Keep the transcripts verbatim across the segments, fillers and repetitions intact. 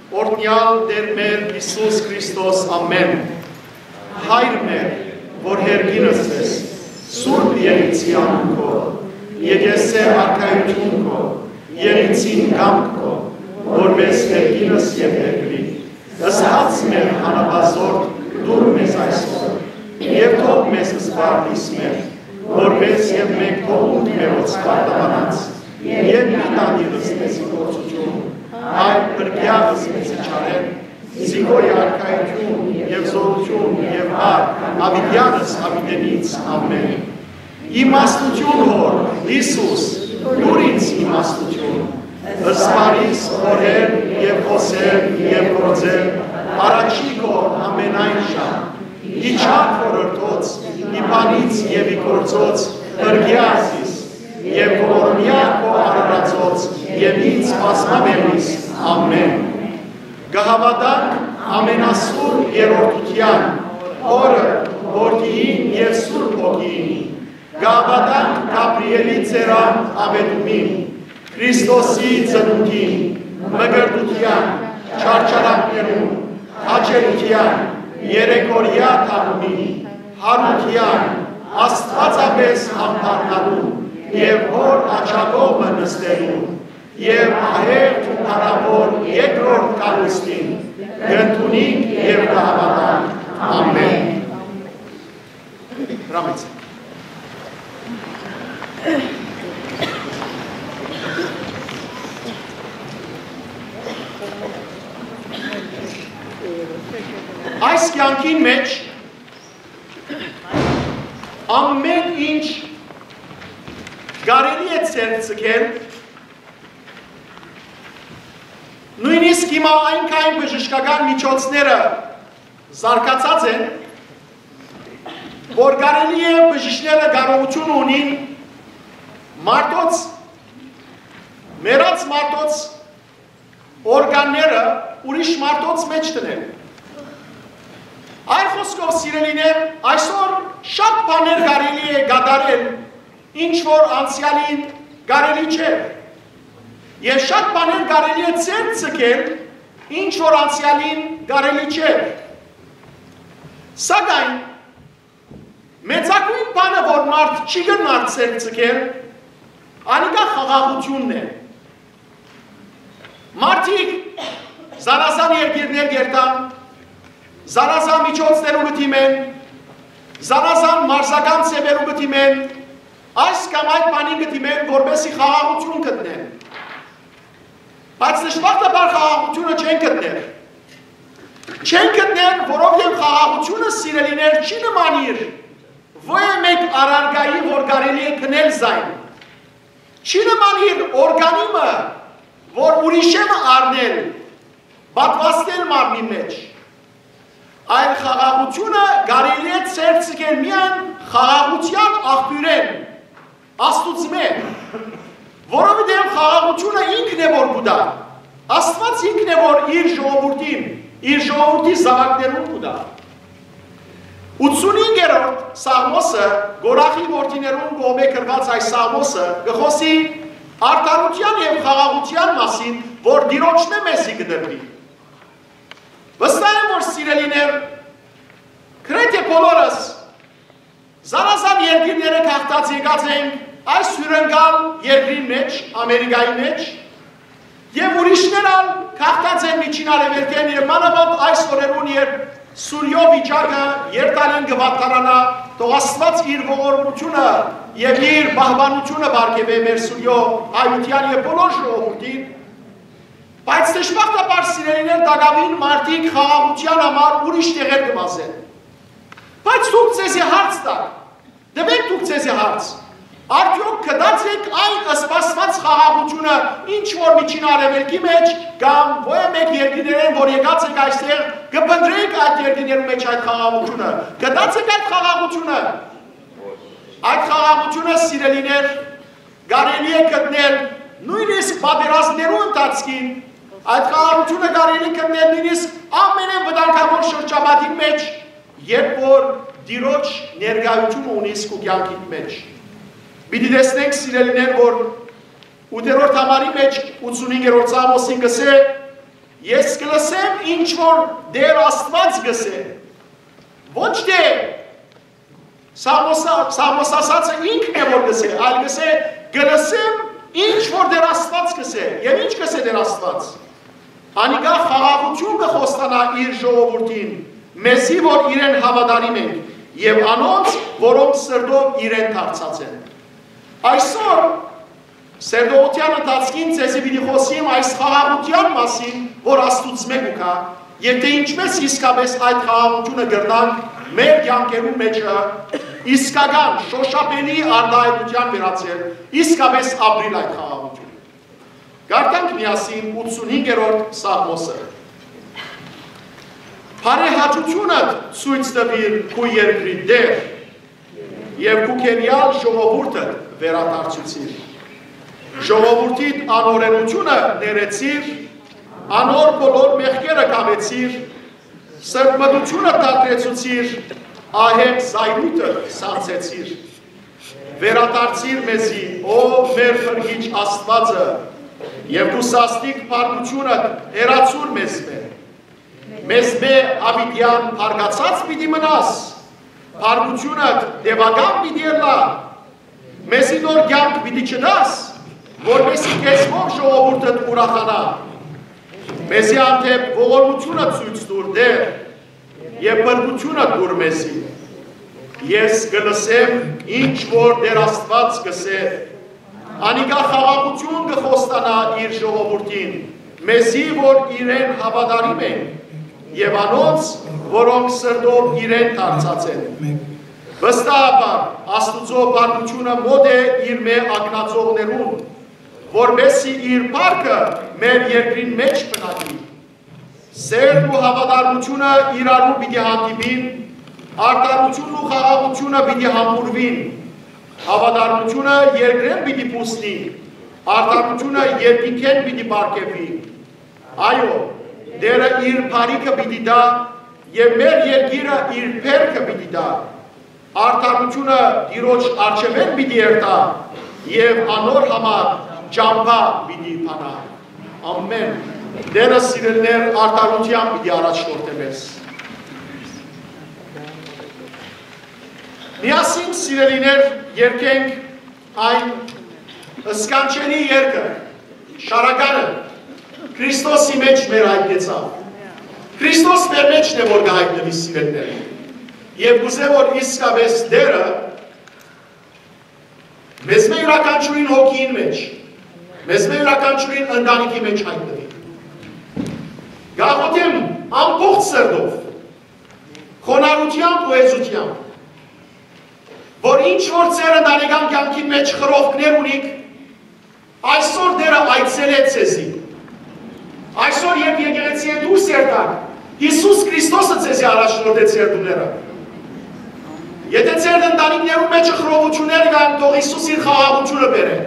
Օրհնեալ Տէր մեր Յիսուս Քրիստոս, ամէն։ Հայր մեր, որ երկինս ես, սուրբ եղեցի անունքով, եկեցե արքայութիւն քո, եղեցին կամք քո, որպես երկինս եւ երկրի։ Ըսած մեր հանապազորդ դուր մեզ այսօր, եւ թող մեզ սպարտիս մեր, որպես եւ մենք թողունք մերոց պարտականած, եւ մի տանիրս մեզի գործութիւն, այլ փրկեալս մեզի չարեն, զինքորի արքայութիւն եւ զօրութիւն եւ արք, աւիտեանս աւիտենից, ամէն։ Իմաստութիւն Հօր, Յիսուս, տուր ինձ իմաստութիւն, սպարիս օրեր եւ խօսել եւ գործել, առաջի քո ամենայն ժամ, ի չար խորհրդոց, ի բանից եւ ի գործոց, փրկեա զիս, եւ ողորմեայ քո արարածոց, եւ ինձ բազմաբերիս, ամէն։ Կը հաւատանք ամենասուր երրորդութեան, Հօրը, Որդիին եւ Սուրբ Հոգիին։ Կը հաւատանք Գաբրիէլի ծերան աւետումին, Քրիստոսի ծնունդին, մկրտութեան, չարչարանքներուն, հաճելութեան, երեքօրեայ թաղումին, յարութեան, աստուածապէս հանդարտալուն եւ Հօր աջակողմը նստելուն, եւ ահեղ ու փառաւոր երկրորդ կալուստին, կ'ընդունինք եւ կը հաւատանք։ Ամէն։ Հրամեցեք։ Այս կեանքին մէջ ամէն ինչ կարելի է ձեռք ձգել, նոյնիսկ հիմա այնքան բժշկական միջոցները զարգացած են, որ կարելի է, բժիշկները կարողութիւն ունին մարդոց, մեռած մարդոց օրգանները ուրիշ մարդոց մէջ դնել։ Այլ խօսքով, սիրելիներ, այսօր շատ բաներ կարելի է կատարել, ինչ որ անցեալին կարելի չէ։ Եւ շատ բաներ կարելի է ձեռք ձգել, ինչ որ անցեալին կարելի չէ։ Սակայն մեծագոյն բանը, որ մարդ չի կրնար ձեռք ձգել, անիկա խաղաղութիւնն է։ Մարդիկ զանազան երկիրներ կերթան, զանազան միջոցներու կը դիմեն, զանազան մարզական ձեւերու կը դիմեն, այս կամ այդ բանին կը դիմեն, որպեսզի խաղաղութիւն գտնեն։ Բայց դժբախտաբար խաղաղութիւնը չեն գտներ։ Չեն գտներ, որովհետեւ խաղաղութիւնը, սիրելիներ, չի նմանիր ոեւ մէկ առարկայի, որ կարելի է գնել զայն։ Չի նմանիր օրգանի մը, որ ուրիշէ մը առնել, պատուաստել մարմնի մէջ։ Այլ խաղաղութիւնը կարելի է ձեռք ձգել միայն խաղաղութեան աղբիւրէն, Աստուծմէ, որովհետեւ խաղաղութիւնը ինքն է, որ կու տայ։ Աստուած ինքն է, որ իր ժողովուրդին, իր ժողովուրդի զաւակներուն կու տայ։ Ութսունհինգերորդ Սաղմոսը, Կորախի որդիներուն կողմէ գրուած այս Սաղմոսը, կը խօսի արդարութեան եւ խաղաղութեան մասին, որ Տիրոջմէ մեզի կը տրուի։ Վստահ եմ, որ, սիրելիներ, գրեթէ բոլորս զանազան երկիրները գաղթած եկած ենք այս հիւրընկալ երկրին մէջ, Ամերիկայի մէջ, եւ ուրիշներ ալ գաղթած են Միջին Արեւելքէն, եւ մանաւանդ այս օրերուն, երբ Սուրիոյ վիճակը երթալին կը վատթարանայ, թող Աստուած իր ողորմութիւնը եւ իր պահպանութիւնը պարգեւէ մեր Սուրիոյ հայութեան եւ բոլոր ժողովուրդին, բայց դժբախտաբար, սիրելիներ, տակաւին մարդիկ խաղաղութեան համար ուրիշ տեղեր կը վազեն։ Բայց դուք ձեզի հարց տաք, տուէք դուք ձեզի հարց. արդեօք գտած եք այն սպասուած խաղաղութիւնը, ինչ որ Միջին Արեւելքի մէջ կամ ոեւ մէկ երկիրներէն, որ եկած եք այստեղ, կը փնտռէք այդ երկիրներու մէջ այդ խաղաղութիւնը։ Գտած եք այդ խաղաղութիւնը։ Այդ խաղաղութիւնը, սիրելիներ, կարելի է գտնել նոյնիսկ պատերազմներու ընթացքին, այդ խաղաղութիւնը կարելի է գտնել նոյնիսկ ամենէն վտանգաւոր շրջապատին մէջ, երբ որ Տիրոջ ներկայութիւնը ունիս քու կեանքիդ մէջ։ Պիտի տեսնենք, սիրելիներ, որ ութերորդ համարի մէջ ութսունհինգերորդ Սաղմոսին կ'ըսէ. Ես կը լսեմ ինչ որ Տեր Աստուած կ'ըսէ։ Ոչ թէ Սաղմոս-, Սաղմոս ասածը ինքն է որ կ'ըսէ, այլ կ'ըսէ, կը լսեմ ինչ որ Տեր Աստուած կ'ըսէ։ Եւ ինչ կ'ըսէ Տեր Աստուած։ Անիկա խաղաղութիւն կը խոստանայ իր ժողովուրդին, մեզի որ իրեն հաւատարիմ ենք, եւ անոնց, որոնք սրտով իրեն դարձած են։ Այսօր Սերտողութեան ընթացքին ձեզի պիտի խօսիմ այս խաղաղութեան մասին, որ Աստուծմէ կու գայ, եւ թէ ինչպէս իսկապէս այդ խաղաղութիւնը կրնանք մեր կեանքերուն մէջը իսկական շոշափելի արտայայտութեան վերածել, իսկապէս ապրիլ այդ խաղաղութիւնը։ Կարդանք միասին ութսունհինգերորդ Սաղմոսը։ Բարեհաճութիւնդ ցոյց տուիր քու երկրի Տէր, եւ քու քերեալ ժողովուրդը վերադարձուցիր։ Ժողովուրդիդ անօրէնութիւնը ներեցիր, անոր բոլոր մեղքերը կամեցիր, սրբմտութիւնը դադրեցուցիր, ահեղ զայրույթը սանձեցիր։ Վերադարձիր մեզի, ով մեր փրկիչ Աստուածը, եւ քու սաստիկ փառքութիւնը հեռացուր մեզմէ։ Մեզմէ յաւիտեան փառկացած պիտի մնաս, փառքութիւնդ տեւական պիտի ըլլայ, մեզի նոր կեանք պիտի չտաս, որպէսզի քեզմով ժողովուրդդ ուրախանայ։ Մեզի հանդէպ ողորմութիւնը ցոյց տուր, Տէր, եւ փրկութիւնը տուր մեզի։ Ես կը լսեմ ինչ որ Տէր Աստուած կ'ըսէ։ Անիկա խաղաղութիւն կը խոստանայ իր ժողովուրդին, մեզի որ իրեն հաւատարիմ են, եւ անոնց, որոնք սրտով իրեն դարձած են։ Վստահաբար Աստուծոյ փառքութիւնը մօտ է իրմէ ակնածողներուն, որպէսզի իր փառքը մեր երկրին մէջ բնակի։ Սէրն ու հաւատարմութիւնը իրարու պիտի հանդիպին, արդարութիւնն ու խաղաղութիւնը պիտի համբուրուին, հաւատարմութիւնը երկրէն պիտի բուսնի, արդարութիւնը երկնքէն պիտի պարգեւի։ Այո, Տէրը իր բարիքը պիտի տայ եւ մեր երկիրը իր բերքը պիտի տայ։ Արդարութիւնը Տիրոջ առջեւէն պիտի երթայ եւ անոր համար ճամբայ պիտի բանայ։ Ամէն։ Տէրը, սիրելիներ, արդարութեան պիտի առաջնորդէ մեզ։ Միասին, սիրելիներ, երգենք այն սքանչելի երգը, շարականը, Քրիստոսի մէջ մեր յայտնեցաւ։ Քրիստոս մեր մէջն է, որ կը յայտնուի, սիրելիներ։ Եւ կ'ուզեմ, որ իսկապէս Տէրը մեզմէ իւրաքանչիւրին հոգիին մէջ, մեզմէ իւրաքանչիւրին ընտանիքի մէջ յայտնուի։ Կ'աղօթեմ ամբողջ սրտով, խոնարհութեամբ ու հեզութեամբ, որ ինչ որ ձեր ընտանեկան կեանքին մէջ խրոխքներ ունիք, այսօր Տէրը այցելէ ձեզի։ Այսօր, երբ եկեղեցիէն դուրս երթաք, Յիսուս Քրիստոսը ձեզի առաջնորդէ ձեր տուները։ Եթէ ձեր ընտանիքներուն մէջ խռովութիւններ կան, թող Յիսուս իր խաղաղութիւնը բերէ։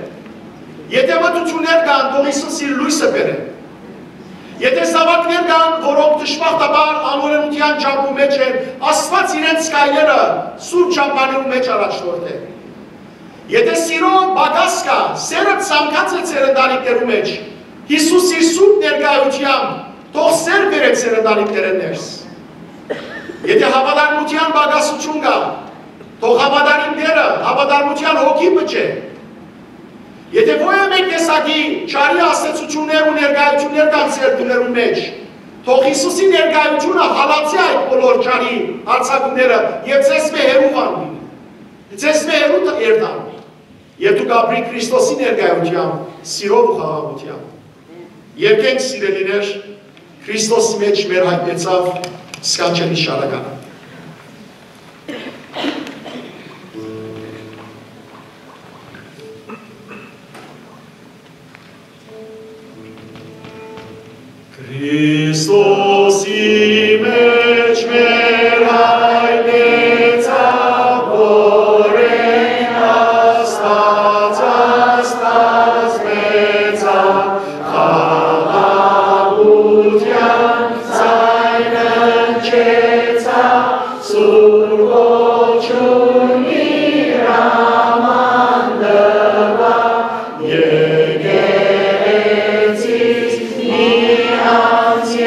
Եթէ մթութիւններ կան, թող Յիսուս իր լոյսը բերէ։ Եթէ զաւակներ կան, որոնք դժբախտաբար անօրէնութեան ճամբու մէջ են, Աստուած իրենց քայլերը սուրբ ճամբաներու մէջ առաջնորդէ։ Եթէ սիրո պակաս կայ, սէրը ցանկած է ձեր ընտանիքներու մէջ, Յիսուս իր սուրբ ներկայութեամբ թող սէր բերէ ձեր ընտանիքներէն ներս։ Եթէ հաւատարմութեան պակասութիւն կայ, թող հաւատարիմ Տէրը հաւատարմութեան հոգի բուժէ։ Եթէ որեւէ մէկ տեսակի չարի ազդեցութիւններ ու ներկայութիւններ կան ձեր տուներուն մէջ, թող Յիսուսի ներկայութիւնը հալածի այդ բոլոր չարի արձակումները եւ ձեզմէ հեռու վանուի, ձեզմէ հեռու տ-, երթան։ Եւ դուք ապրիք Քրիստոսի ներկայութեամբ, սիրով ու խաղաղութեամբ։ Երգենք, սիրելիներ, Քրիստոսի մէջ մեր յայտնեցաւ սքանչելի շարականը։ Քրիստոսի մէջ մեր յայտնեցաւ, որեն Աստուած Աստուած մեծաւ, խաղաղութեան ձայն հնչեցաւ, Սուրբ Ողջունի հրաման տուաւ, եկեղեցիս մի անձի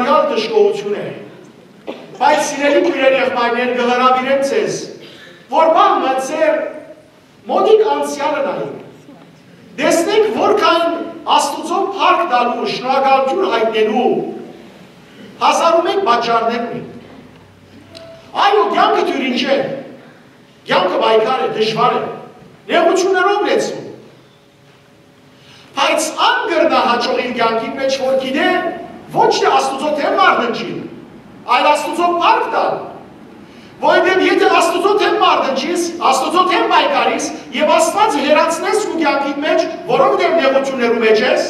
Դժգոհութիւն է։ Բայց սիրելի քոյրեր, եղբայրներ, կը հրաւիրեմ ձեզ, որ պահ մը ձեր մօտիկ անցեալը նայեք։ Տեսնենք, որքան Աստուծոյ փառք տալու, շնորհակալութիւն յայտնելու հազար ու մէկ պատճառներ ունի։ Այո, կեանքը դիւրին չէ, կեանքը պայքար է, դժուար է, նեղութիւններով լեցուն։ Բայց ան կրնայ հաճոյ իր կեանքին մէջ, որ գիտէ ոչ թէ Աստուծոյ դէմ մարդ ընչին, այլ Աստուծոյ փառք տալ։ Որովհետեւ եթէ Աստուծոյ դէմ մարդ ընչիս, Աստուծոյ դէմ պայքարիս եւ Աստուած հեռացնես քու կեանքին մէջ, որովհետեւ նեղութիւններու մէջ ես,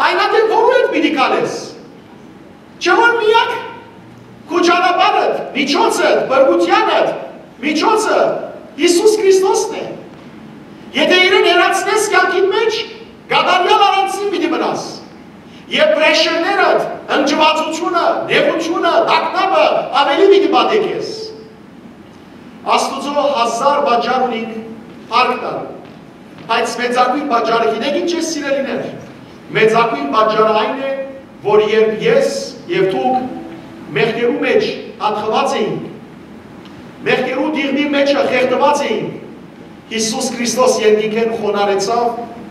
այն ատեն որու հետ պիտի գալես։ Չէ՞ որ միակ քու ճանապարհդ, միջոցդ, փրկութեանդ միջոցը Յիսուս Քրիստոսն է։ Եթէ իրեն հեռացնես կեանքիդ մէջ, կատարեալ առանձին պիտի մնաս։ Եւ պրեշերներդ, ընկճվածությունը, նեղությունը, տագնապը աւելի պիտի պատի քեզ։ Աստուծոյ հազար պատճառ ունինք փառք տալու, բայց մեծագոյն պատճառը գիտեք ի՞նչ է, սիրելիներ։ Մեծագոյն պատճառը այն է, որ երբ ես եւ դուք մեղքերու մէջ ատխուած էինք, մեղքերու տիղմի մէջը խեղդուած էինք, Յիսուս Քրիստոս երկնքէն խոնարհեցաւ,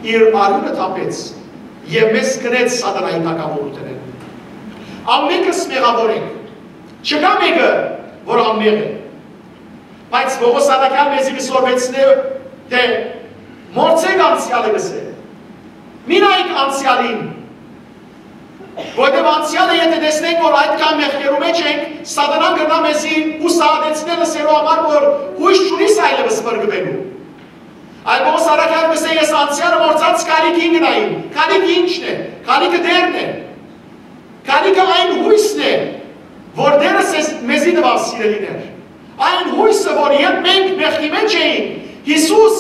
իր արիւնը թափեց եւ մեզ կրեց սատանայի թագաւորութենէն։ Ամենքս մեղաւոր ենք, չկայ մէկը, որ անմեղ է։ Բայց Պողոս առաքեալ մեզի կը սորվեցնէ թէ մոռցէք անցեալը, կ'ըսէ։ Մի նայեք անցեալին, որովհետեւ անցեալը եթէ տեսնենք, որ այդքան մեղքերու մէջ ենք, սատանան կրնայ մեզի ուսահատեցնել, ըսելու համար, որ յոյս չունիս այլեւս փրկուելու։ Այլ Պողոս առաքեալ կ'ըսէ. «Ես անցեալը մոռցած, քալիքին կը նայեմ»։ Քալիքը ի՞նչն է։ Քալիքը Տէրն է։ Քալիքը այն յոյսն է, որ Տէրը սեզ, մեզի տուաւ, սիրելիներ։ Այն յոյսը, որ երբ մենք մեղքի մէջ էինք, Յիսուս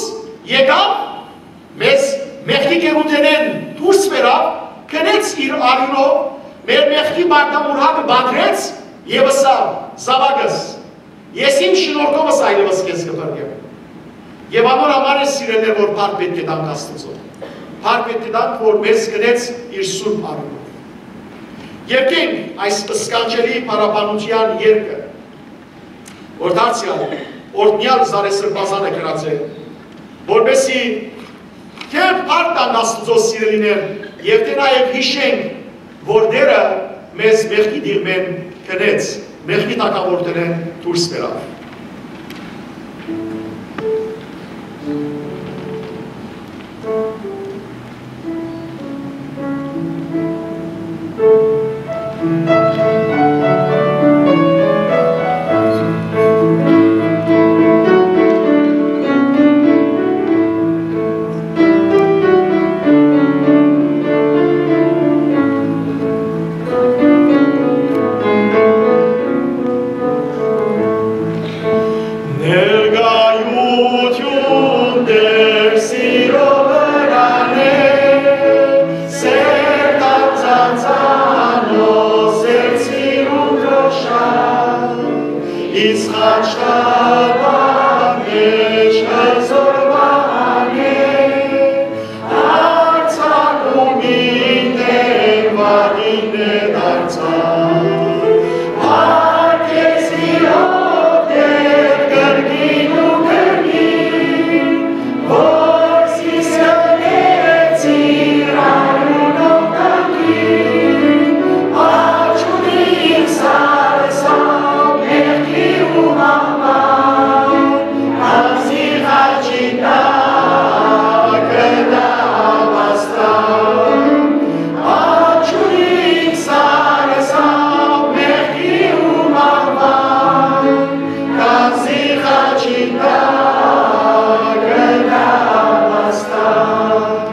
եկաւ, մեզ մեղքի գերութենէն դուրս բերաւ, գնեց իր արիւնով, մեր մեղքի պարտամուրհակը պատռեց եւ ըսաւ. «Զաւակս, ես իմ շնորհքովս այլեւս քեզ կը փրկեմ»։ Եւ անոր համար է, սիրելիներ, որ փառք պէտք է տանք Աստուծոյ։ Փառք պէտք է տանք, որ մեզ գնեց իր սուրբ արիւնով։ Երկենք այս սքանչելի փառաբանութեան երկը, որ դարձեալ օրհնեալ Զարեհ Սրբազանը գրած է, որպեսզի թէ փառք տանք Աստուծոյ, սիրելիներ, եւ թէ նաեւ յիշենք, որ Տէրը մեզ մեղքի տիղմէն գնեց, մեղքի թագաւորութենէն դուրս բերաւ։ Ներկայութիւն Տէր սիրո վրան է, սերտ անձանցանոց, սերտ սիրուն կշան, իսկ խաչքարուան մէջ հզոր վահան է, արձակումին դէմ վատին է դարձան։ Փառք քեզի, ով Տէր, կրկին ու կրկին, որ զիս կրնեցիր արիւնով կանգին, աճ ունի իմ սարսափ մեղքի ու մահվան, անձի խաչի տակ կտա ապաստան, աճ ունի իմ սարսափ մեղքի ու մահվան, անձի խաչի տակ կտա ապաստան։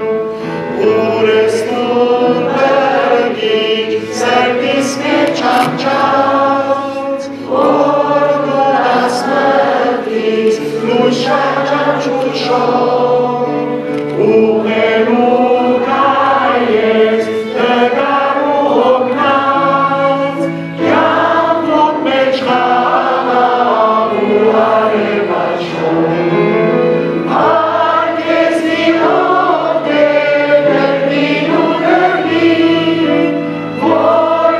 Ուր ես դուն, փրկիչ, սրտիս մէջ անջաց, որ դու տաս մտքիս լույս շարժանչուշով, ուղղելու կայ ես տկար ու հոգնած, կյանքուդ մէջ խաղաղ ու արեւաչոր։ Փառք քեզի, ով Տէր, կրկին ու կրկին, որ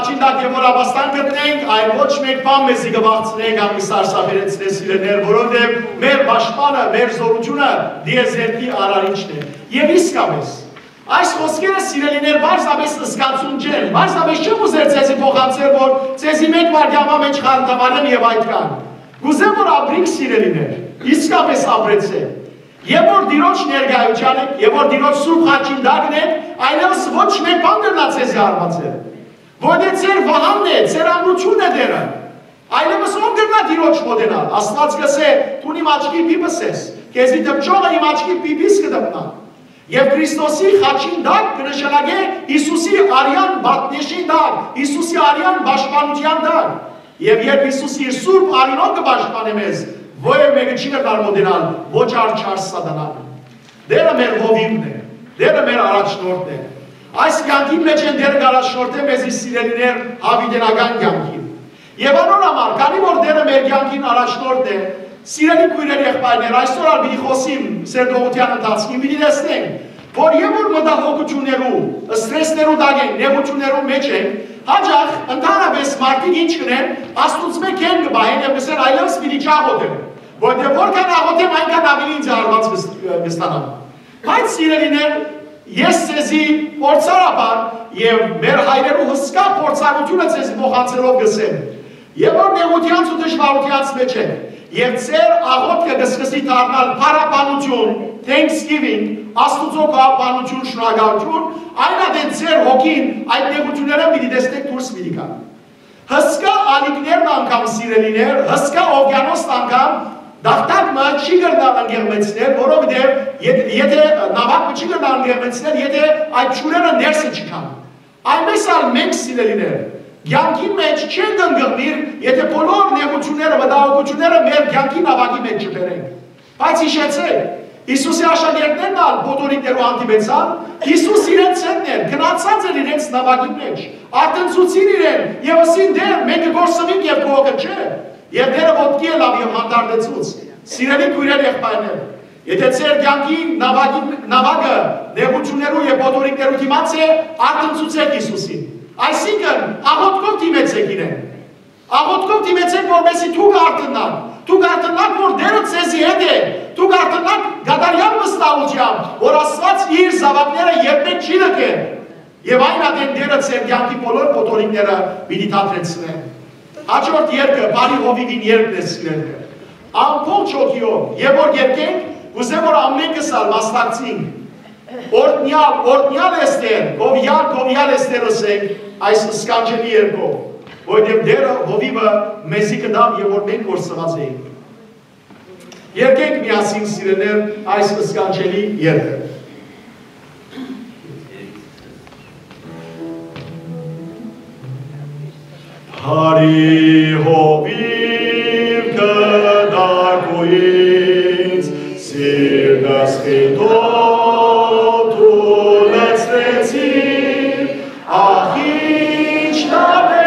Աչին տակ եւ որ ապաստան գտնենք, այլ ոչ մէկ բան մեզի կը վախցնենք, ան կը սարսափեցնենք, սիրելիներ, որովհետեւ մեր պաշտպանը, մեր զօրութիւնը դիեզերքի արարիչն է։ Եւ իսկապէս, այս խօսքերը, սիրելիներ, պարզապէս զգացում չեն, պարզապէս չեմ ուզեր ձեզի փոխանցել, որ ձեզի մէկ վայրկեան մէջ խանդավառեմ եւ այդ կան։ Կ'ուզեմ, որ ապրինք, սիրելիներ, իսկապէս ապրեցէք։ Եւ որ Տիրոջ ներկայութեան եք, եւ որ Տիրոջ սուրբ խաչին տակն եք, այլեւս ոչ մէկ բան կրնայ ձեզի հարվածել։ Որտե ձեր վահանն է, ձեր ամրութիւնն է Տերը։ Այլեւս ո՞վ կրնայ Տիրոջ մօտենալ։ Աստուած կ'ըսէ. «Դուն իմ աչքի պիպս ես, քեզի դպչողը իմ աչքի պիպիս կը դպնայ»։ Եւ Քրիստոսի խաչին տակ կը նշանակէ Յիսուսի արեան պատնեշին տակ, Յիսուսի արեան պաշտպանութեան տակ։ Եւ երբ Յիսուս իր սուրբ արիւնով կը պաշտպանէ մեզ, ոեւէ մէկը չի կրնար մօտենալ, ոչ ալ չար սատանան։ Տերը մեր հովիւն է, Տերը մեր առաջնորդն է։ Այս կեանքին մէջ են Տերը կ'առաջնորդէ մեզի, սիրելիներ, յաւիտենական կեանքին։ Եւ անոր համար, քանի որ Տերը մեր կեանքին առաջնորդն է, սիրելի քոյրեր, եղբայրներ, այսօր ալ պիտի խօսիմ սերտողութեան ընթացքին, պիտի տեսնենք, որ եւ որ մտահոգութիւններու, սթրեսներու տակ ենք, նեղութիւններու մէջ ենք, յաճախ ընդհանրապէս մարդիկ ինչ կ'ընեն, Աստուծմէ կեն կը պահեն եւ կ'ըսեն. «Այլեւս պիտի չաղօթեմ, որովհետեւ որքան աղօթեմ, այնքան աւելի ինձ հարված կս-, կստանամ»։ Բայց, սիրելիներ, ես ձեզի փորձառաբար եւ մեր հայրերու հսկայ փորձառութիւնը ձեզի փոխանցելով կ'ըսեմ. «Եւ որ նեղութեանց ու դժուարութեանց մէջ եք, եւ ձեր աղօթքը կը սկսի դառնալ փառաբանութիւն, Thanksgiving, Աստուծոյ գոհաբանութիւն, շնորհակալութիւն, այն ատեն ձեր հոգին այդ նեղութիւններէն պիտի տեսնէք դուրս պիտի գայ»։ Հսկայ ալիքներն անգամ, սիրելիներ, հսկայ օվկիանոսն անգամ տախտակ մը չի կրնար ընկեղմեցնել, որովհետեւ եթ-, եթէ նաւակ մը չի կրնար ընկեղմեցնել, եթէ այդ ջուրերը ներսը չգան։ Այնպես ալ մենք, սիրելիներ, կեանքին մէջ չենք ընկղմիր, եթէ բոլոր նեղութիւնները, մտահոգութիւնները մեր կեանքի նաւակի մէջ չբերենք։ Բայց յիշեցէք, Յիսուսի աշակերտներն ալ փոթորիկներու հանդիպեցան, Յիսուս իրենց հետ էր, գնացած էր իրենց նաւակին մէջ, արթնցուցին իրեն եւ ըսին. «Տէր, մենք կը կորսնինք եւ քու հոգդ չէ»։ Եւ Տերը ոտքի ելաւ եւ հանդարտեցուց։ Սիրելի քոյրեր, եղբայրներ, եթէ ձեր կեանքի նաւակի, նաւակը նեղութիւններու եւ փոթորիկներու դիմաց է, արթնցուցէք Յիսուսին։ Այսինքն, աղօթքով դիմեցէք իրեն։ Աղօթքով դիմեցէք, որպեսզի դուք արթննաք։ Դուք արթննաք, որ Տերը ձեզի հետ է։ Դուք արթննաք կատարեալ վստահութեամբ, որ Աստուած իր զաւակները երբեք չի լքեր։ Եւ այն ատեն Տերը ձեր կեանքի բոլոր փոթորիկները պիտի դադրեցնէ։ Հաջորդ երկը բարի հովիւին երկն է, սիրելիներ։ Ամբողջ հոգիով, եւ որ երկենք, կ'ուզեմ, որ ամենքս ալ մասնակցենք։ Օրհնեալ, օրհնեալ ես Տեր, գովեալ, գովեալ ես Տեր, ըսենք այս սքանչելի երկով, որովհետեւ Տերը հովիւը մեզի կտաւ եւ որ մենք կորսնած էինք։ Երկենք միասին, սիրելիներ, այս սքանչելի երկը։ Բարի հովիւ կտար քու ինձ, սիրտս խիթով դու լցրեցիր, ախ, ինչքան է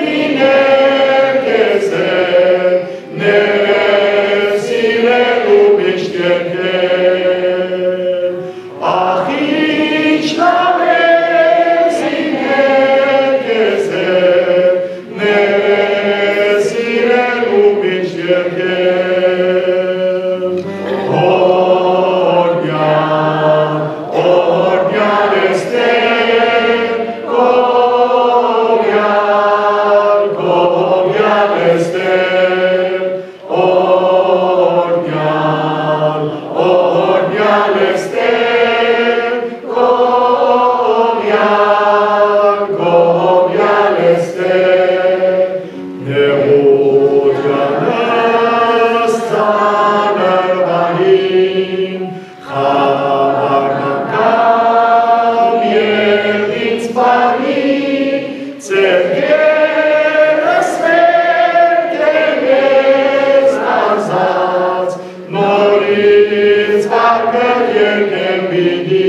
լինել քեզ հետ, ներս իրելու միշտ երկել։ Ախ, ինչքան է լինել քեզ հետ, ներս իրելու միշտ երկել։ Օրհնյալ, օրհնյալ ես Տեր, գովեալ, գովեալ ես Տեր, օրհնյալ, օրհնյալ ես Տեր, գովեալ, գովեալ ես Տեր, նեղութեանս ծանր պահին, խաւարն անգամ երբ ինձ պահի, ձեռքերս վեր դրես արզած, նորից վարկը երկեմ պիտի։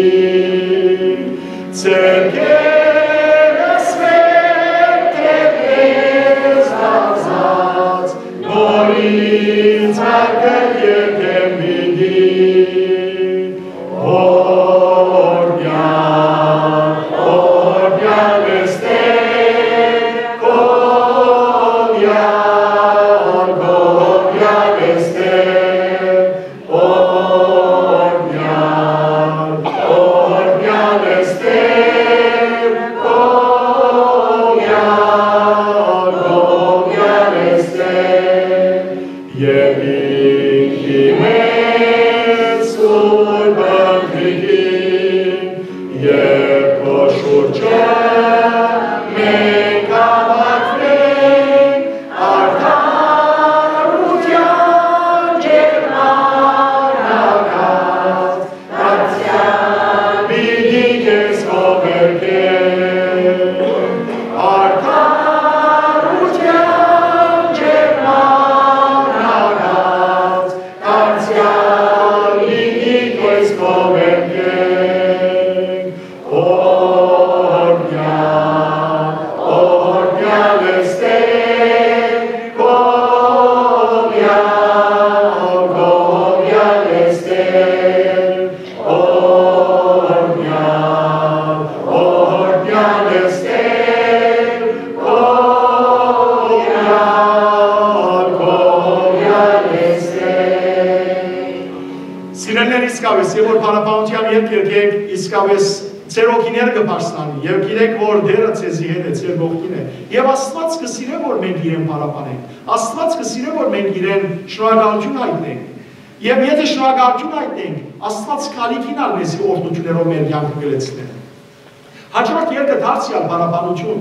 Ձեռքերս վեր դրես արզած, նորից վարկը երկեմ պիտի։ Օրհնյալ, օրհնյալ ես Տեր, Սիրելիներ, իսկապէս, երբ որ փառաբանութեան ետք երգենք, իսկապէս ձեր հոգիները կը բարձրանի, եւ գիտեք, որ Տէրը ձեզի հետ է, ձեր կողքին է։ Եւ Աստուած կը սիրէ, որ մենք իրեն փառաբանենք։ Աստուած կը սիրէ, որ մենք իրեն շնորհակալութիւն յայտնենք։ Եւ եթէ շնորհակալութիւն յայտնենք, Աստուած քալիքին ալ մեզի օրհնութիւններով մեր կեանքը կը լեցնէ։ Հաջորդ երգը դարձեալ փառաբանութիւն։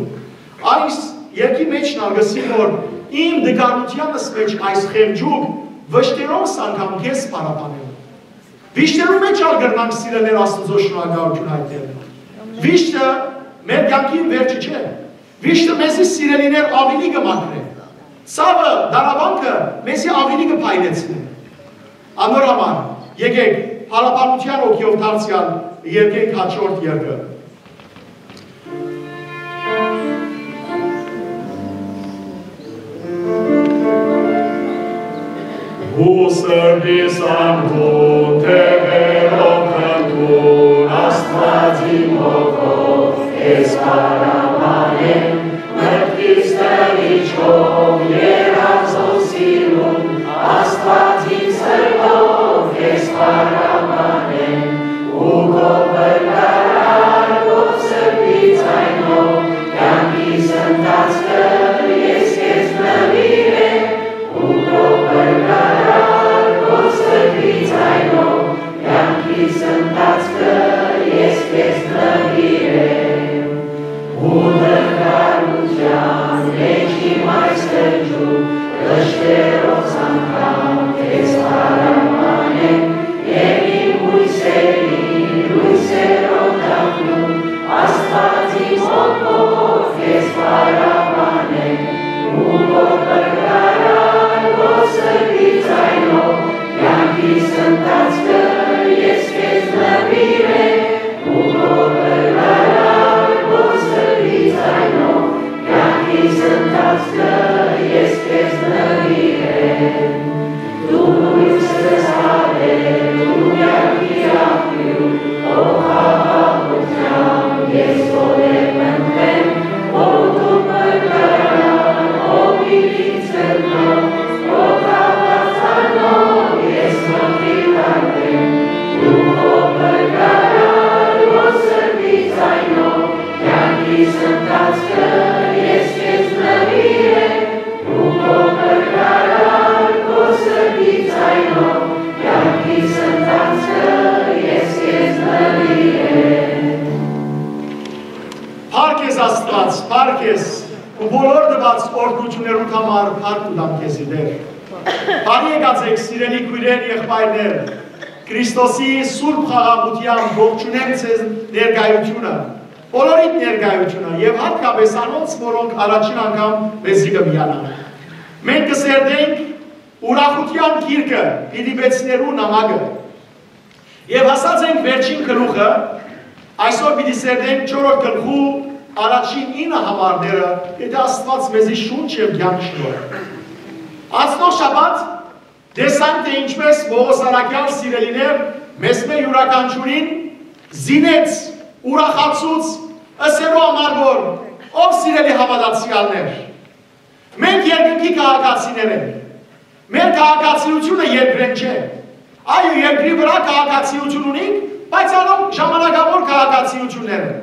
Այս երգի մէջ ալ կ'ըսի, որ իմ տկարութեանս մէջ այս խեղճուկ վշտերովս անգամ քեզ փառաբանեմ։ Վիշտերու մէջ ալ կրնանք, սիրելիներ, Աստուծոյ շնորհակալութիւն յայտնել։ Վիշտը մեր կեանքին վերջը չէ։ Վիշտը մեզի, սիրելիներ, աւելի կը մաքրէ։ Ցաւը, տառապանքը մեզի աւելի կը փայլեցնէ։ Անոր համար, եկէք, փառաբանութեան հոգիով դարձեալ երգենք հաջորդ երգը։ Ու սրտիս անհուն թեւերով խնդրուր, Աստուած իմ հոգով քեզ փառաբանեմ, մտքիս տղիչով երազող սիրուն, Աստուած իմ սրտով քեզ փառաբանեմ, ու քո փրկարար քո սրտի ձայնով, կեանքիս ընթացքը ես քեզ նուիրեմ, ու քո փրկարար քո սրտի ձայնով, կեանքիս ընթացքը ես քեզ նուիրեմ։ Ու դժուարութեան մէջ իմ այս խղճուկ, վշտերովս անգամ քեզ փառաբանեմ, եւ իմ յոյսերին, յոյսերով դառնու, Աստուած իմ հոգով քեզ փառաբանեմ, ու քո փրկարար քո սրտի ձայնով, կեանքիս ընթացքը ես քեզ նուիրեմ, ու քո փրկարար քո սրտի ձայնով, կեանքիս ընթացքը ես քեզ նուիրեմ։ Դու լոյս ես, հալելույա, կեանքի աղբիւր, քո խաղաղութեան ես քո լեզուն կ'ընտրեմ, որ դու փրկարար, ով ինքնից կ'ընտրեմ, քո թափածանով ես մտիկ կ'ընտրեմ, դու քո փրկարար, քո սրտի ձայնով, կեանքիս ընթացքը ես քեզ նուիրեմ, ու քո փրկարար քո սրտի ձայնով, կեանքիս ընթացքը ես քեզ նուիրեմ։ Փառք ես, Աստուած, փառք ես, ու բոլոր տուած օրհնութիւններուդ համար փառք կու տամ քեզի, Տէր։ Բարի եկած էք, սիրելի քոյրեր, եղբայրներ, Քրիստոսի սուրբ խաղաղութեամբ ողջունեմ ձեզ ներկայությունը, բոլորիդ ներկայությունը, եւ յատկապէս անոնց, որոնք առաջին անգամ մեզի կը միանան։ Մենք կը սերտենք ուրախութեան գիրքը, Փիլիպեցիներու նամակը, եւ հասած ենք վերջին գլուխը, այսօր պիտի սերտենք չորրորդ գլխու առաջին ինը համարները, եթէ Աստուած մեզի շունչ եւ կեանք շնորհ։ Անցնող շաբաթ տեսանք, թէ ինչպէս Պողոս առաքեալ, սիրելիներ, մեզմէ իւրաքանչիւրին զինեց, ուրախացուց, ըսելու համար, որ, ով սիրելի հաւատացեալներ, մենք երկնքի քաղաքացիներ ենք։ Մեր քաղաքացիությունը երկրէն չէ։ Այո, երկրի վրայ քաղաքացիություն ունենք, բայց անոնք ժամանակավոր քաղաքացիություններ են։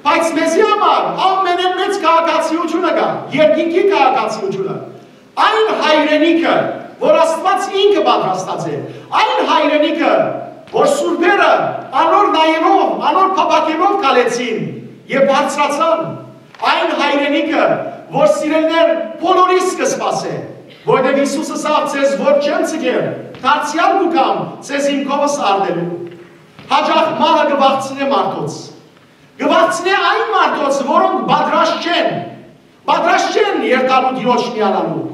Բայց մեզի համար ամենէն մեծ քաղաքացիությունը կայ, երկինքի քաղաքացիությունը։ Այն հայրենիքը, որ Աստուած ինքը պատրաստած է, այն հայրենիքը, որ սուրբերը անոր նայելով, անոր փափաքելով քալեցին եւ բարձրացան, այն հայրենիքը, որ, սիրելիներ, բոլորիս կը սպասէ, որովհետեւ Յիսուս ըսաւ. «Ձեզ որ չեմ ձգեր, դարձեալ կու գամ ձեզ իմ քովս առնելու»։ Հաճախ մահը կը վախցնէ մարդոց։ Կը վախցնէ այն մարդոց, որոնք պատրաստ չեն, պատրաստ չեն երթալու Տիրոջ միանալու։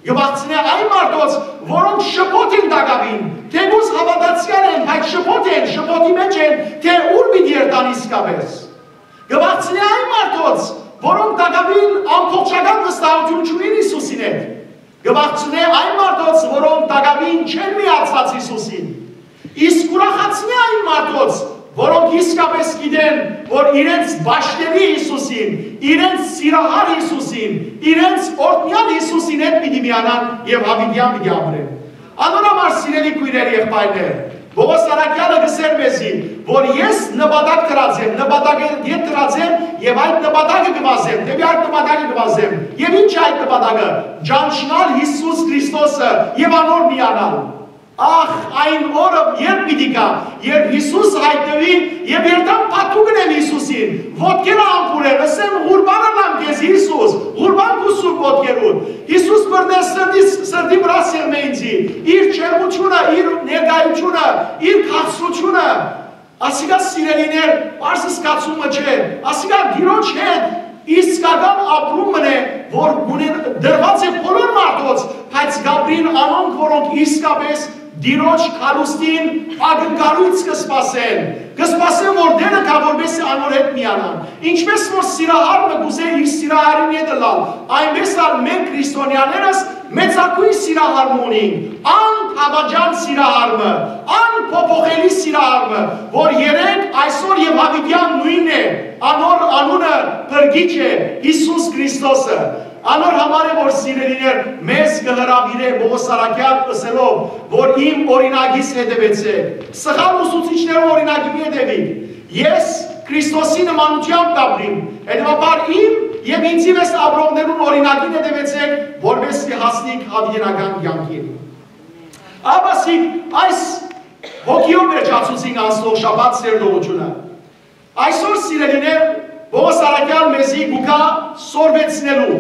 Կը վախցնէ այն մարդոց, որոնք շփոթ են տակաւին, թէ կուզ հաւատացեալ են, բայց շփոթ են, շփոթի մէջ են, թէ ուր պիտի երթան իսկապէս։ Կը վախցնէ այն մարդոց, որոնք տակաւին ամբողջական վստահութիւն չունին Յիսուսին հետ։ Կը վախցնէ այն մարդոց, որոնք տակաւին չեն միացած Յիսուսին։ Իսկ ուրախացնէ այն մարդոց, որոնք իսկապէս գիտեն, որ իրենց բաշխելի Յիսուսին, իրենց սիրահար Յիսուսին, իրենց օրհնեալ Յիսուսին հետ պիտի միանան եւ յաւիտեան պիտի ապրեն։ Անոր համար, սիրելի քոյրեր, եղբայրներ, Պողոս Առաքեալը կ'ըսէր մեզի, որ ես նպատակ դրած եմ, նպատակը ետ դրած եմ եւ այդ նպատակը կը վազեմ, դեպի այդ նպատակը կը վազեմ։ Եւ ի՞նչ է այդ նպատակը։ Ճանչնալ Յիսուս Քրիստոսը եւ անոր միանալ։ Ախ, այն օրը երբ պիտի գայ, երբ Յիսուս յայտնուի, եւ երթամ փաթուղն եմ Յիսուսին, ոտքերը ամբուրեմ, ըսեմ. «Ղուրբան ըլլամ քեզ, Յիսուս, ղուրբան քու սուրբ ոտքերուդ»։ Յիսուս բռնէ սրտիս, սրտի վրայ սեղմէ ինձի, իր ջերմութիւնը, իր ներկայութիւնը, իր քաղցրութիւնը։ Ասիկա, սիրելիներ, պարզ զգացումը չէ, ասիկա Տիրոջ հետ իսկական ապրում մըն է, որ ունեն, տրուած է բոլոր մարդոց, բայց կ'ապրին անոնք, որոնք իսկապես Տիրոջ գալուստին ակնկալոյց կը սպասեն, կը սպասեն, որ Տէրը գայ, որպեսզի անոր հետ միանան։ Ինչպէս որ սիրահարը կ'ուզէ իր սիրահարին հետ ըլլալ, այնպէս ալ մենք, քրիստոնեաներս, մեծագոյն սիրահարը ունինք, անդաւաճան սիրահարը, անփոփոխելի սիրահարը, որ երեկ, այսօր եւ յաւիտեան նոյնն է, անոր անունը փրկիչ է, Յիսուս Քրիստոսը։ Անոր համար է, որ, սիրելիներ, մեզ կը հրաւիրէ Պողոս Առաքեալ, ըսելով, որ իմ օրինակիս հետեւեցէք, սխալ ուսուցիչներու օրինակին հետեւիք։ Ես Քրիստոսի նմանութեամբ կ'ապրիմ, հետեւաբար իմ եւ ինձի մէս ապրողներուն օրինակին հետեւեցէք, որպեսզի հասնիք յաւիտենական կեանքին։ Աբասիկ այս հոգիով վերջացուցին անցնող շաբաթ սերտողութիւնը։ Այսօր, սիրելիներ, Պողոս Առաքեալ մեզի կու գայ սորվեցնելու,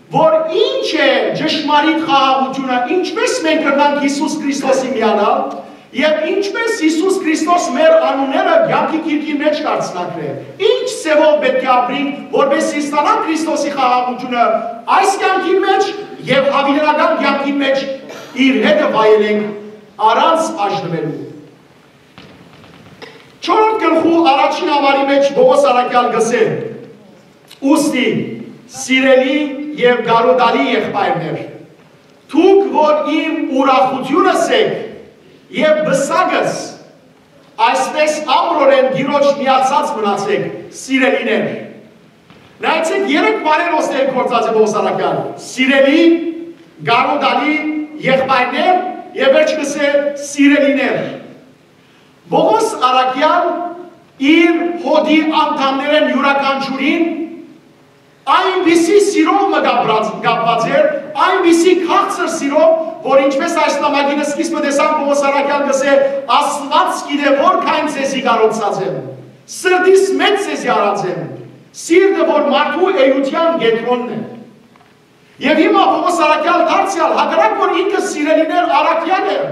որ ինչ է ճշմարիտ խաղաղութիւնը, ինչպէս մենք կրնանք Յիսուս Քրիստոսի միանալ, եւ ինչպէս Յիսուս Քրիստոս մեր անունները կեանքի գիրքին մէջ կ'արցնակրէ, ինչ ձեւով պէտք է ապրենք, որպեսզի ստանանք Քրիստոսի խաղաղութիւնը այս կեանքին մէջ եւ յաւիտենական կեանքին մէջ իր հետը վայելենք առանց բաժնուելու։ Չորրորդ գլխու առաջին համարի մէջ Պողոս Առաքեալ կ'ըսէ. «Ուստի, սիրելի եւ կարօտալի եղբայրներ, դուք որ իմ ուրախութիւնս էք եւ պսակս, այսպէս ամրորեն Տիրոջ միացած մնացէք, սիրելիներ»։ Նայեցէք, երեք բառեր օսներ գործած է Պողոս Առաքեալ. սիրելի, կարօտալի, եղբայրներ, եւ վերջ կ'ըսէ՝ սիրելիներ։ Պողոս Առաքեալ իր հօդի անդամներէն իւրաքանչիւրին այնպիսի սիրով մը կապրած, կապված էր, այնպիսի քաղցր սիրով, որ, ինչպէս այս նամակին սկիզբը տեսանք, Պողոս Առաքեալ կ'ըսէ. «Աստուած գիտէ որքան ձեզի կարոցած եմ, սրտիս մէջ ձեզի առած եմ, սիրտը, որ մարդու էութեան կեդրոնն է»։ Եւ հիմա Պողոս Առաքեալ դարձեալ, հակառակ որ ինքը, սիրելիներ, առաքեալ էր,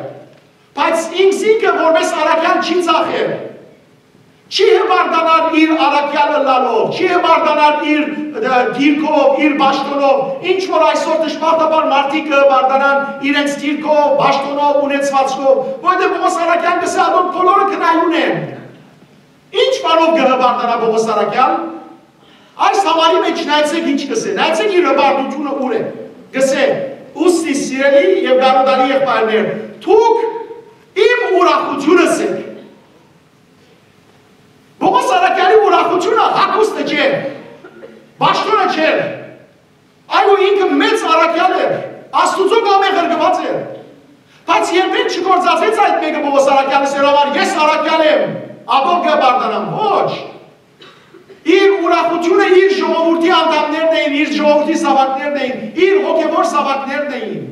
բայց ինքզինք որպէս առաքեալ չի ծախեր, չի հպարտանար իր առաքեալ ըլլալով, չի հպարտանար իր, ը, դիրքով, իր պաշտօնով, ինչ որ այսօր դժբախտաբար մարդիկ կը հպարտանան իրենց դիրքով, պաշտօնով, ունեցուածքով, որովհետեւ Պողոս Առաքեալ կ'ըսէ. «Ատոնք բոլորը գնայուն են»։ Ինչ բանով կը հպարտանայ Պողոս Առաքեալ։ Այս համարի մէջ նայեցէք ինչ կ'ըսէ, նայեցէք իր հպարտութիւնը ուր է։ Կ'ըսէ. «Ուստի, սիրելի եւ կարօտալի եղբայրներ, դուք իմ ուրախութիւնս էք»։ Պողոս Առաքեալի ուրախութիւնը հագուստը չէ, պաշտօնը չէ, այո, ինքը մեծ առաքեալ էր, Աստուծոյ կողմէ ղրկուած էր, բայց երբեք չգործածեց այդ մէկը Պողոս Առաքեալը, սերավար, ես առաքեալ եմ, ատոր կը պարտանամ, ոչ։ Իր ուրախութիւնը իր ժողովրդի անդամներն էին, իր ժողովրդի զաւակներն էին, իր հոգեւոր զաւակներն էին։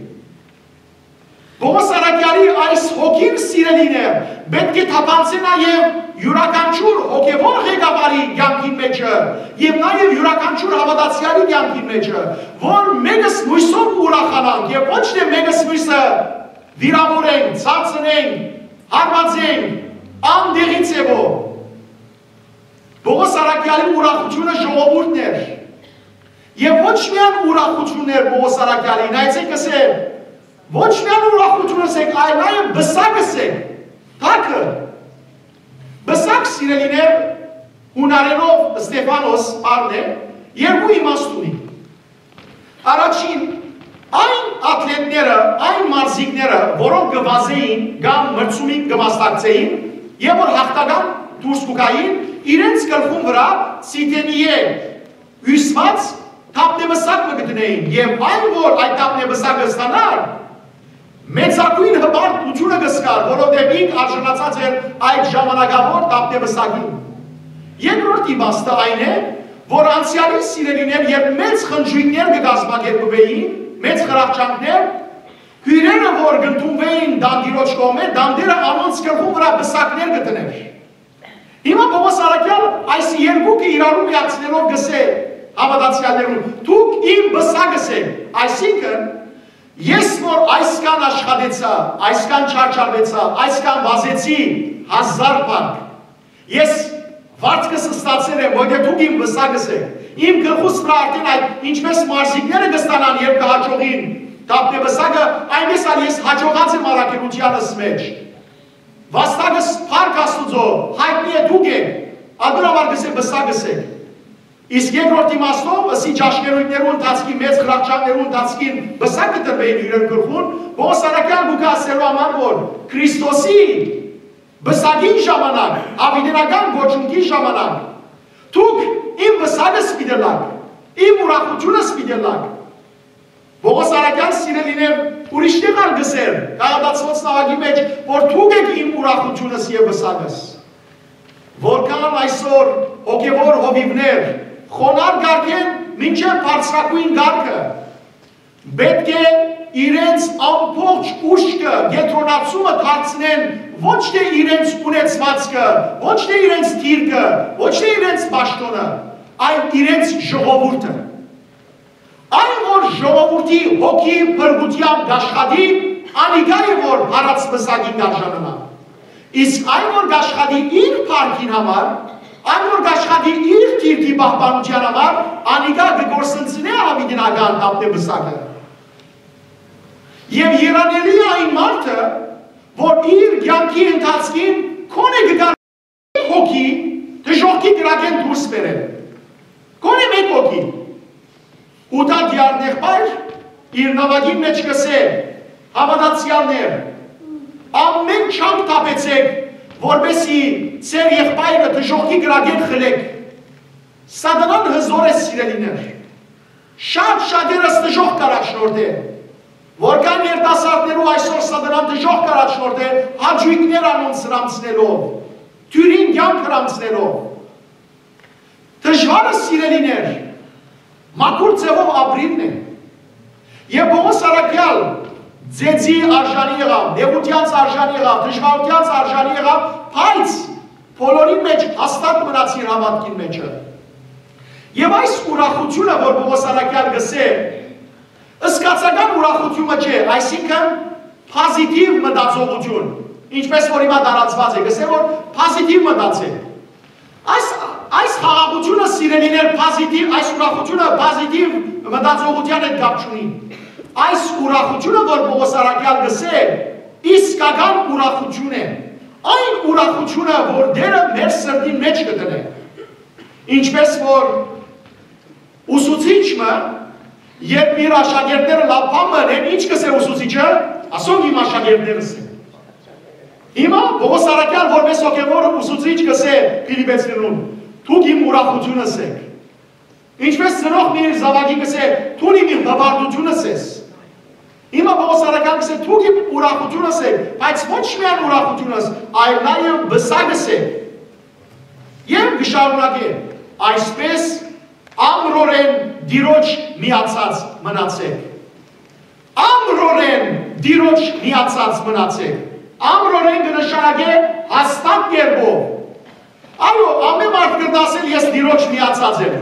Պողոս Առաքեալի այս հոգին, սիրելիներ, պէտք է թափանցի նաեւ իւրաքանչիւր հոգեւոր ղեկավարի կեանքին մէջը եւ նաեւ իւրաքանչիւր հաւատացեալի կեանքին մէջը, որ մեկս մոյսով ուրախանանք եւ ոչ թէ մեկս մոյսը վիրաւորենք, ցածնենք, հարվածենք, անդեղի ձեւով։ Պողոս Առաքեալի ուրախութիւնը ժողովուրդն էր։ Եւ ոչ միայն ուրախութիւնն էր Պողոս Առաքեալի, նայեցեք, կ'ըսէ, ոչ միայն ուրախութիւնս էք, այլ նաեւ պսակս էք, թագը։ Պսակ, սիրելիներ, յունարէնով Ստեֆանոս բառն է, երկու իմաստ ունի։ Առաջին, այն աթլետները, այն մարզիկները, որոնք կը վազէին կամ մրցումին կը մասնակցէին, եւ որ յաղթական դուրս կու գային, իրենց գլխուն վրայ Սիդենիէ հիւսուած թափնեպսակ մը կը դնէին, եւ այն որ այդ թափնեպսակը ստանար, Մեծագոյն հպարտութիւնը կը զգար, որովհետեւ ինք արժանացած էր այդ ժամանակաւոր դափնեպսակին։ Երկրորդ իմաստը այն է, որ անցեալին, սիրելիներ, երբ մեծ խնջոյքներ կը կազմակերպուէին, մեծ խրախճանքներ, հիւրերը որ կ'ընդունուէին տանտիրոջ կողմէ, տանտիրը անոնց գլխուն վրայ պսակներ կը դնէր։ Հիմա Պողոս առաքեալ այս երկուքը իրարու միացնելով կ'ըսէ հաւատացեալներուն. «Դուք իմ պսակս էք», այսինքն՝ ես որ այսքան աշխատեցայ, այսքան չարչարուեցայ, այսքան վազեցի հազար փառք, ես վարձքս ստացեր եմ, որտեղ դուք իմ պսակս էք։ Իմ գլխուս վրայ արդեն այդ, ինչպես մարզիկները կ'ստանան, երբ կը հաջողին դափնեպսակը, այնպես ալ ես հաջողած եմ առաքելութեանս մէջ։ Վաստակս փառք Աստուծոյ, յայտնի է դուք էք, ատոր համար կ'ըսէ պսակս էք։ Իսկ երկրորդ իմաստով, ըսի ճաշկերոյթներու ընթացքին, մեծ խրախճանքներու ընթացքին պսակը տրուէին իրեն գլխուն, Պողոս առաքեալ կու գայ ասելու համար, որ Քրիստոսի պսակին ժամանակ, յաւիտենական կոչունքի ժամանակ, դուք իմ պսակս պիտի լաք, իմ ուրախութիւնս պիտի լաք։ Պողոս առաքեալ, սիրելիներ, ուրիշ տեղ ալ կ'ըսէր, Գաղատացիներուն նամակի մէջ, որ դուք էք իմ ուրախութիւնս եւ պսակս։ Որքան այսօր հոգեվոր հովիւներ խոնար կարգէն մինչեւ բարձրագոյն կարգը պէտք է իրենց ամբողջ ուշքը, կեդրոնացումը դարձնեն ոչ թէ իրենց ունեցուածքը, ոչ թէ իրենց դիրքը, ոչ թէ իրենց պաշտօնը, այլ իրենց ժողովուրդը։ Այն որ ժողովուրդի հոգի փրկութեան կ'աշխատի, անիկա է որ փառաց պսակին կ'արժանանայ։ Իսկ այն որ կ'աշխատի իր փառքին համար, այն որ կ'աշխատի իր դիրքի պահպանութեան համար, անիկա կը կորսնցնէ յաւիտենական դափնեպսակը։ Եւ երանելի է այն մարդը, որ իր կեանքի ընթացքին քոնէ կը գար հոգի դժոխքի կրակէն դուրս բերել։ Քոնէ մէկ հոգի։ Յուդա դիարն եղբայր իր նամակին մէջ կ'ըսէ. «Հաւատացեալներ, ամէն չափ թափեցէք, որպէսզի ձեր եղբայրը դժոխքի կրակէն խլէք»։ Սատանան հզօր է, սիրելիներ։ Շատ շատերս դժոխք կ'առաջնորդէ։ Որքան երիտասարդներու այսօր սատանան դժոխք կ'առաջնորդէ, հաճոյքներ անոնց հրամցնելով, դիւրին կեանք հրամցնելով։ Դժուարը, սիրելիներ, մաքուր ձեւով ապրիլն է։ Եւ Պողոս առաքեալ ձեզի արժանի եղաւ, նեղութեանց արժանի եղաւ, դժուարութեանց արժանի եղաւ, բայց բոլորին մէջ հաստատ մնաց իր հաւատքին մէջը։ Եւ այս ուրախութիւնը, որ Պողոս առաքեալ կ'ըսէ, զգացական ուրախութիւնը չէ, այսինքն՝ պոզիտիվ մտածողութիւն, ինչպես որ հիմա տարածուած է, կ'ըսէ, որ պոզիտիվ մտածել։ Այս, այս խաղաղութիւնը, սիրելիներ, պոզիտիվ, այս ուրախութիւնը պոզիտիվ մտածողութեան հետ կապ չունի։ Այս ուրախութիւնը, որ Պողոս առաքեալ կ'ըսէ, իսկական ուրախութիւն է։ Այն ուրախութիւնը, որ Տէրը մեր սրտին մէջ կը դնէ։ Ինչպես որ ուսուցիչ մը, երբ իր աշակերտները լաւ բան մը ընեն, ինչ կ'ըսէ ուսուցիչը, ասոնք իմ աշակերտներս են։ Հիմա Պողոս առաքեալ որպես հոգեվոր ուսուցիչ կ'ըսէ Փիլիպեցիներուն. «Դուք իմ ուրախութիւնս էք»։ Ինչպես ծնող մը իր զաւակին կ'ըսէ. «Դուն իմ հպարտութիւնս ես»։ Հիմա Պողոս առաքեալ կ'ըսէ. «Դուք իմ ուրախութիւնս էք», բայց ոչ միայն ուրախութիւնս, այլ նաեւ պսակս էք։ Եւ կը շարունակէ. «Այսպես ամրորեն Տիրոջ միացած մնացէք»։ Ամրորեն Տիրոջ միացած մնացէք։ Ամրորեն կը նշանակէ հաստատ կերպով։ Այո, ամէն մարդ կը դասել. «Ես Տիրոջ միացած եմ»։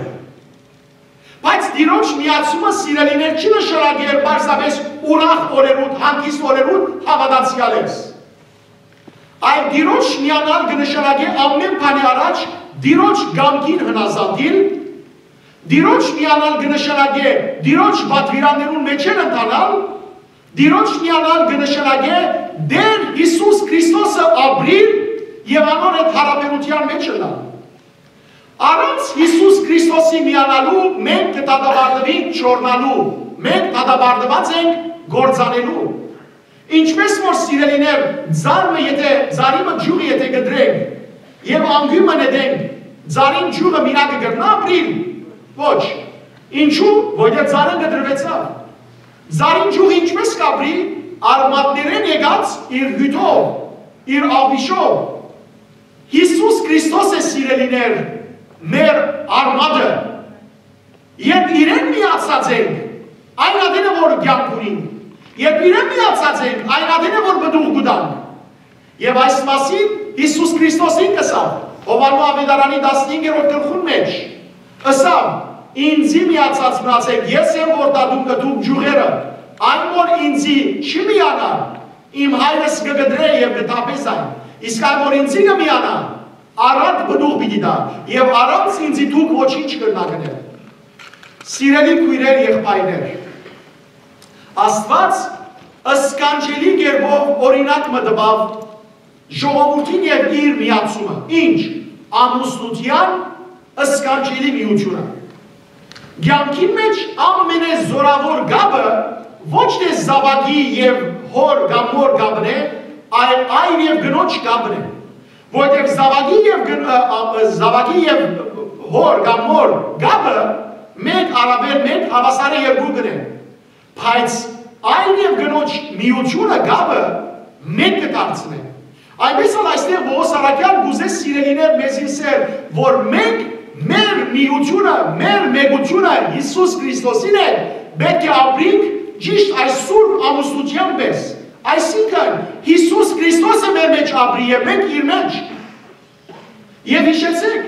Բայց Տիրոջ միացումը, սիրելիներ, չի նշանակեր պարզապէս ուրախ օրերուդ, հանգիստ օրերուդ հաւատացեալ ես։ Այլ Տիրոջ միանալ կը նշանակէ ամէն բանի առաջ Տիրոջ կամքին հնազանդիլ, Տիրոջ միանալ կը նշանակէ Տիրոջ պատուիրաններուն մէջէն ընթանալ, Տիրոջ միանալ կը նշանակէ Տէր Յիսուս Քրիստոսը ապրիլ եւ անոր հետ յարաբերութեան մէջ ըլլալ։ Առանց Յիսուս Քրիստոսի միանալու մենք կը դատապարտուենք չորնալու, մենք դատապարտուած ենք կործանելու։ Ինչպես որ, սիրելիներ, ծառ մը, եթե, ծառի մը ճիւղը եթե կտրենք եւ անկոյն մը նետենք, ծառին ճիւղը մինակը կրնա՞ ապրիլ։ Ոչ։ Ինչու՞, որտեղ ծառը կտրուեցաւ։ Ծառին ճիւղը ինչպես կ'ապրի, Արմատներէն եկած իր հիւթով, իր աղբիշով։ Յիսուս Քրիստոս է, սիրելիներ, մեր արմատը։ Երբ իրեն միացած ենք, այն ատեն է, որ կեանք ունին։ Երբ իրեն միացած ենք, այն ատեն է, որ պտուղ կու տանք։ Եւ այս մասին Յիսուս Քրիստոսին կ'ըսաւ, Յովհաննէս աւետարանի տասնհինգերորդ գլխուն մէջ, ըսաւ. «Ինծի միացած մնացէք, ես եմ որդատունկը, դուք ճիւղերը։ Այն որ ինծի չի միանար, իմ Հայրս կը կտրէ եւ կը թափէ զայն։ Իսկ այն որ ինծի կը միանայ, առատ պտուղ պիտի տայ, եւ առանց ինծի դուք ոչինչ կրնաք ընել»։ Սիրելի քոյրեր, եղբայրներ, Աստուած սքանչելի կերպով օրինակ մը տուաւ ժողովուրդին եւ իր միացումը։ Ինչ, ամուսնութեան սքանչելի միութիւնը։ Կեանքին մէջ ամենեզօրաւոր կապը ոչ թէ զաւակի եւ հօր կամ մօր կապն է, այլ այր եւ կնոջ կապն է։ Որտեւ զաւակի եւ կն-, ը, ը, զաւակի եւ հօր կամ մօր կապը մէկ առաւել մէկ հաւասարը երկու կ'ընէ։ Բայց այր եւ կնոջ միութիւնը, կապը մէկ կը դարձնէ։ Այնպէս ալ այստեղ Պողոս առաքեալ կ'ուզէ, սիրելիներ, մեզի ըսել, որ մենք մեր միութիւնը, մեր մէկութիւնը Յիսուս Քրիստոսին հետ պէտք է ապրինք ճիշդ այս սուրբ ամուսնութեան պէս։ Այսինքն, Յիսուս Քրիստոսը մեր մէջ ապրի եւ մենք իր մէջ։ Եւ յիշեցէք,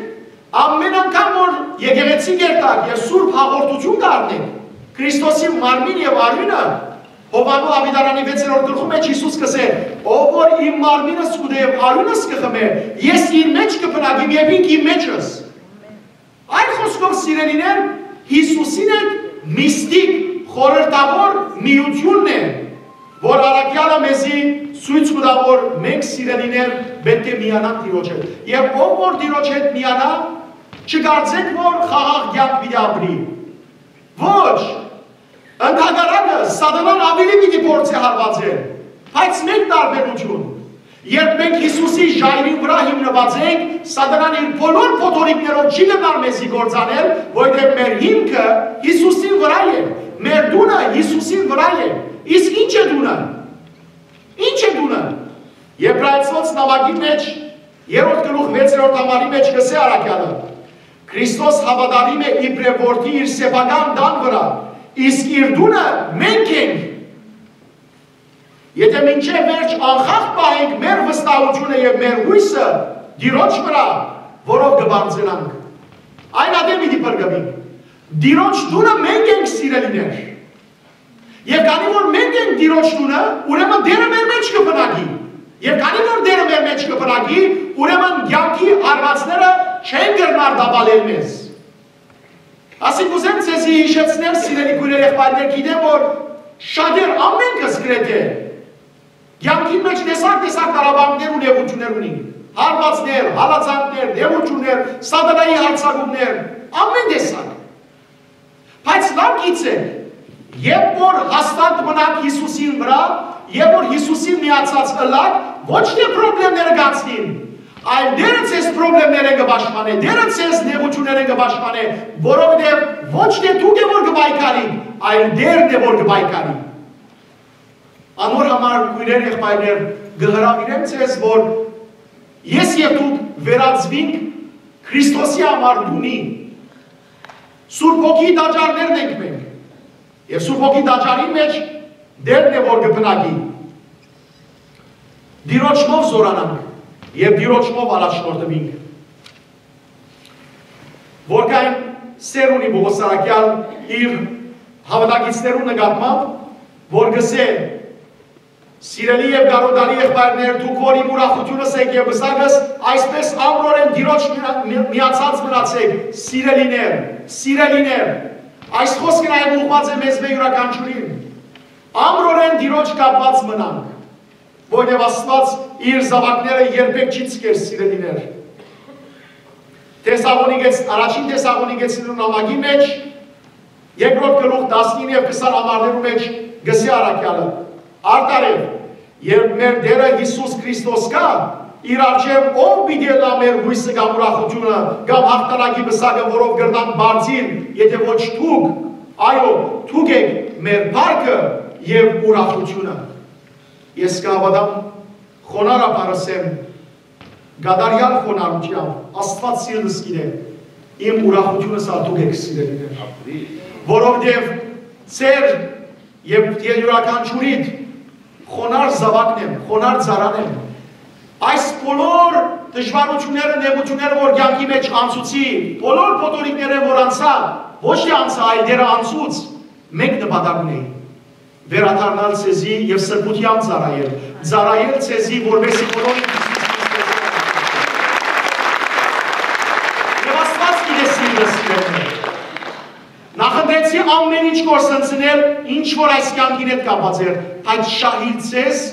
ամէն անգամ որ եկեղեցի կ'երթաք եւ սուրբ հաղորդութիւն կ'առնէք, Քրիստոսի մարմին եւ արիւնը, Յովհաննէս աւետարանի վեցերորդ գլխու մէջ Յիսուս կ'ըսէ. «Ով որ իմ մարմինս կ'ուտէ եւ արիւնս կը խմէ, ես իր մէջ կը բնակեմ եւ ինք իմ մէջս»։ Այլ խօսքով, սիրելիներ, Յիսուսին հետ միստիկ, խորհրդաւոր միութիւնն է, որ առաքեալը մեզի ցոյց կու տայ, որ մենք, սիրելիներ, պէտք է միանանք Տիրոջ հետ։ Եւ ով որ Տիրոջ հետ միանայ, չկարծէք, որ խաղաղ կեանք պիտի ապրի։ Ոչ, ընդհակառակը, սատանան աւելի պիտի փորձէ հարուածել, բայց մէկ տարբերութիւն. երբ մենք Յիսուսի ժայռին վրայ հիմնուած ենք, սատանան իր բոլոր փոթորիկներով չի կրնար մեզի կործանել, որովհետեւ մեր հիմքը Յիսուսին վրայ է, մեր տունը Յիսուսին վրայ է։ Իսկ ի՞նչ է տունը։ Ի՞նչ է տունը։ Եբրայեցիներուն նամակի մէջ, երրորդ գլուխ, վեցերորդ համարի մէջ կ'ըսէ առաքեալը. «Քրիստոս հաւատարիմ է իբրեւ որդի իր սեփական տան վրայ, իսկ իր տունը մենք ենք։ Եթէ մինչեւ վերջ անխախտ պահենք մեր վստահութիւնը եւ մեր յոյսը Տիրոջ վրայ, որով կը պարծենանք, այն ատեն պիտի փրկուինք»։ Տիրոջ տունը մենք ենք, սիրելիներ։ Եւ քանի որ մենք ենք Տիրոջ տունը, ուրեմն Տէրը մեր մէջ կը բնակի։ Եւ քանի որ Տէրը մեր մէջ կը բնակի, ուրեմն կեանքի հարուածները չեն կրնար տապալել մեզ։ Ասիկա, կ'ուզեմ ձեզի յիշեցնել, սիրելի քոյրեր, եղբայրներ, գիտեմ, որ շատեր, ամենքս գրեթէ, կեանքին մէջ տեսակ-տեսակ տառապանքներ ու նեղութիւններ ունին։ Հարվածներ, հալածանքներ, նեղութիւններ, սատանայի յարձակումներ, ամեն տեսակ։ Բայց լաւ գիտցէք, երբ որ հաստատ մնաք Յիսուսին վրայ, երբ որ Յիսուսին միացած ըլլաք, ոչ թէ պրոբլեմները կ'անցնին, այլ Տէրը ձեզ պրոբլեմներէն կը պաշտպանէ, Տէրը ձեզ նեղութիւններէն կը պաշտպանէ, որովհետեւ ոչ թէ դուք է որ կը պայքարիք, այլ Տէրն է որ կը պայքարի։ Անոր համար, քոյրեր, եղբայրներ, կը հրաւիրեմ ձեզ, որ ես եւ դուք վերածուինք Քրիստոսի համար տունի։ Սուրբ Հոգիի տաճարներն ենք մենք։ Եւ Սուրբ Հոգի տաճարին մէջ Տէրն է որ կը բնակի։ Տիրոջմով զօրանանք եւ Տիրոջմով առաջնորդուինք։ Որքան սէր ունի Պողոս առաքեալ իր հաւատակիցներուն նկատմամբ, որ կ'ըսէ. «Սիրելի եւ կարօտալի եղբայրներ, դուք որ իմ ուրախութիւնս եք եւ պսակս, այսպէս ամրորեն Տիրոջ միա-, մի-, միացած մնացէք, սիրելիներ, սիրելիներ»։ Այս խօսքը նաեւ ուղղուած է մեզմէ յուրաքանչիւրին։ Ամրորեն Տիրոջ կապուած մնանք, որովհետեւ Աստուած իր զաւակները երբեք չի ցկեր, սիրելիներ։ Թեսաղոնիկեց-, առաջին Թեսաղոնիկեցիներուն նամակի մէջ, երկրորդ գլուխ, տասնինը եւ քսան համարներու մէջ կ'ըսէ առաքեալը. «Արդարեւ, երբ մեր Տէրը Յիսուս Քրիստոս գայ, իր առջեւ ո՞վ պիտի ըլլայ մեր յոյսը կամ ուրախութիւնը կամ յաղթանակի պսակը, որով կրնանք պարծիլ, եթէ ոչ դուք, այո, դուք էք մեր փառքը եւ ուրախութիւնը»։ Ես կհաւատամ, խոնարհաբար ըսեմ, կատարեալ խոնարհութեամբ, Աստուած սիրտս գիտէ, իմ ուրախութիւնս ալ դուք էք, սիրելիներ։ Որովհետեւ ձեր եւ, եւ իւրաքանչիւրիդ խոնարհ զաւակն եմ, խոնարհ ծառան եմ։ Այս բոլոր դժուարութիւնները, նեղութիւնները, որ կեանքի մէջ անցուցի, բոլոր փոթորիկները, որ անցայ, ոչ թէ անցայ, այլ դեռ անցուց, մէկ նպատակ ունէի. վերադառնալ ձեզի եւ սրբութեամբ ծառայել, ծառայել ձեզի, որպէս զի բոլորը Հիսուս Քրիստոսի։ Եւ Աստուած գիտէ, սիրելիներ։ Նախընտրեցի ամէն ինչ կորսնցնել, ինչ որ այս կեանքին հետ կապած էր, բայց շահիլ ձեզ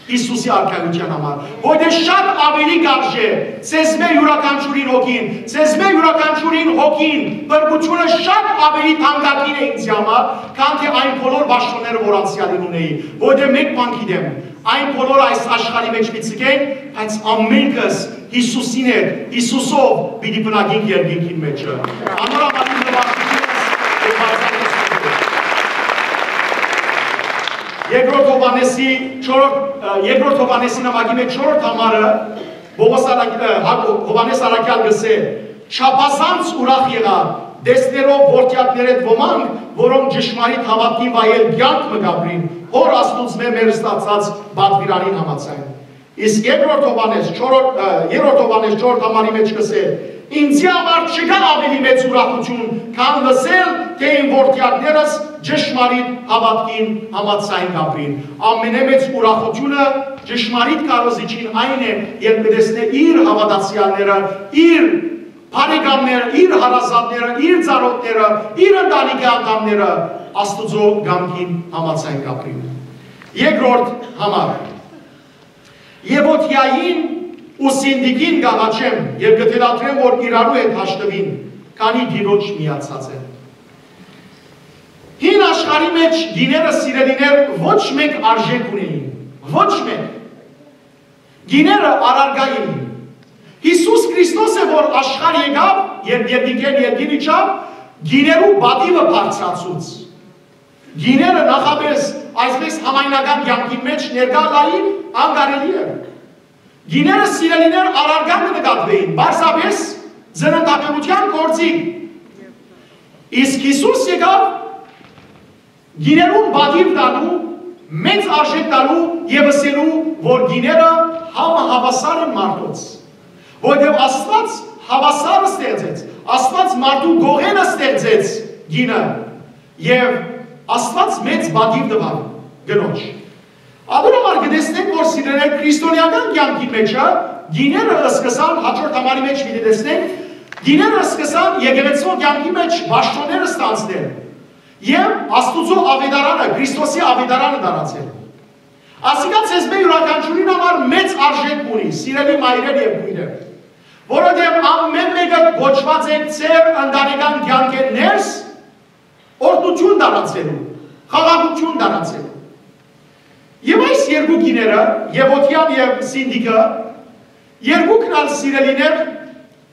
Հիսուսի արքայութեան համար, որտեղ շատ աւելի կ'արժէ ձեզմէ իւրաքանչիւրին հոգին, ձեզմէ իւրաքանչիւրին հոգին, բրբութիւնը շատ աւելի թանկագին է ինձի համար, քան թէ այն բոլոր պաշտօնները, որ անցեալին ունէի, որտեղ մէկ բան գիտեմ, այն բոլոր այս աշխարհի մէջ պիտի ցկեն, բայց ամէնքս Հիսուսին հետ, Հիսուսով պիտի բնակենք երկինքին մէջը։ Անոր համար իմ նվազութիւնս եւ բարձրացումը։ Երկրորդ Յովհաննեսի չորրորդ, ը, երկրորդ Յովհաննեսի նամակի մեջ չորրորդ համարը, Պողոս Արագ-, ը, Հա-, Յովհաննես Առաքեալ կ'ըսէ. «Չափազանց ուրախ եղայ, տեսնելով որդեակներէդ ոմանք, որոնք ճշմարիտ հաւատքին վայել կեանք մը կ'ապրին, Հօր Աստուծմէ մեր ստացած պատուիրանին համաձայն»։ Իսկ երկրորդ Յովհաննես չորրորդ, ը, երրորդ Յովհաննես չորրորդ համարի մեջ կ'ըսէ. «Ինձի համար չկայ աւելի մեծ ուրախութիւն, քան լսել, թէ իմ որդեակներս ճշմարիտ հաւատքին համաձայն կ'ապրին»։ Ամենամեծ ուրախութիւնը ճշմարիտ քարոզիչին այն է, երբ կը տեսնէ իր հաւատացեալները, իր բարեկամները, իր հարազատները, իր ծանօթները, իր ընտանիքի անդամները Աստուծոյ կամքին համաձայն կ'ապրին։ Երկրորդ համար. «Եւոդիային ու Սինտիքին կ'աղաչեմ եւ կը թելադրեմ, որ իրարու հետ հաշտուին, քանի Տիրոջ միացած են»։ Հին աշխարհի մեջ կիները, սիրելիներ, ոչ մէկ արժէք ունէին, ոչ մէկ։ Կիները առարկայ էին։ Հիսուս Քրիստոս է, որ աշխարհ եկաւ, երբ երկնքէն երկիր իջաւ, կիներու պատիւը բարձրացուց։ Կիները նախապէս այսպես համայնական կեանքին մեջ ներկայ ըլլային անկարելի էր։ Կիները, սիրելիներ, առարկայ կը նկատուէին, պարզապէս ծննդաբերութեան գործիք։ Իսկ Հիսուս եկաւ կիներուն պատիւ տալու, մեծ արժէք տալու եւ ըսելու, որ կիները համահաւասար են մարդոց, որովհետեւ Աստուած հաւասարը ստեղծեց, Աստուած մարդու կողենը ստեղծեց կինը, եւ Աստուած մեծ պատիւ տուաւ կնոջ։ Անոր համար կը տեսնենք, որ, սիրելիներ, քրիստոնեական կեանքի մէջը կիները սկսան, հաջորդ համարի մեջ պիտի տեսնենք, կիները սկսան եկեղեցւոյ կեանքի մեջ պաշտօնները ստանձնել եւ Աստուծոյ աւետարանը, Քրիստոսի աւետարանը տարածել։ Ասիկա ձեզմէ իւրաքանչիւրին համար մեծ արժէք ունի, սիրելի մայրեր եւ քոյրեր, որովհետեւ ամէն մէկը կոչուած եք ձեր ընտանեկան կեանքէն ներս օրհնութիւն տարածելու, խաղաղութիւն տարածելու։ Եւ այս երկու կիները, Եւոդիան եւ Սինտիքը, երկուքն ալ, սիրելիներ,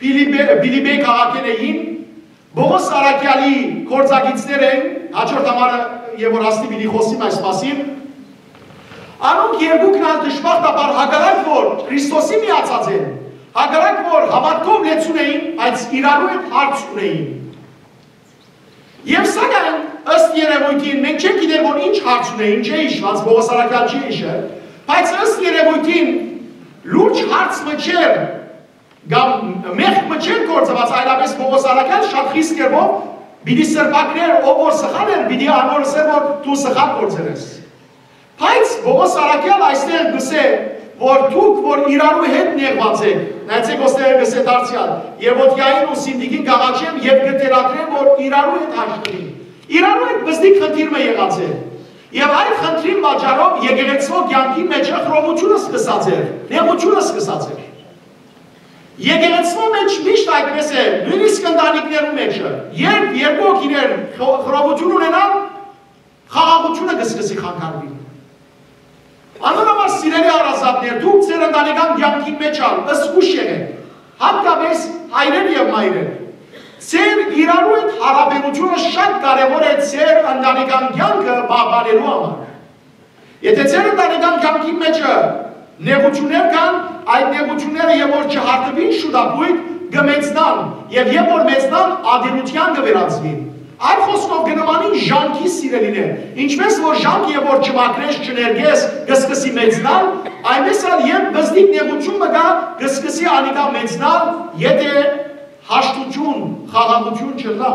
Փիլիպպե-, Փիլիպպեի քաղաքէն էին, Պողոս առաքեալի գործակիցներ են, հաջորդ համարը եւ որ հաստի պիտի խօսիմ այս մասին։ Անոնք երկուքն ալ դժբախտաբար, հակառակ որ Քրիստոսի միացած են, հակառակ որ հաւատքով լեցուն էին, բայց իրարու հետ հարց ունեին։ Եւ սակայն, ըստ երեւոյթին, մենք չենք գիտեր, որ ինչ հարց ունեին, չէ յիշուած, Պողոս առաքեալ չի յիշեր, բայց ըստ երեւոյթին լուրջ հարց մը չէր, կամ մեղք մը չէր գործուած, այլապես Պողոս առաքեալ շատ խիստ կերպով պիտի սրբագրեր, ով որ սխալ էր, պիտի անոր ըսէր, որ դու սխալ գործեր ես։ Բայց Պողոս առաքեալ այստեղ կ'ըսէ, որ դուք որ իրարու հետ նեղուած եք, նայեցեք, ոստեղ կ'ըսէ դարձեալ, Եվոդիային ու Սինտիքին կ'աղաչեմ եւ կը թելադրեմ, որ իրարու հետ հաշտուին։ Իրարու հետ բզդիկ խնդիր մը եղած է։ Եւ այդ խնդրին պատճառով եկեղեցւոյ կեանքի մեջ խռովութիւնը սկսած էր, նեղութիւնը սկսած էր։ Եկեղեցւոյ մեջ միշտ այդպես է, նոյնիսկ ընտանիքներու մեջ, երբ երկու հոգիներ խո-, խռովութիւն ունենան, խաղաղութիւնը կը սկսի խանգարուիլ։ Անոր համար, սիրելի հարազատներ, դուք ձեր ընտանեկան կեանքին մեջ ալ զգուշ եղէք, հատկապես հայրեր եւ մայրեր։ Ձեր իրարու հետ յարաբերութիւնը շատ կարեւոր է ձեր ընտանեկան կեանքը պահպանելու համար։ Եթէ ձեր ընտանեկան կեանքին մէջ նեղութիւններ կան, այդ նեղութիւնները, երբ որ չհարթուին շուտապոյտ, կը մեծնան, եւ երբ որ մեծնան, ատելութեան կը վերածուին։ Այլ խօսքով, կը նմանին ժանքի, սիրելիներ։ Ինչպէս որ ժանքը, երբ որ չմաքրես, չներկես, կը սկսի մեծնալ, այնպէս ալ երբ բզդիկ նեղութիւն մը կայ, կը սկսի անիկա մեծնալ, եթէ հաշտութիւն, խաղաղութիւն չըլլայ։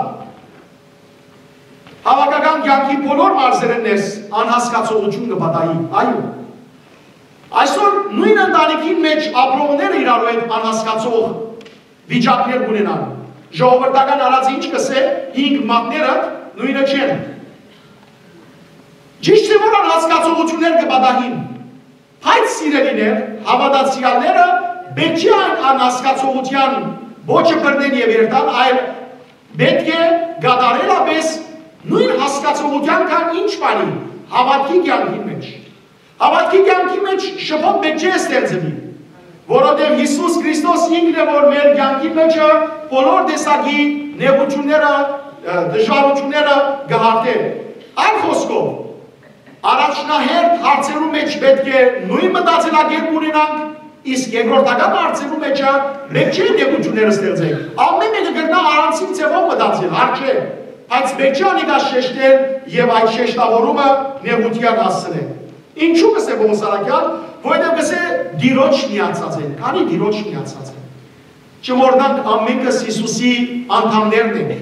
Հաւաքական կեանքի բոլոր մարզերէն ներս անհասկացողութիւն կը պատահի։ Այո։ Այսօր նոյն ընտանիքին մէջ ապրողները իրարու հետ անհասկացող վիճակներ կ'ունենան։ Ժողովրդական արածը ինչ կ'ըսէ, հինգ մատները նոյնը չեն։ Ճիշդ է, որ անհասկացողութիւններ կը պատահին, բայց, սիրելիներ, հաւատացեալները պէտք չէ այն անհասկացողութեան պոչը բռնեն եւ երթան, այլ պէտք է կատարելապէս նոյն հասկացողութեան գան ինչ բանի, հաւատքի կեանքին մէջ։ Հաւատքի կեանքի մէջ շփոթ պէտք չէ ստեղծուի, որովհետեւ Յիսուս Քրիստոս ինքն է, որ մեր կեանքի մէջը բոլոր տեսակի նեղութիւնները, ը, դժուարութիւնները կը հարթէ։ Այլ խօսքով, առաջնահերթ հարցերու մէջ պէտք է նոյն մտածելակերպ ունենանք, իսկ երկրորդական հարցերու մէջը պէտք չէ նեղութիւններ ստեղծենք։ Ամէն մէկը կրնայ առանձին ձեւով մտածել, հարկ չէ, բայց պէտք չէ անիկա շեշտել եւ այդ շեշտաւորումը նեղութեան հասցնել։ Ինչու՞ կ'ըսէ Պողոս առաքեալ, որովհետեւ կ'ըսէ՝ Տիրոջ միացած են, քանի Տիրոջ միացած են։ Չմոռնանք, ամէնքս Յիսուսի անդամներն ենք։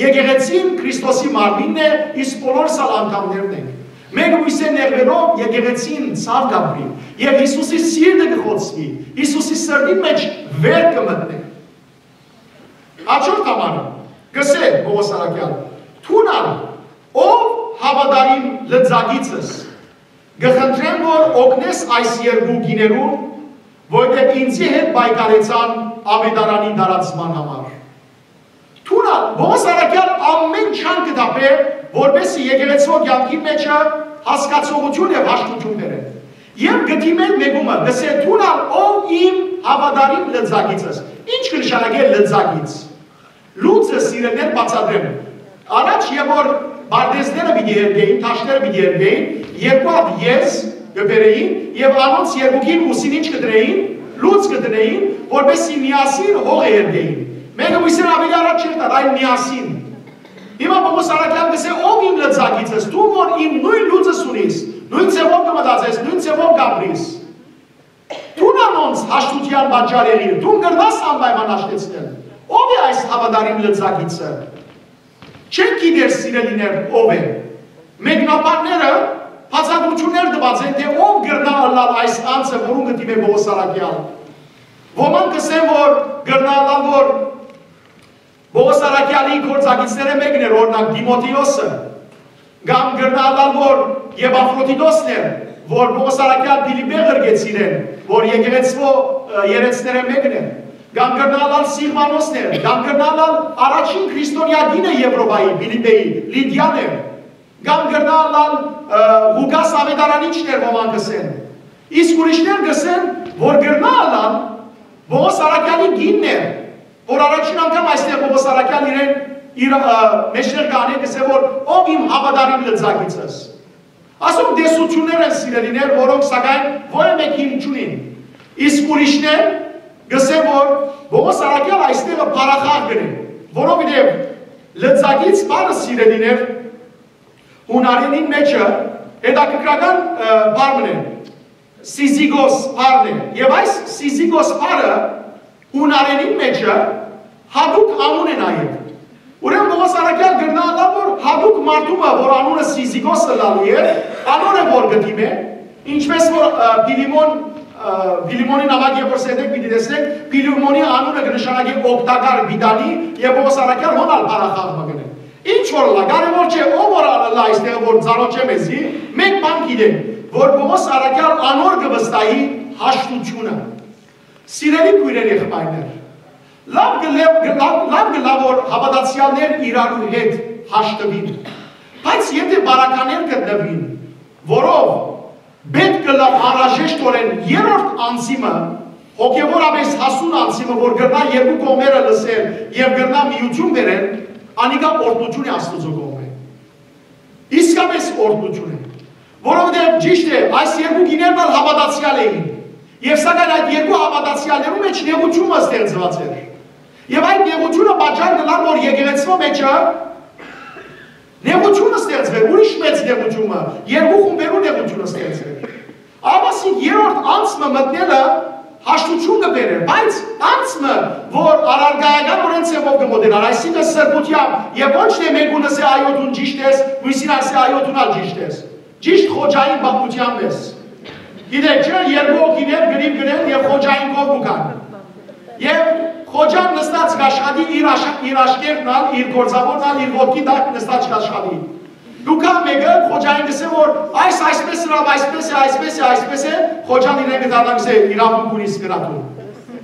Եկեղեցին Քրիստոսի մարմինն է, իսկ բոլորս ալ անդամներն ենք։ Մէկ բոյսէ նեղուելով եկեղեցին ցաւ կ'ապրի, եւ Յիսուսի սիրտը կը խոցուի, Յիսուսի սրտին մէջ վեր կը մտնէ։ Հաջորդ համարը, կ'ըսէ Պողոս առաքեալ, դուն ալ, ով հաւատարիմ լծակիցս, կը խնդրեմ, որ օգնես այս երկու կիներուն, որտեղ ինձի հետ պայքարեցան աւետարանի տարածման համար։ Դուն ալ, Պողոս առաքեալ ամէն ջանքը կը թափէ, որպեսզի եկեղեցւոյ կեանքին մէջը հասկացողութիւն եւ հաշտութիւն բերէ։ Եւ կը դիմէ մեկումը, կ'ըսէ, դուն ալ, ով իմ հաւատարիմ լծակիցս։ Ինչ կը նշանակէ լծակից։ Լուծը, սիրելիներ, բացատրեմ։ Առաջ, երբ որ պարտէզները պիտի երգէին, թաշները պիտի երգէին, երկու հատ եզ կը բերէին եւ անոնց երկուքին ուսին ինչ կը դնէին, լուծ կը դնէին, որպեսզի միասին հողը երգէին։ Մէկը մյուսին աւելի առաջ չէր տար, այլ միասին։ Հիմա Պողոս առաքեալ կ'ըսէ, ով իմ լծակիցս, դուն որ իմ նոյն լուծս ունիս, նոյն ձեւով կը մտածես, նոյն ձեւով կ'ապրիս։ Դուն անոնց հաշտութեան պատճառ եղիր, դուն կրնաս անպայման հաշտեցնել։ Ո՞վ է այս հաւատարիմ լծակիցը։ Չենք գիտեր, սիրելիներ, ով է։ Մեկնաբանները բացատրութիւններ տուած են, թէ ով կրնայ ըլլալ այս անձը, որուն կը դիմէ Պողոս առաքեալ։ Ոմանք կ'ըսեն, որ կրնայ ըլլալ, որ Պողոս առաքեալի գործակիցներէն մէկն էր, օրինակ, Տիմոթէոսը, կամ կրնայ ըլլալ, որ Եպաֆրոդիտոսն էր, որ Պողոս առաքեալ Փիլիպպէ ղրկեց իրեն, որ եկեղեցւոյ, ը, երեցներէն մէկն էր, կամ կրնայ ըլլալ Սիլվանոսն էր, կամ կրնայ ըլլալ առաջին քրիստոնեայ կինը Եվրոպայի, Փիլիպպէի, Լիդիան էր, կամ կրնայ ըլլալ, ը, Ղուկաս Աւետարանիչն էր, ոմանք կ'ըսեն։ Իսկ ուրիշներ կ'ըսեն, որ կրնայ ըլլալ Պողոս առաքեալի կինն էր, որ առաջին անգամ այստեղ Պողոս առաքեալ իրեն, իր, ը, մեջտեղ կ'անէ, կ'ըսէ, որ ով իմ հաւատարիմ լծակիցս։ Ասոնք տեսութիւններ են, սիրելիներ, որոնք, սակայն, որեւէ մէկ հիմք չունին։ Իսկ ուրիշներ կ'ըսեն, որ Պողոս առաքեալ այստեղը փառախաղ կ'ընէ, որովհետեւ լծակից բառը, սիրելիներ, յունարենին մէջը հետաքրքրական, ը, բառ մըն է, Սիզիգոս բառն է։ Եւ այս Սիզիգոս բառը յունարենին մէջը յատուկ անուն է նաեւ։ Ուրեմն Պողոս առաքեալ կրնայ ըլլալ, որ յատուկ մարդու մը, որ անունը Սիզիգոս ըլլալու է, անոր է որ կը դիմէ, ինչպես որ, ը, Փիլիմոն, ը, Փիլիմոնի նամակ, երբ որ սերտեք պիտի տեսնեք, Փիլիմոնի անունը կը նշանակի օգտակար, պիտանի, եւ Պողոս առաքեալ հոն ալ փառախաղ մը կ'ընէ։ Ինչ որ ըլլայ, կարեւոր չէ, ով որ ալ ըլլայ այստեղ, որ ծանոթ չէ մեզի, մէկ բան գիտենք, որ Պողոս առաքեալ անոր կը վստահի հաշտութիւնը։ Սիրելի քոյրեր, եղբայրներ, լաւ կը լեւ-, կը լաւ, լաւ կը լաւ որ հաւատացեալներ իրարու հետ հաշտուին, բայց եթէ պարագաներ գտնուին, որով պէտք կը լաւ անհրաժեշտօրէն երրորդ անձի մը, հոգեւորապէս հասուն անձի մը, որ կրնայ երկու կողմերը լսել եւ կրնայ միութիւն բերել, անիկա օրհնութիւն է Աստուծոյ կողմէ։ Իսկապէս օրհնութիւն է։ Որովհետեւ ճիշդ է, այս երկու կիներն ալ հաւատացեալ էին։ Եւ սակայն այդ երկու հաւատացեալներու մէջ նեղութիւնը ստեղծուած էր։ Եւ այդ նեղութիւնը պատճառ կ'ըլլար, որ եկեղեցւոյ մէջը նեղութիւնը ստեղծուեր, ուրիշ մեծ նեղութիւնը, երկու խումբերու նեղութիւնը ստեղծուեր։ Աբասիկ երրորդ անձը մտնելը հաշտութիւն կը բերէր, բայց անձը, որ առարկայականօրէն ձեւով կը մօտենար, այսինքն սրբութեամբ, եւ ոչ թէ մէկուն ըսէ այո դուն ճիշդ ես, մյուսին ասէ այո դուն ալ ճիշդ ես։ Ճիշդ Խոջային պատմութեան պես։ Գիտեք չէ, երկու հոգիներ գրիվ գրեն եւ Խոջային կողմ կու գան։ Եւ Խոջան նստած կ'աշխատի իր աշ-, իր աշկերտն ալ, իր գործաւորն ալ, իր ոտքի տակ նստած կ'աշխատի։ Դուք ա մէկը Խոջային կ'ըսէ, որ այս այսպես ըրաւ, այսպես է, այսպես է, այսպես է, Խոջան իրեն կը դառնայ, կ'ըսէ, իրավունք ունիս կրատու։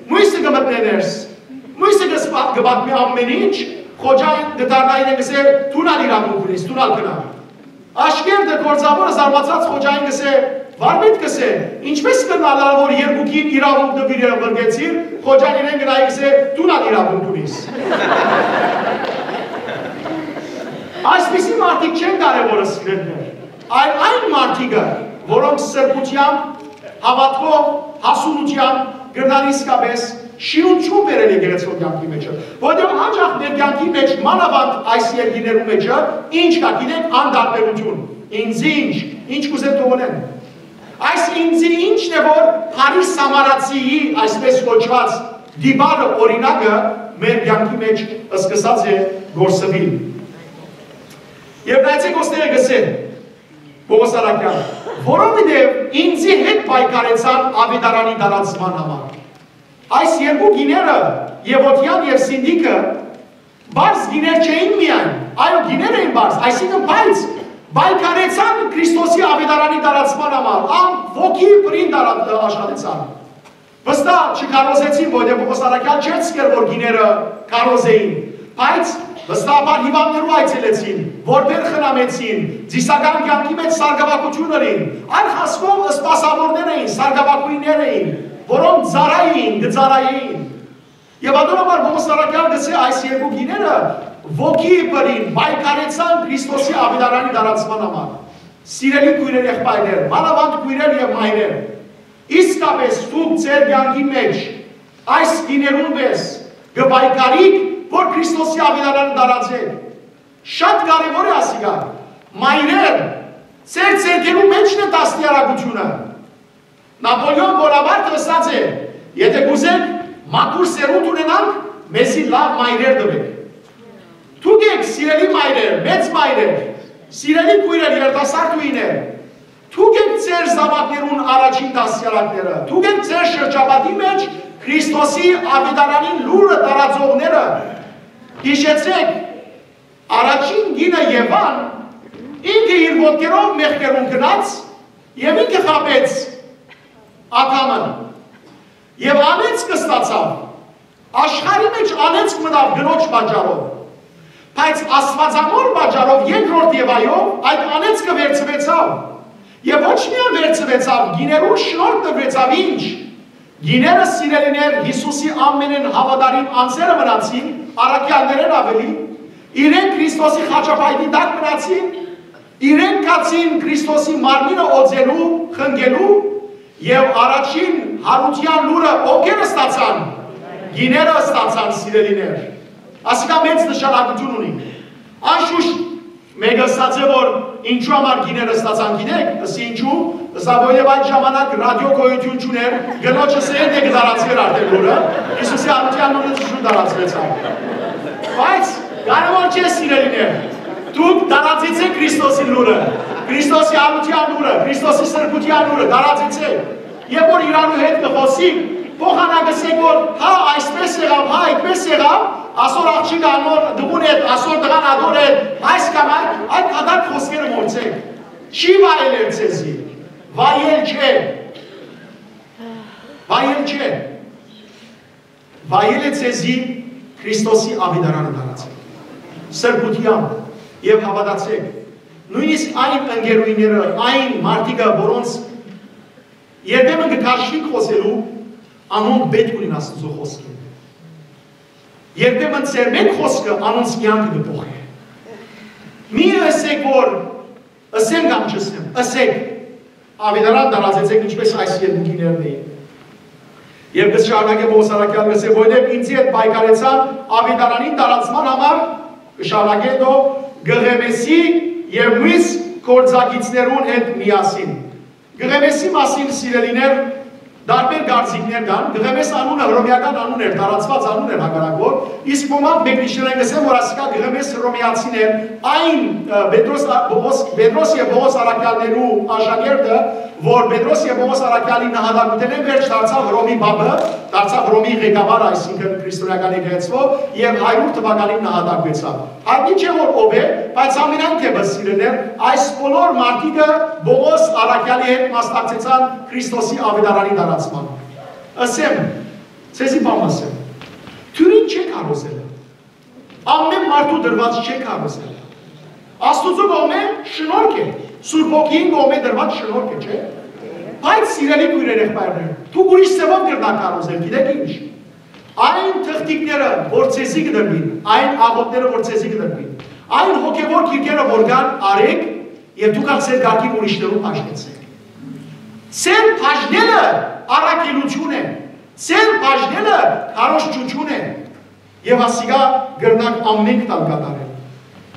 Մոյսը կը մտնէ ներս։ Մոյսը կը սպա-, կը պատմի ամեն ինչ, Խոջան կը դառնայ իրեն, կ'ըսէ, դուն ալ իրավունք ունիս, դուն ալ գնա։ Աշկերտը, գործաւորը զարմացած Խոջային կ'ըսէ, վարպետ, կ'ըսէ, ինչպես կրնայ ըլլալ, որ երկուքին իրավունք տուիր եւ ղրկեցիր, Խոջան իրեն գնայ, կ'ըսէ, դուն ալ իրավունք ունիս։ Այսպիսի մարդիկ չեն կարեւորը, սիրելիներ, այլ այն մարդիկը, որոնք սրբութեամբ, հաւատքով, հասունութեամբ կրնան իսկապես շինություն բերել եկեղեցւոյ կեանքի մէջը, որովհետեւ հաճախ մեր կեանքի մէջ, մանաւանդ այս երկիրներու մէջը, ինչ կայ, գիտեք, անտարբերութիւն, ինձի ինչ, ինչ կ'ուզեն թողնեն։ Այս ինձի ինչն է, որ Փարի Սամարացիի, այսպես կոչուած, դիպարը, օրինակը մեր կեանքի մէջ սկսած է գործուիլ։ Եւ նայեցէք, ոստերը կ'ըսէ Պողոս Արաքեան, որովհետեւ ինձի հետ պայքարեցան աւետարանի տարածման համար։ Այս երկու կիները, Եւոդեան եւ Սինդիքը, պարզ կիներ չէին միայն, այո, կիներ էին պարզ, այսինքն, բայց պայքարեցան Քրիստոսի աւետարանի տարածման համար, ան ոգի պրին տարա-, աշխատեցան։ Վստահ չքարոզեցին, որովհետեւ Պողոս Արաքեան չէր սկեր, որ կիները քարոզեին, բայց վստահաբար հիւանդներու այցելեցին, որբեր խնամեցին, ծիսական կեանքի մէջ սարկավագութիւն ըրին, այլ խասմով սպասաւորներ էին, սարկավագոյններ էին, որոնք ծառայ էին, կը ծառայեին։ Եւ ատոր համար Պողոս Արաքեան կ'ըսէ, այս երկու կիները ոգի պրին պայքարեցան Քրիստոսի աւետարանի տարածման համար։ Սիրելի քոյրեր, եղբայրներ, մանաւանդ քոյրեր եւ մայրեր, իսկապես դուք ձեր կեանքի մէջ այս կիներուն պէս կը պայքարիք, որ Քրիստոսի աւետարանը տարածէք։ Շատ կարեւոր է ասիկա։ Մայրեր, ձեր ձեռքերու մէջն է դաստիարակութիւնը։ Նապոլեոն Բոնապարտը ըսած է. «Եթէ կ'ուզենք մաքուր սերունդ ունենանք, մեզի լաւ մայրեր տուէք»։ Դուք եք, սիրելի մայրեր, մեծ մայրեր, սիրելի քոյրեր, երիտասարդ ուիներ, դուք եք ձեր զաւակներուն առաջին դաստիարակները, դուք եք ձեր շրջապատի մէջ Քրիստոսի աւետարանին լուրը տարածողները։ Յիշեցէք, առաջին կինը Եվան, ինքը իր ոտքերով մեղքերուն գնաց եւ ինքը խաբեց Ադամը եւ անեծք ստացաւ։ Աշխարհի մէջ անեծք մտաւ կնոջ պատճառով, բայց Աստուածամոր պատճառով, երկրորդ Եվայով, այդ անեծքը վերցուեցաւ։ Եւ ոչ միայն վերցուեցաւ, կիներուն շնորհ տուեցաւ, ինչ։ Կիները, սիրելիներ, Յիսուսի ամենէն հաւատարիմ անձերը մնացին, առաքեալներէն աւելի, իրենք Քրիստոսի խաչապայտին տակ մնացին, իրենք գացին Քրիստոսի մարմինը օծելու, խնկելու, եւ առաջին յարութեան լուրը ովքեր ստացան, կիները ստացան, սիրելիներ։ Ասիկա մեծ նշանակութիւն ունի։ Անշուշտ, մէկը ըսած է, որ ինչու համար կիները ստացան, գիտեք, ըսի ինչու, ըսա, որովհետեւ այդ ժամանակ ռադիո գոյութիւն չունէր, կնոջս էր, դե կդարածվեր արդեն լուրը, Յիսուսի յարութեան լուրը շուտ դարածվեցաւ։ Բայց կարեւոր չէ, սիրելիներ, դուք դարածեցէք Քրիստոսի լուրը, Քրիստոսի յարութեան լուրը, Քրիստոսի սրբութեան լուրը, դարածեցէք։ Երբ որ իրանու հետ կը խոսի, փոխանակ ըսեք, որ հա, այսպես եղաւ, հա, այդպես եղաւ, ասոր աղջիկը անոր տղուն հետ, ասոր տղան ադոր հետ, այս կամ այդ, այդ դատարկ խօսքերը մոռցէք։ Չի վայելեր ձեզի, վայել չէ, վայել չէ, վայել է ձեզի Քրիստոսի աւետարանը դարածել։ Սրբութեամբ եւ հաւատացեք, նոյնիսկ այն ընկերուհիները, այն մարդիկը, որոնց երբեմն կը քաշվիք խօսելու, անոնք պէտք ունին Աստուծոյ խօսքին։ Երբեմն ձեր մէկ խօսքը անոնց կեանքը կը փոխէ։ Մի ըսեք, որ Ըսեմ կամ չըսեմ, ըսեք, աւետարան տարածեցէք, ինչպէս այս երկուքիներն էին։ Եւ կը շարունակէ Պողոս առաքեալ, կը ասէ, որովհետեւ ինծի հետ պայքարեցան, աւետարանին տարածման համար, կը շարունակէ դո, Կղեմեսի եւ մյուս գործակիցներուն հետ միասին։ Կղեմեսի մասին, սիրելիներ, տարբեր կարծիքներ կան։ Կղեմես անունը հռոմեական անուն էր, տարածված անուն էր հակառակ որ, իսկ ոմանք մեկնիչներէն կ'ըսեն, որ ասիկա Կղեմես հռոմեացին էր, այն, ը, Պետրոս, ա, Պողոս, Պետրոս եւ Պողոս առաքեալներու աշակերտը, որ Պետրոս եւ Պողոս առաքեալի նահատակութենէն վերջ դարձաւ Հռոմի պապը, դարձաւ Հռոմի ղեկավարը, այսինքն քրիստոնեական եկեղեցւոյ, եւ հարիւր թուականին նահատակուեցաւ։ Յայտնի չէ որ ով է, բայց ամենայն դեպս, սիրելիներ, այս բոլոր մարդիկը Պողոս առաքեալի հետ մասնակցեցան Քրիստոսի աւետարանի տարածման։ Ըսեմ, ձեզի բան ըսեմ։ Դիւրին չէ քարոզել։ Ամեն մարդու տրուած չէ քարոզել։ Աստուծոյ կողմէ շնորհք է, Սուրբ Հոգին կողմէ տրուած շնորհք է, չէ՞։ Բայց, սիրելի քոյրեր, եղբայրներ, դուք ուրիշ ձեւով կրնաք քարոզել, գիտեք ինչ։ Այն թղթիկները, որ ձեզի կը տրուին, այն աղօթքները, որ ձեզի կը տրուին, այն հոգեւոր գիրքերը, որ կան, առէք, եւ դուք ալ ձեր կարգին ուրիշներուն բաժնեցէք։ Ձեր բաժնելը առաքելութիւն է, ձեր բաժնելը քարոզչութիւն է, եւ ասիկա կրնաք ամէնքդ ալ կատարել։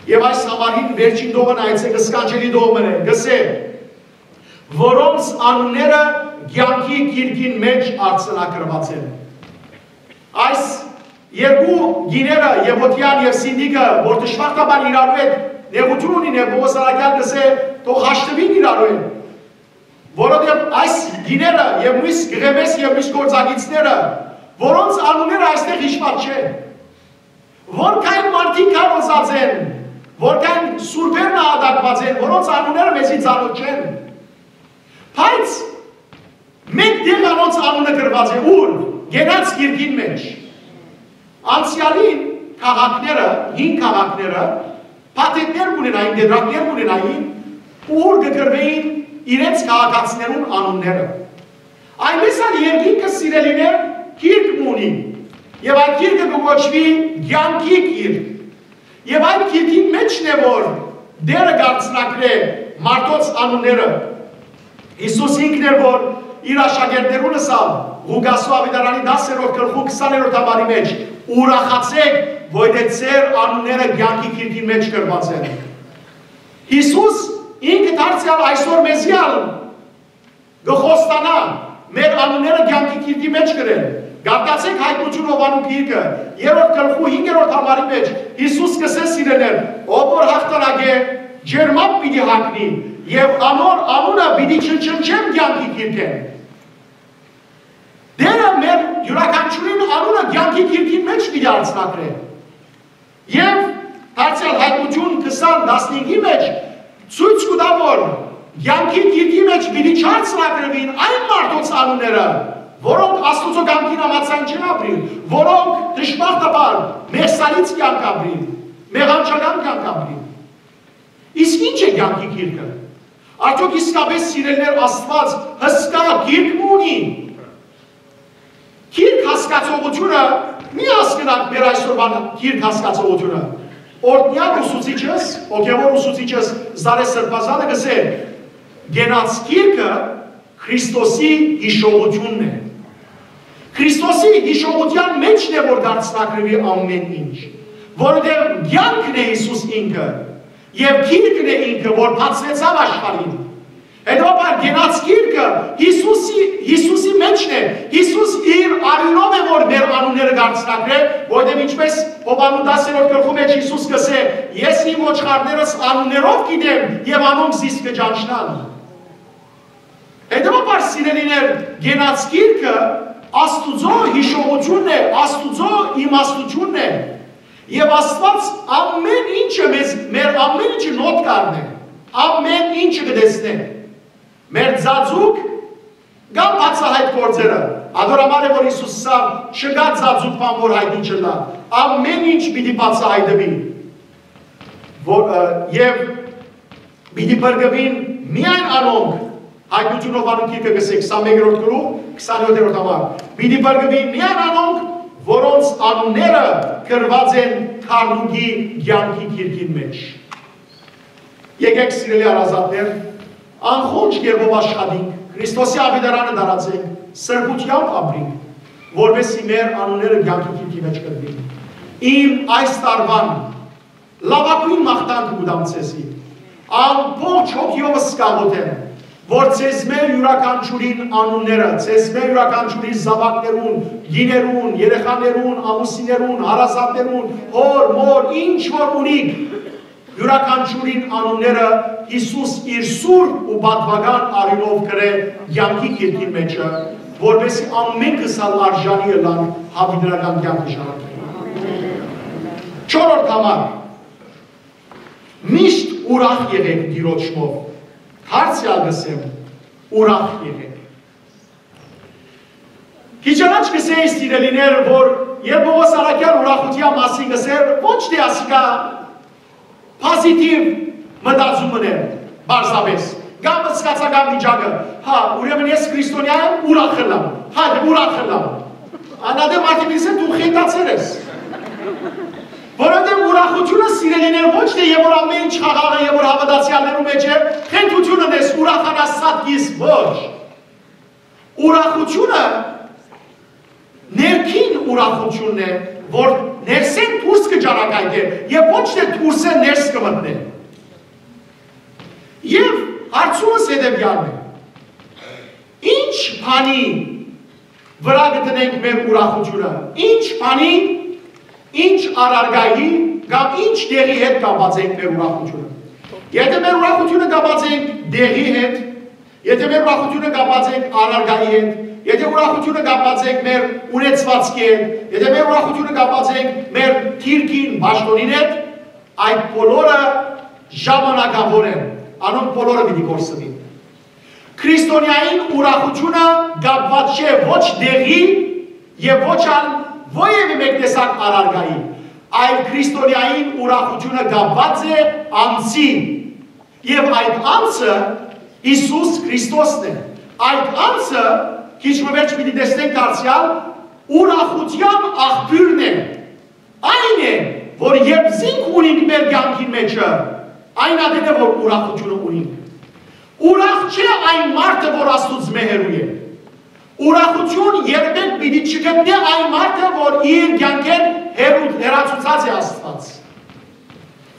Եւ այս համարին վերջին դողը նայեցէք, սքանչելի դողը մը է, կ'ըսէ, որոնց անունները կեանքի գիրքին մէջ արձանագրուած են։ Այս երկու գիները, Եւոդիան եւ Սինտիքը, որ դժբախտաբար իրարու հետ նեղութիւն ունին, եւ Պողոս առաքեալ կ'ըսէ, թող հաշտուին իրարու հետ, որովհետեւ այս գիները եւ մյուս Կղեմես եւ մյուս գործակիցները, որոնց անունները այստեղ հիշուած չէ, որքան մարդիկ քարոզած են, որքան սուրբեր նահատակուած են, որոնց անունները մեզի ծանօթ չեն, բայց մէկ տեղ անոնց անունը գրուած է, ուր, կենաց գիրքին մէջ։ Անցեալին քաղաքները, հին քաղաքները, փաթեթներ կ'ունենային, տետրակներ կ'ունենային, ուր կը գրուէին իրենց քաղաքացիներուն անունները։ Այնպէս ալ երկինքը, սիրելիներ, գիրք մը ունի, եւ այդ գիրքը կը կոչուի կեանքի գիրք։ Եւ այդ գիրքին մէջն է, որ Տէրը կ'արձանագրէ մարդոց անունները։ Յիսուս ինքն էր, որ իր աշակերտներուն ըսաւ, Ղուկասու աւետարանի տասերորդ գլխու քսաներորդ համարի մէջ, «Ուրախացէք, որովհետեւ ձեր անունները կեանքի գիրքին մէջ գրուած են»։ Յիսուս ինքը դարձեալ այսօր մեզի ալ կը խոստանայ մեր անունները կեանքի գիրքի մէջ գրել։ Կարդացէք Հայտնութիւն Յովհաննու գիրքը, երրորդ գլխու հինգերորդ համարի մէջ Յիսուս կ'ըսէ, սիրելիներ, ով որ յաղթանակ է, ջերմապ պիտի հագնի, եւ անոր անունը պիտի չնչնչեմ կեանքի գիրքէն։ Տէրը մեր իւրաքանչիւրին անունը կեանքի գիրքին մէջ պիտի արձանագրէ։ Եւ դարձեալ Հայտնութիւն քսան տասնհինգի մէջ ցոյց կու տայ, որ կեանքի գիրքի մէջ պիտի չարձանագրուին այն մարդոց անունները, որոնք Աստուծոյ կամքին համաձայն չեն ապրիր, որոնք դժբախտաբար մեղսալից կեանք ապրին, մեղանչական կեանք ապրին։ Իսկ ի՞նչ է կեանքի գիրքը։ Արդյոք իսկապէս, սիրելիներ, Աստուած հսկայ գիրք մը ունի։ Գիրք հասկացողութիւնը, մի հասկնանք մեր այսօրվան գիրք հասկացողութիւնը։ Օրհնեալ ուսուցիչս, հոգեւոր ուսուցիչս Զարե Սրբազանը կ'ըսէ, կենաց գիրքը Քրիստոսի յիշողութիւնն է։ Քրիստոսի յիշողութեան մէջն է, որ կ'արձանագրուի ամէն ինչ, որովհետեւ կեանքն է Յիսուս ինքը, եւ գիրքն է ինքը, որ բացուեցաւ աշխարհին։ Հետեւաբար կենաց գիրքը Յիսուսի, Յիսուսի մէջն է, Յիսուս իր արիւնով է, որ մեր անունները կ'արձանագրէ, որովհետեւ ինչպէս Յովհաննու տասերորդ գլխու մէջ Յիսուս կ'ըսէ, «Ես իմ ոչխարներս անուններով գիտեմ եւ անոնք զիս կը ճանչնան»։ Հետեւաբար, սիրելիներ, կենաց գիրքը Աստուծոյ յիշողութիւնն է, Աստուծոյ իմաստութիւնն է, եւ Աստուած ամէն ինչը մեզ, մեր ամէն ինչը նոթ կ'առնէ, ամէն ինչը կը տեսնէ, մեր ծածուկ կամ բացահայտ գործերը։ Ատոր համար է, որ Յիսուս ըսաւ, «Չկայ ծածուկ բան, որ յայտնի չըլլայ, ամէն ինչ պիտի բացահայտուի»։ Որ, ը, եւ պիտի փրկուին միայն անոնք, Հայտնութիւն Յովհաննու գիրքը կ'ըսէ, քսանմեկերորդ գլուխ, քսանյոթերորդ համար, պիտի փրկուին միայն անոնք, որոնց անունները գրուած են գառնուկի կեանքի գիրքին մէջ։ Եկեք, սիրելի հարազատներ, անխոնջ կերպով աշխատենք, Քրիստոսի աւետարանը տարածենք, սրբութեամբ ապրենք, որպեսզի մեր անունները կեանքի գիրքի մէջ կտրուին։ Իմ այս տարուան լաւագոյն մաղթանքը կու տամ ձեզի։ Ամբողջ հոգիովս կաղոթեմ, որ ձեզմէ յուրաքանչիւրին անունները, ձեզմէ յուրաքանչիւրին զաւակներուն, կիներուն, երեխաներուն, ամուսիններուն, հարազատներուն, հօր, մօր, ինչ որ ունիք, յուրաքանչիւրին անունները Յիսուս իր սուրբ ու պատուական արիւնով գրէ կեանքի գիրքին մէջը, որպեսզի ամենքս ալ արժանի ըլլանք յաւիտենական կեանքը ժառանգել։ Չորրորդ համար, միշտ ուրախ եղեք Տիրոջմով։ Դարձեալ կ'ըսեմ, ուրախ եղեք։ Քիչ առաջ կ'ըսէի, սիրելիներ, որ երբ Պողոս առաքեալ ուրախութեան մասին կ'ըսէր, ոչ թէ ասիկա պոզիտիվ մտածում մըն էր, պարզապէս, կամ զգացական վիճակը, հա, ուրեմն ես քրիստոնեայ եմ, ուրախ ըլլամ, հա, դե ուրախ ըլլամ։ Անադեմ արդի միսը դու խենթացեր ես։ Որովհետև ուրախութիւնը, սիրելիներ, ոչ թէ եւ որ ամեն ինչ խաղաղ է, եւ որ հաւատացեալներու մէջ է, խենթութիւնը ես ուրախանաս սատկիս, ոչ։ Ուրախութիւնը ներքին ուրախութիւնն է, որ ներսէն դուրս կը ճառագայթէ եւ ոչ թէ դուրսէ ներս կը մտնէ։ Եւ հարցումս հետեւեալն է. ինչ բանի վրայ կը դնենք մեր ուրախութիւնը, ինչ բանի, ինչ առարկայի կամ ինչ տեղի հետ կապած ենք մեր ուրախութիւնը։ Եթե մեր ուրախութիւնը կապած ենք տեղի հետ, եթե մեր ուրախութիւնը կապած ենք առարկայի հետ, եթե ուրախութիւնը կապած ենք մեր ունեցուածքի հետ, եթե մեր ուրախութիւնը կապած ենք մեր դիրքին, պաշտօնին հետ, այդ բոլորը ժամանակաւոր են, անոնք բոլորը պիտի կորսնին։ Քրիստոնեային ուրախութիւնը կապուած չէ ոչ տեղի եւ ոչ ալ որեւէ մէկ տեսակ առարկայի, այլ քրիստոնեային ուրախութիւնը կապուած է անձի, եւ այդ անձը Յիսուս Քրիստոսն է։ Այդ անձը, քիչ մը վերջ պիտի տեսնենք դարձեալ, ուրախութեան աղբիւրն է։ Այն է, որ երբ զինք ունինք մեր կեանքին մէջը, այն ատեն է, որ ուրախութիւնը ունինք։ Ուրախ չէ այն մարդը, որ Աստուծմէ հեռու է։ Ուրախութիւն երբեք պիտի չգտնէ այն մարդը, որ իր կեանքէն հեռու-, հեռացուցած է Աստուած։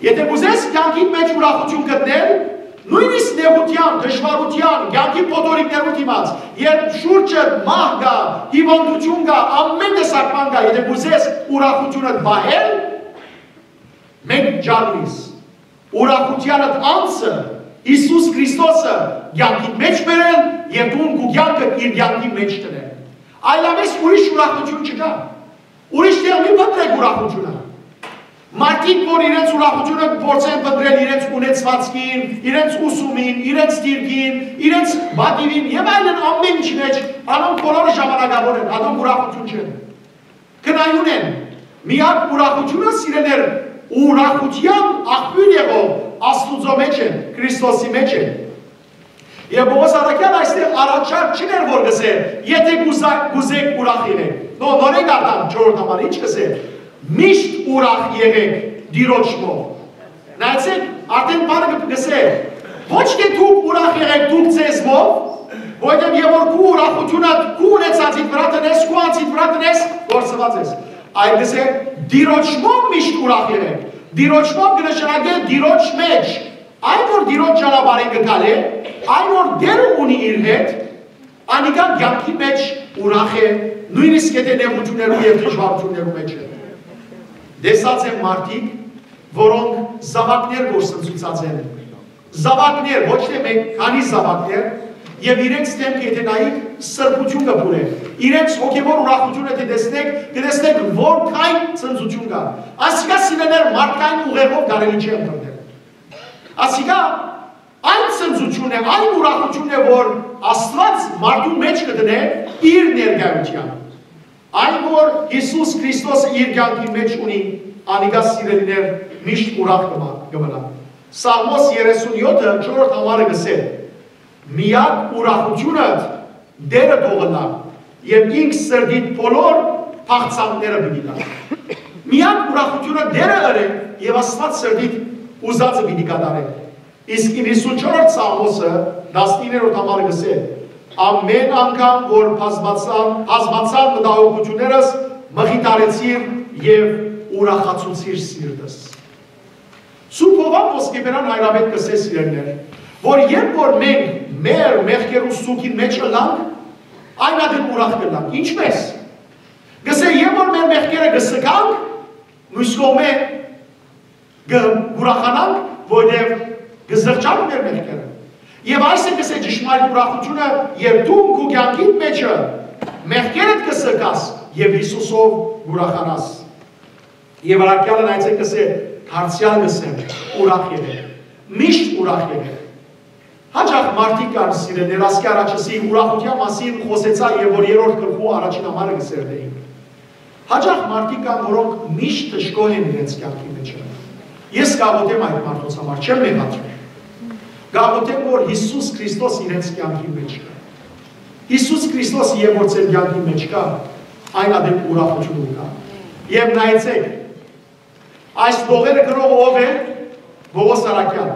Եթե կ'ուզես կեանքիդ մէջ ուրախութիւն գտնել, նոյնիսկ նեղութեան, դժուարութեան, կեանքի փոթորիկներու դիմաց, երբ շուրջը մահ կայ, հիւանդութիւն կայ, ամեն տեսակ բան կայ, եթե կ'ուզես ուրախութիւնդ պահել, մէկ վիճակ ունիս, ուրախութեանդ անձը, Յիսուս Քրիստոսը կեանքիդ մէջ բերել եւ դուն քու կեանքդ իր կեանքի մէջ դնել։ Այլապես ուրիշ ուրախութիւն չկայ։ Ուրիշ տեղ մի փնտրեք ուրախութիւնը։ Մարդիկ, որ իրենց ուրախութիւնը փորձեն փնտրել իրենց ունեցվածքին, իրենց ուսումին, իրենց դիրքին, իրենց պատիւին եւ այլն ամեն ինչի մէջ, անոնք բոլորը ժամանակաւոր են, անոնք ուրախութիւն չեն։ Կնայուն են, միակ ուրախութիւնը, սիրելիներ, ուրախութեան աղբիւր եղող Աստուծոյ մէջ է, Քրիստոսի մէջ է։ Եւ Պողոս առաքեալ այստեղ առաջարկ չուներ, որ կ'ըսէ, «Եթե կ'ուզա-, կ'ուզեք, ուրախ եղեք»։ Նո, նորէն կարդամ չորրորդ համար, ինչ կ'ըսէ, «Միշտ ուրախ եղեք Տիրոջմով»։ Նայեցեք, արդեն բանը կը-, կ'ըսէ, ոչ թէ դուք ուրախ եղեք դուք ձեզմով, որովհետեւ եւ որ քու ուրախութիւնը քու ունեցածիդ վրայ դնես, քու անձիդ վրայ դնես, կորսուած ես։ Այլ կ'ըսէ, «Տիրոջմով միշտ ուրախ եղեք»։ Տիրոջմով կը նշանակէ Տիրոջ մէջ, այն որ Տիրոջ ճանապարհին կը գալէ, այն որ Տերը ունի իր հետ, անիկա կեանքի մէջ ուրախ է, նոյնիսկ եթե նեղութիւններու եւ դժուարութիւններու մէջ է։ Տեսած եմ մարդիկ, որոնք զաւակներ կորսնցուցած են, զաւակներ, ոչ թէ մէկ, քանի զաւակներ, եւ իրենց դէմքը եթե նայիք, սրբութիւն կը բուրէ։ Իրենց հոգեւոր ուրախութիւնը դէ տեսնեք, կը տեսնեք, որքան ցնծութիւն կայ։ Ասիկա, սիրելիներ, մարդկային ուղեղով կարելի չէ ընտրել։ Ասիկա այն ցնծութիւնն է, այն ուրախութիւնն է, որ Աստուած մարդուն մէջ կը դնէ իր ներկայութեան։ Այն, որ Յիսուս Քրիստոսը իր կեանքի մէջ ունի, անիկա, սիրելիներ, միշտ ուրախ կը մա-, կը մնայ։ Սաղմոս երեսունյոթը չորրորդ համարը կ'ըսէ. «Միակ ուրախութիւնդ Տերը թող ըլլայ, եւ ինք սրտիդ բոլոր փախցանքները պիտի տայ»։ Միակ ուրախութիւնը Տերը ըրէ, եւ Աստուած սրտիդ ուզածը պիտի կատարէ։ Իսկ իննսունչորդ Սաղմոսը, տասնիններորդ համարը կ'ըսէ. «Ամէն անգամ որ բազմացան, բազմացան մտահոգութիւններս, մխիթարեցիր եւ ուրախացուցիր սիրտս»։ Սուրբ Յովհան Ոսկեբերան հայրապետ կ'ըսէ, սիրելիներ, որ երբ որ մենք մեր մեղքերուն սուգին մէջ ըլլանք, այն ատեն ուրախ կ'ըլլանք։ Ինչպէս։ Կ'ըսէ, երբ որ մեր մեղքերը կը սգանք, մյուս կողմէ կը ուրախանանք, որտեղ կը զղջան մեր մեղքերը։ Եւ այս է, կ'ըսէ, ճշմարիտ ուրախութիւնը, երբ դու քու կեանքիդ մէջը մեղքերդ կը սգաս եւ Յիսուսով կ'ուրախանաս։ Եւ առաքեալը նայեցեք, կ'ըսէ, դարձեալ կ'ըսեմ, ուրախ եղեք, միշտ ուրախ եղեք։ Հաճախ մարդիկ կան, սիրելիներ, ասկի առաջ ըսի, ուրախութեան մասին խօսեցայ, եւ որ երրորդ գլխու առաջին համարը կ'ըսեր, դե ինք։ Հաճախ մարդիկ կան, որոնք միշտ դժգոհ են իրենց կեանքի մէջ։ Ես կ'աղօթեմ այդ մարդոց համար, չեմ մեղադրեր։ Կ'աղօթեմ, որ Յիսուս Քրիստոս իրենց կեանքի մէջ կա։ Յիսուս Քրիստոս, երբ որ ձեր կեանքի մէջ կա, այն ատեն ուրախութիւն կա։ Եւ նայեցեք, այս լողերը կրող ով է։ Պողոս Առաքեալ։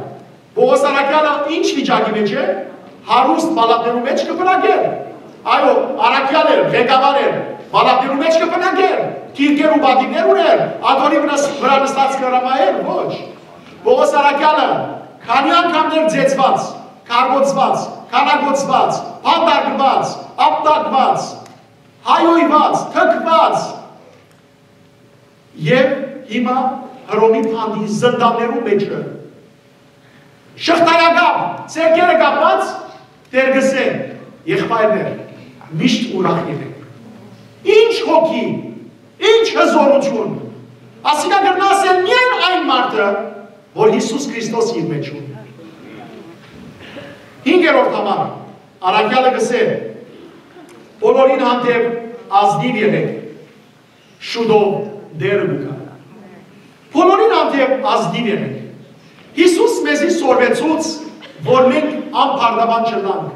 Պողոս Առաքեալը ինչ վիճակի մէջ է։ Հարուստ պալատներու մէջ կը բնակեր։ Այո, առաքեալ էր, ղեկավար էր, պալատներու մէջ կը բնակեր, գիրկեր ու պատիվներ ուներ, աթոռի վրաս-, վրայ նստած կը հրամայեր, ոչ։ Պողոս Առաքեալը քանի անգամներ ծեծուած, քարկոծուած, քանակոծուած, բանտարկուած, ապտակուած, հայոյուած, թքուած, եւ հիմա Հռոմի բանտի զնդաններու մէջ է։ Շղթայակապ, ձեռքերը կապած, Տէր կ'ըսէ. «Եղբայրներ, միշտ ուրախ եղեք»։ Ինչ հոգի, ինչ հզորութիւն։ Ասիկա կրնայ ըսել միայն այն մարդը, որ Յիսուս Քրիստոս իր մէջ ունի։ Հինգերորդ համար, առաքեալը կ'ըսէ. «Բոլորին հանդէպ ազնիւ եղեք, շուտով Տէրը կու գայ»։ Բոլորին հանդէպ ազնիւ եղեք։ Յիսուս մեզի սորվեցուց, որ մենք անբարդաւան չըլլանք,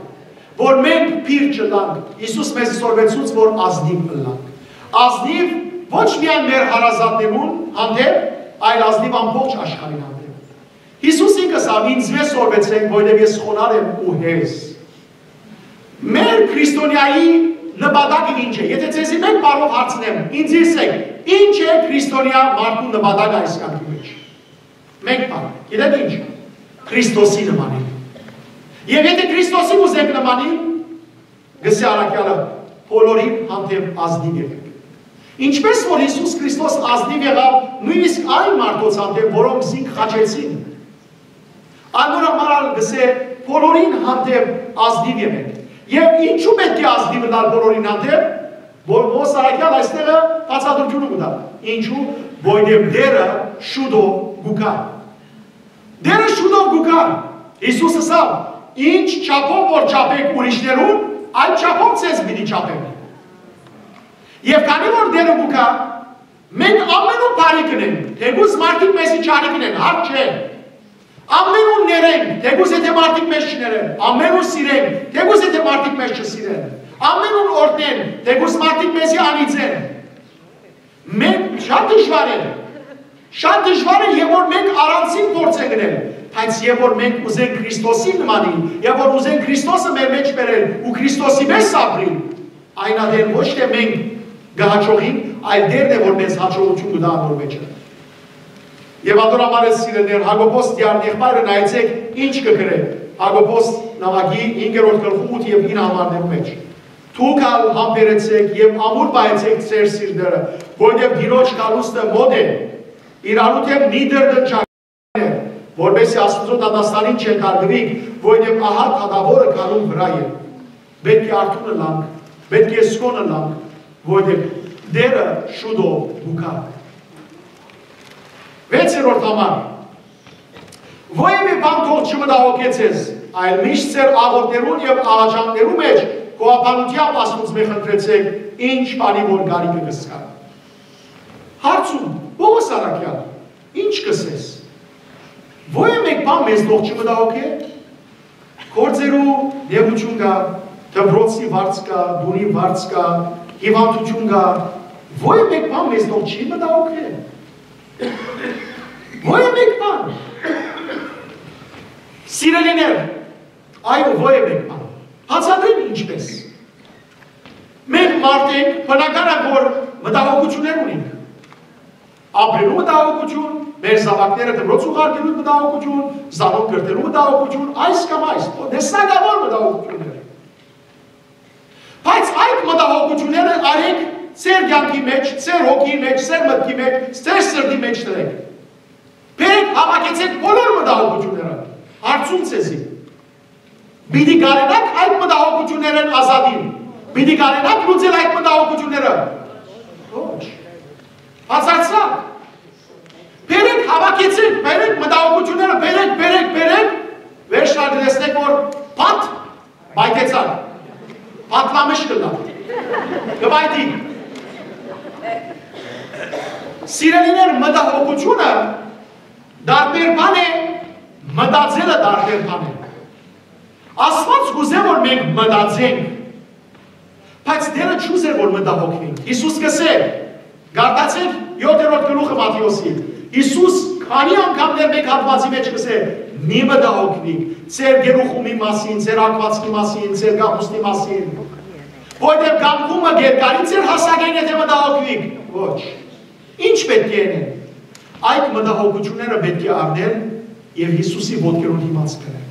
որ մենք բիր չըլլանք։ Յիսուս մեզի սորվեցուց, որ ազնիւ ըլլանք։ Ազնիւ ոչ միայն մեր հարազատներուն հանդէպ, այլ ազնիւ ամբողջ աշխարհին հանդէպ։ Յիսուս ինքը ըսաւ. «Ինձմէ սորվեցէք, որովհետեւ ես խոնարհ եմ ու հեզ»։ Մեր քրիստոնեայի նպատակը ինչ է։ Եթե ձեզի մէկ բառով հարցնեմ, ինձ ըսէք, ինչ է քրիստոնեայ մարդու նպատակը այս կեանքի մէջ։ Մէկ բառ, գիտէք ինչ, Քրիստոսի նմանին։ Եւ եթե Քրիստոսի ուզենք նմանին, կ'ըսէ առաքեալը, բոլորին հանդէպ ազնիւ եղեք։ Ինչպէս որ Յիսուս Քրիստոս ազնիւ եղաւ նոյնիսկ այն մարդոց հանդէպ, որոնք զինք խաչեցին, անոր համար ալ կ'ըսէ, բոլորին հանդէպ ազնիւ եղեք։ Եւ ինչու պէտք է ազնիւ ըլլալ բոլորին հանդէպ, որ Պողոս առաքեալ այստեղը բացատրութիւնը կու տայ։ Ինչու, որովհետեւ Տէրը շուտով կու գայ։ Տէրը շուտով կու գայ։ Յիսուս ըսաւ. «Ինչ չափով որ չափէք ուրիշներուն, այդ չափով ձեզ պիտի չափեն»։ Եւ քանի որ Տէրը կու գայ, մենք ամենուն բարի կ'ընենք, թէկուզ մարդիկ մեզի չարի կ'ընեն, հարկ չէ։ Ամենուն ներենք, թէկուզ եթե մարդիկ մեզ չներեն, ամենուն սիրենք, թէկուզ եթե մարդիկ մեզ չսիրեն, ամենուն օրհնենք, թէկուզ մարդիկ մեզի անիծեն։ Մենք շատ դժվար է, շատ դժվար է, եւ որ մենք առանձին փորձ ենք գնել, բայց եւ որ մենք ուզենք Քրիստոսին նմանին, եւ որ ուզենք Քրիստոսը մեր մեջ բերել ու Քրիստոսի պես ապրին, այն ատեն ոչ թե մենք կը հաջողենք, այլ Տէրն է, որ մեզ հաջողութիւն կու տայ անոր մեջը։ Եւ ատոր համար է, սիրելիներ, Յակոբոս Տիարն եղբայրը նայեցեք ինչ կը գրէ Յակոբոս նամակի հինգերորդ գլխու ութ եւ ինը համարներու մէջ. «Դուք ալ համբերեցէք եւ ամուր պահեցէք ձեր սիրտերը, որովհետեւ Տիրոջ գալուստը մօտ է։ Իրարու դէմ մի դրդնջակ է, որպեսզի Աստուծոյ դատաստանին չենթարկուիք, որովհետեւ ահա դատաւորը գալուն վրայ է։ Պէտք է արթուն ըլլանք, պէտք է զգոն ըլլանք, որովհետեւ Տէրը շուտով կու գայ»։ Վեցերորդ համար. «Որեւէ բան թող չմտահոգէ ձեզ, այլ միշտ ձեր աղօթքներուն եւ աղաչանքներու մէջ գովաբանութեամբ Աստուծմէ խնդրեցէք, ինչ բանի որ կարիքը կ'զգաք»։ Հարցում. Պողոս առաքեալ, ինչ կ'ըսես։ Որեւէ մէկ բան մեզ թող չմտահոգէ։ Գործերու նեղութիւն կայ, դպրոցի վարձ կայ, տունի վարձ կայ, հիւանդութիւն կայ, որեւէ մէկ բան մեզ թող չի մտահոգէ։ Որեւէ մէկ բան։ Սիրելիներ, այո, ո՞յ է մեկն ան։ Բացատրեմ ինչպես։ Մենք մարդ ենք, բնական է, որ մտահոգություններ ունենք։ Ապրելու մտահոգություն, մեր զաւակները դպրոց ուղարկելու մտահոգություն, զանոնք կրթելու մտահոգություն, այս կամ այս, տեսակաւոր մտահոգություններ։ Բայց այդ մտահոգությունները արեք ձեր կյանքի մեջ, ձեր հոգի մեջ, ձեր մտքի մեջ, ձեր սրտի մեջ դրեք։ Բերեք, հավաքեցեք բոլոր մտահոգությունները, հարցում ձեզի. պիտի կարենա՞ք այդ մտահոգություններէն ազատիլ, պիտի կարենա՞ք լուծել այդ մտահոգությունները։ Ոչ։ Բացարձակ։ Բերեք, հավաքեցեք, բերեք մտահոգությունները, բերեք, բերեք, բերեք, վերջնալ տեսնեք, որ փաթ պայթեցաք, փաթլամշ կ'ըլլայ, կ'այթի։ Սիրելիներ, մտահոգությունը տարբեր բան է, մտածելը տարբեր բան է։ Աստված կ'ուզէ, որ մենք մտածենք, բայց Տէրը չ'ուզէ, որ մտահոգենք։ Յիսուս կ'ըսէ, կարդացեք յոթերորդ գլուխը Մատթէոսի։ Յիսուս քանի՞ անգամներ մէկ հատուածի մեջ կ'ըսէ. «Մի մտահոգնիք ձեր գերուխումի մասին, ձեր ակուածքի մասին, ձեր կապուստի մասին, որովհետեւ կամքը կ'երկարի ձեր հասակէն, եթէ մտահոգնիք»։ Ոչ։ Ի՞նչ պէտք է ընել։ Այդ մտահոգությունները պէտք է առնել եւ Յիսուսի ոտքերուն դիմաց բերել։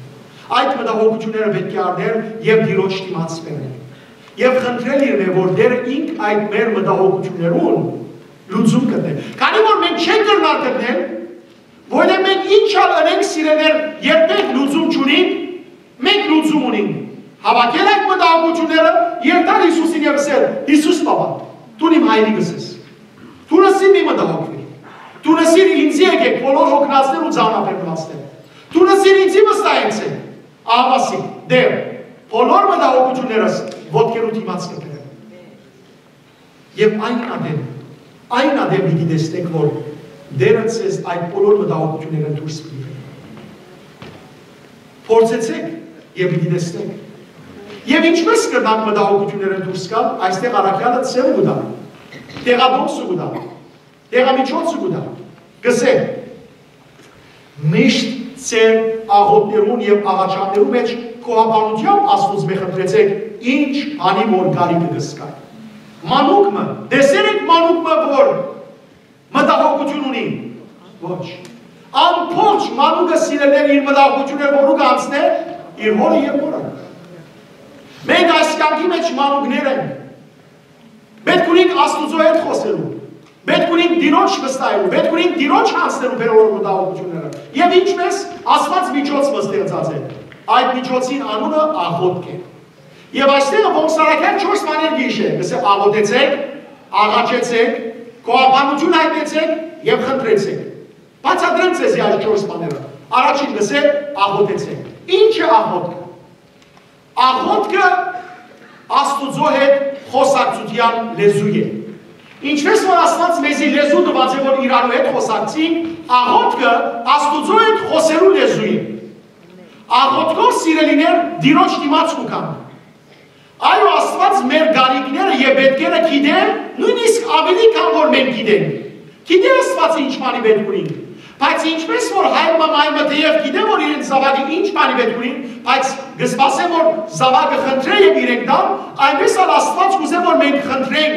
Այդ մտահոգությունները պէտք է առնել եւ Տիրոջ դիմաց բերել։ Եւ խնդրել իրմէ, որ Տէրը ինք այդ մեր մտահոգություններուն լուծում գտնէ։ Քանի որ մենք չենք կրնար գտնել, որովհետեւ մենք ինչ ալ ընենք, սիրելիներ, երբեք լուծում չունենք, մենք լուծում ունենք։ Հավաքել այդ մտահոգությունները, երթալ Յիսուսին եւ ըսել. «Յիսուս պապա, դուն իմ հայրիկս ես։ Դուն ըսիր՝ մի մտահոգուի։ Դուն ըսիր՝ ինծի եկէք բոլոր հոգնածներ ու ծանրաբեռնվածներ։ Դուն ըսիր՝ ինծի վստահեցէք»։ Ահա ասի. «Տէր, բոլոր մտահոգություններս ոտքերու դիմաց կը բերեմ»։ Եւ այն ատեն, այն ատեն պիտի տեսնեք, որ Տէրը ձեզ այդ բոլոր մտահոգություններէն դուրս պիտի բերի։ Փորձեցեք եւ պիտի տեսնեք։ Եւ ինչպես կրնանք մտահոգություններէն դուրս գալ, այստեղ առաքեալը ձեւը կու տայ, տեղատոմսը կու տայ, տեղամիջոցը կու տայ, կ'ըսէ. «Միշտ ձեր աղօթքներուն եւ աղաչանքներուն մեջ գոհաբանութեամբ Աստուծմէ խնդրեցէք, ինչ բանի որ կարիքը կ'զգաք»։ Մանուկ մը, տեսեր եք մանուկ մը, որ մտահոգություն ունի։ Ոչ։ Ամբողջ մանուկը, սիրելիներ, իր մտահոգությունները որու կ'անցնէ, իր հօրը եւ մօրը։ Մենք այս կյանքի մեջ մանուկներ ենք։ Պէտք ունենք Աստուծոյ հետ խօսելու։ Պէտք ունենք Տիրոջ վստահելու։ Պէտք ունենք Տիրոջ յանձնելու մեր բոլոր մտահոգությունները։ Եւ ինչպես Աստուած միջոց մը ստեղծած է, այդ միջոցին անունը աղօթք է։ Եւ այստեղ Պողոս առաքեալ չորս բաներ կ'հիշէ, կ'ըսէ. «Աղօթեցեք, աղաչեցեք, գոհաբանութիւն յայտնեցեք եւ խնդրեցեք»։ Բացատրեմ ձեզի այս չորս բաները։ Առաջին կ'ըսէ. «Աղօթեցեք»։ Ի՞նչ է աղօթքը։ Աղօթքը Աստուծոյ հետ խօսակցութեան լեզու է։ Ինչպես որ Աստուած մեզի լեզու տուած է, որ իրարու հետ խօսակցենք, աղօթքը Աստուծոյ հետ խօսելու լեզու է։ Աղօթքով, սիրելիներ, Տիրոջ դիմաց կու գանք։ Այո, Աստուած մեր կարիքները եւ պէտքերը գիտէ, նոյնիսկ աւելի քան որ մենք գիտենք։ Գիտէ Աստուածը ինչ բանի պէտք ունին։ Բայց ինչպես որ հայր մը մայր մը թէեւ գիտէ, որ իրենց զաւակը ինչ բանի պէտք ունին, բայց կը սպասէ, որ զաւակը խնդրէ եւ իրենք տան, այնպես ալ Աստուած կ'ուզէ, որ մենք խնդրենք,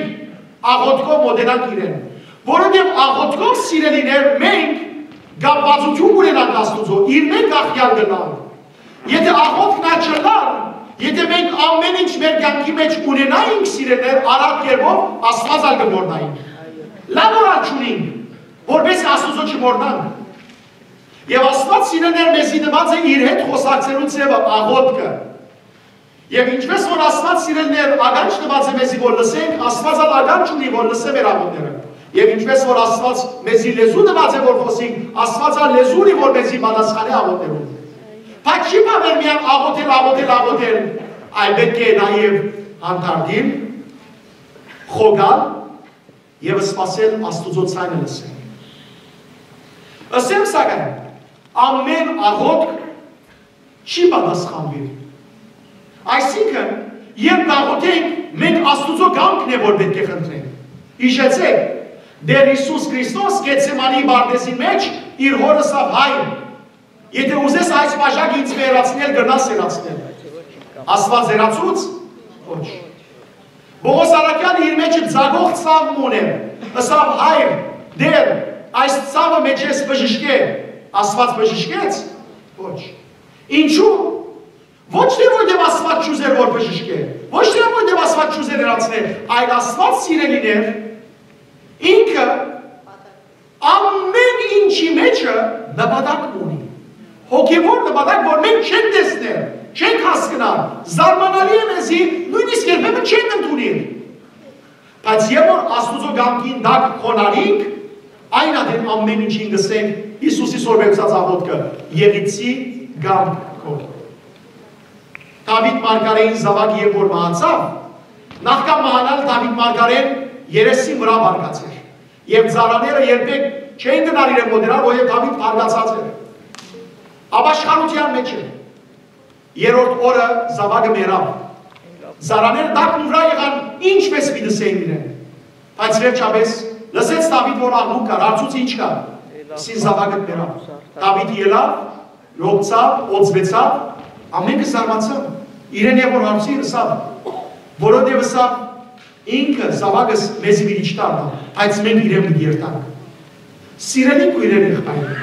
աղօթքով մօտենանք իրեն։ Որովհետեւ աղօթքով, սիրելիներ, մենք կապվածութիւն կ'ունենանք Աստուծոյ, իրմէ կախեալ կ'ըլլանք։ Եթէ աղօթքն ալ չըլլար, եթէ մենք ամէն ինչ մեր կյանքի մեջ ունենայինք, սիրելիներ, արագ կերպով Աստուած ալ կը մոռնայինք։ Լաւ որ ալ չունինք, որպեսզի Աստուծոյ չմոռնանք։ Եւ Աստուած, սիրելիներ, մեզի տուած է իր հետ խօսակցելու ձեւը, աղօթքը։ Եւ ինչպես որ Աստուած, սիրելիներ, ականջ տուած է մեզի, որ լսենք, Աստուած ալ ականջ ունի, որ լսէ մեր աղօթքները։ Եւ ինչպես որ Աստուած մեզի լեզու տուած է, որ խօսենք, Աստուած ալ լեզու ունի, որ մեզի պատասխանէ աղօթքներուն։ Բայց չի բաւեր միայն աղօթել, աղօթել, աղօթել, այլ պէտք է նաեւ հանդարտիլ, խոկալ եւ սպասել Աստուծոյ ձայնը լսել։ Ըսեմ սակայն, ամէն աղօթք չի պատասխանուի։ Այսինքն, երբ կ'աղօթենք, մենք Աստուծոյ կամքն է, որ պէտք է խնդրենք։ Յիշեցէք, Տէր Յիսուս Քրիստոս Գեթսեմանի պարտէզին մեջ իր հօրը ըսաւ. «Հայր, Եթէ ուզես այս բաժակը ինծմէ հեռացնել, կրնաս հեռացնել։ Աստուած հեռացուց։ Ոչ։ Պօղոս առաքեալը իր մէջը ծագող ցաւ մը ունէր, ըսաւ. «Հայր, Տէր, այս ցաւը մէջէս բժշկէ»։ Աստուած բժշկեց։ Ոչ։ Ինչու՞։ Ոչ թէ որովհետեւ Աստուած չուզեր որ բժշկէ, ոչ թէ որովհետեւ Աստուած չուզեր հեռացնէ, այլ Աստուած, սիրելիներ, ինքը ամէն ինչի մէջը նպատակ մը ունի։ Հոգեւոր նպատակ, որ մենք չենք տեսներ, չենք հասկնար, զարմանալի է մեզի, նոյնիսկ երբեմն չենք ընդունիր։ Բայց երբ որ Աստուծոյ կամքին տակ խոնարհենք, այն ատեն ամէն ինչին կ'ըսենք Յիսուսի սորվեցած աղօթքը. «Եղիցի կամք քո»։ Դաւիթ մարգարէին զաւակը երբ որ մահացաւ, նախքան մահանալ Դաւիթ մարգարէն երեսին վրայ բարկած էր։ Եւ ծառաները երբեք չեն գնար իրեն մօտենալ, որովհետեւ Դաւիթ բարկացած էր։ Ապաշխարութեան մէջ էր։ Երրորդ օրը զաւակը մեռաւ։ Ծառաները տակն վրայ եղան, ինչպէս պիտի սեին իրեն։ Բայց վերջապէս լսեց Դաւիթ որ աղմուկ կար, հարցուց. «Ի՞նչ կայ»։ Սին զաւակը մեռաւ։ Դաւիթ ելաւ, լոկցաւ, օծվեցաւ, ամէնքը զարմացան։ Իրեն եւ որ հարցին ըսաւ, որովհետեւ ըսաւ. «Ինքը զաւակս մեզի պիտի չդառնայ, բայց մենք իրեն պիտի երթանք»։ Սիրելի քոյրեր, եղբայրներ,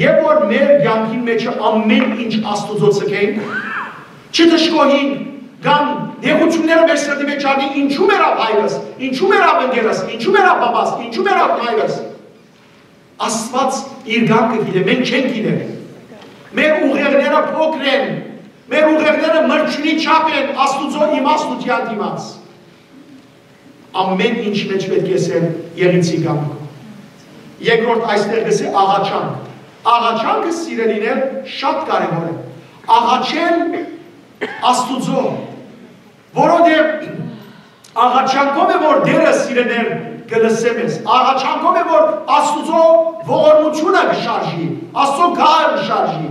երբ որ մեր կեանքին մէջը ամէն ինչ Աստուծոյ ձգենք, չդժգոհենք, կամ նեղութիւնները մեր սրտի մէջ չառնենք, ինչու մեռաւ հայրս, ինչու մեռաւ ընկերս, ինչու մեռաւ պապաս, ինչու մեռաւ մայրս։ Աստուած իր կամքը գիտէ, մենք չենք գիտեր։ Մեր ուղեղները փոքր են, մեր ուղեղները մրջինի չափ են Աստուծոյ իմաստութեան դիմաց։ Ամէն ինչ մէջ պէտք է սեր եղիցի կամքը։ Երկրորդ այստեղ կ'ըսէ աղաչանք։ Աղաչանքը, սիրելիներ, շատ կարեւոր է։ Աղաչել Աստուծոյ, որովհետեւ աղաչանքով է որ Տէրը, սիրելիներ, կը լսէ մեզ։ Աղաչանքով է որ Աստուծոյ ողորմութիւնը կը շարժի, Աստուծոյ գահը կը շարժի,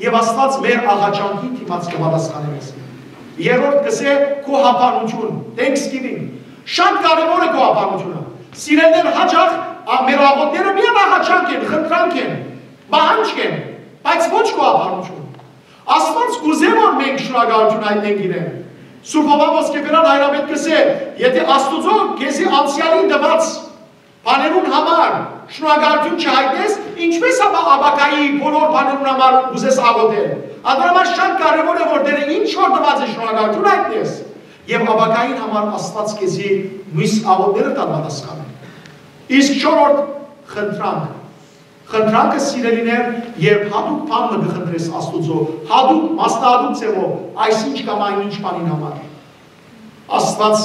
եւ Աստուած մեր աղաչանքին դիմաց կը պատասխանէ մեզ։ Երրորդ կ'ըսէ գոհաբանութիւն, thanksgiving։ Շատ կարեւոր է գոհաբանութիւնը։ Սիրելիներ, յաճախ ա-, մեր աղօթքները միայն աղաչանք են, խնդրանք են, պահանջք են, բայց ոչ գոհաբանութիւն։ Աստուած կ'ուզէ որ մենք շնորհակալութիւն հայտնենք իրեն։ Սուրբ Հովհան Ոսկեբերան հայրապետ կ'ըսէ. «Եթէ Աստուծոյ քեզի անցեալին տուած բաներուն համար շնորհակալութիւն չյայտնես, ինչպէս ապա ապագայի բոլոր բաներուն համար կ'ուզես աղօթել»։ Ատոր համար շատ կարեւոր է որ Տէրը ինչ որ տուած է, շնորհակալութիւն հայտնես, եւ ապագային համար Աստուած քեզի միւս աղօթքներդ ալ պատասխանէ։ Իսկ չորրորդ, խնդրանք։ Խնդրանքը, սիրելիներ, երբ յատուկ բան մը կը խնդրես Աստուծոյ, յատուկ, մասնահատուկ ձեւով, այսինչ կամ այնինչ բանին համար։ Աստուած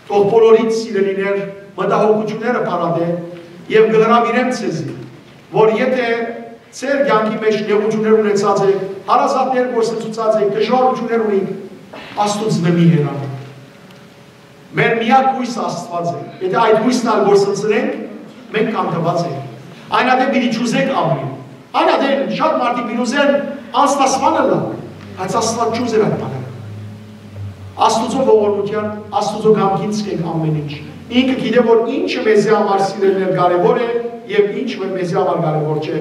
թող բոլորիդ, սիրելիներ, մտահոգութիւնները փարատէ եւ կը հրաւիրեմ ձեզի, որ եթէ ձեր կեանքի մէջ նեղութիւններ ունեցած եք, հարազատներ կորսնցուցած եք, դժուարութիւններ ունիք, Աստուծմէ մի հեռանաք։ Մեր միակ յոյսը Աստուած է։ Եթէ այդ յոյսն ալ կորսնցնենք, մենք կանգնած ենք։ Այն ատեն պիտի չուզենք ապրիլ։ Այն ատեն շատ մարդիկ պիտի ուզեն անձնասպան ըլլան, բայց Աստուած չուզեր այդ բանը։ Աստուծոյ ողորմութեան, Աստուծոյ կամքին ձգենք ամէն ինչ։ Ինքը գիտէ որ ինչը մեզի համար, սիրելիներ, կարեւոր է եւ ինչը մեզի համար կարեւոր չէ։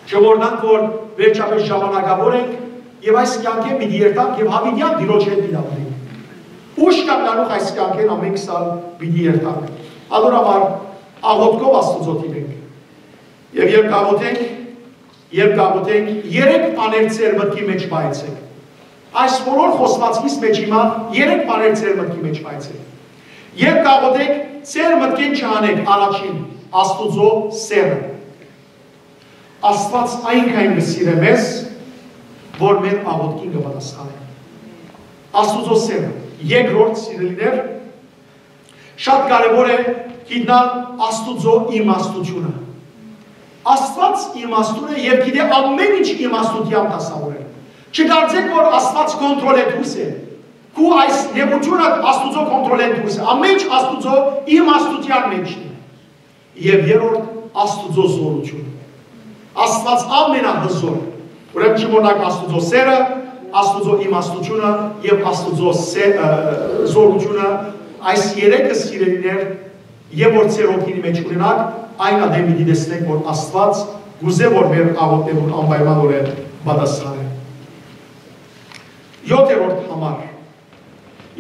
Չմոռնանք որ վերջապէս ժամանակաւոր ենք եւ այս կեանքէն պիտի երթանք եւ յաւիտեան Տիրոջ հետ պիտի ապրենք։ Ուշ կամ նանուխ այս կեանքէն ամէնքս ալ պիտի երթանք։ Ատոր համար աղօթքով Աստուծոյ դիմենք։ Եւ երբ կաղօթենք, երբ կաղօթենք, երեք բաներ ձեր մտքի մէջ պահեցէք։ Այս բոլոր խօսուածքիս մէջ հիմա երեք բաներ ձեր մտքի մէջ պահեցէք։ Երբ կաղօթենք, ձեր մտքէն չհանէք առաջին Աստուծոյ սէրը։ Աստուած այնքան կը սիրէ մեզ, որ մեր աղօթքին կը պատասխանէ։ Աստուծոյ սէրը։ Երկրորդ, սիրելիներ, շատ կարեւոր է գիտնալ Աստուծոյ իմաստութիւնը։ Աստուած իմաստուն է եւ գիտէ ամէն ինչ իմաստութեամբ դասաւորել։ Չկարծեք որ Աստուած կոնտրոլէ դուրս է։ Քու այս նեղութիւնը Աստուծոյ կոնտրոլէն դուրս է։ Ամէն ինչ Աստուծոյ իմաստութեան մէջ է։ Եւ երրորդ, Աստուծոյ զօրութիւն։ Աստուած ամենահզոր է։ Ուրեմն չմոռնանք Աստուծոյ սէրը, Աստուծոյ իմաստութիւնը եւ Աստուծոյ սէ-, ը, զօրութիւնը, այս երեքը, սիրելիներ, եւ որ ձեր հոգին մէջ ունենաք, այն ատեն պիտի տեսնեք որ Աստուած Կ'ուզեմ որ մեր աղօթքներուն անպայմանօրէն պատասխանեն։ Եօթերորդ համար։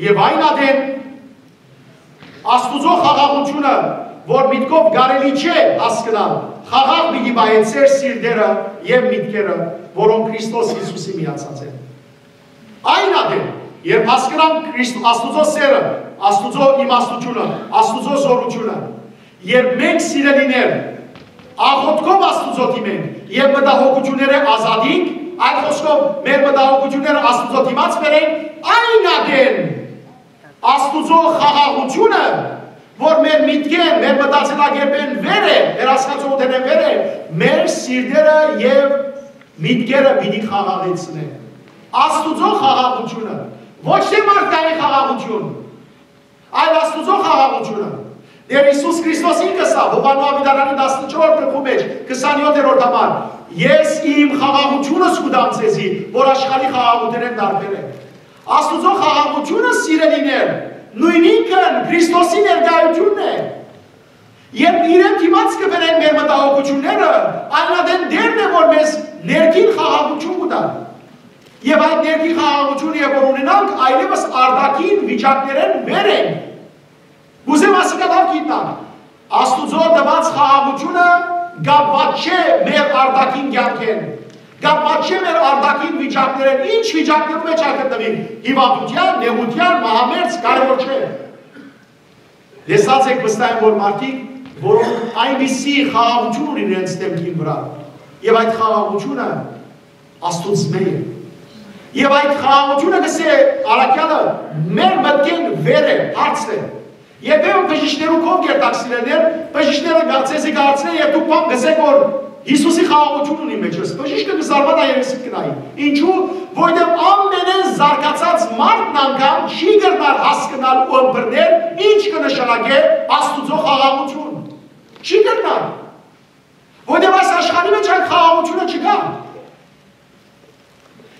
Եւ այն ատեն Աստուծոյ խաղաղութիւնը, որ միտքով կարելի չէ հասկնալ, խաղաղ պիտի պահէ ձեր սիրտերը եւ միտքերը, որոնք Քրիստոս Յիսուսի միացած են։ Այն ատեն, երբ հասկնանք Քրիստ-, Աստուծոյ սերը, Աստուծոյ իմաստութիւնը, Աստուծոյ զօրութիւնը, երբ մենք, սիրելիներ, աղօթքով Աստուծոյ դիմենք եւ մտահոգութիւնները ազատենք, այլ խօսքով, մեր մտահոգութիւնները Աստուծոյ դիմաց բերենք, այն ատեն Աստուծոյ խաղաղութիւնը, որ մեր միտքէն, մեր մտածելակերպէն վեր է, մեր հասկացողութենէն վեր է, մեր սիրտերը եւ միտքերը պիտի խաղաղեցնէ։ Աստուծոյ խաղաղութիւնը, ոչ թէ մարդկային խաղաղութիւն, այլ Աստուծոյ խաղաղութիւնը։ Տէր Յիսուս Քրիստոս ինքը սա, Յովհաննէս աւետարանի տասնչորսերորդ գլխու մէջ, քսանեօթերորդ համար. «Ես իմ խաղաղութիւնս կու տամ ձեզի, որ աշխարհի խաղաղութենէն տարբեր է»։ Աստուծոյ խաղաղութիւնը, սիրելիներ, նոյնինքն Քրիստոսի ներկայութիւնն է։ Երբ իրեն դիմաց կը բերենք մեր մտահոգութիւնները, այն ատեն Տէրն է, որ մեզ ներքին խաղաղութիւն կու տայ։ Եւ այդ ներքին խաղաղութիւնը, երբ որ ունենանք, այլեւս արտաքին վիճակներէն վեր ենք։ Կ'ուզեմ ասիկա լաւ գիտնանք։ Աստուծոյ տուած խաղաղութիւնը կապուած չէ մեր արտաքին կեանքէն, կապուած չէ մեր արտաքին վիճակներէն, ինչ վիճակներու մէջ ալ գտնուի, հիւանդութեան, նեղութեան, մահամերձ, կարեւոր չէ։ Լսած եք վստահ եմ, որ մարդիկ, որոնք այնպիսի խաղաղութիւն ունին իրենց դեմքին վրայ, եւ այդ խաղաղութիւնը Աստուծմէ է։ Եւ այդ խաղաղութիւնը, կ'ըսէ առաքեալը, մեր մտքէն վեր է, հարց է։ Երբեմն բժիշկներու քով կերտաք, սիրելիներ, բժիշկները գա-, ձեզի կ'հարցնեն եւ դուք բան կ'ըսէք, որ Յիսուսի խաղաղութիւն ունի մեջս։ Բժիշկը կը զարմանայ եւ եսիդ կը նայի։ Ինչու՞, որովհետեւ ամենէն զարգացած մարդն անգամ չի կրնար հասկնալ ու ըմբռնել, ինչ կը նշանակէ Աստուծոյ խաղաղութիւն։ Չի կրնար։ Որովհետեւ այս աշխարհի մէջ այդ խաղաղութիւնը չկայ։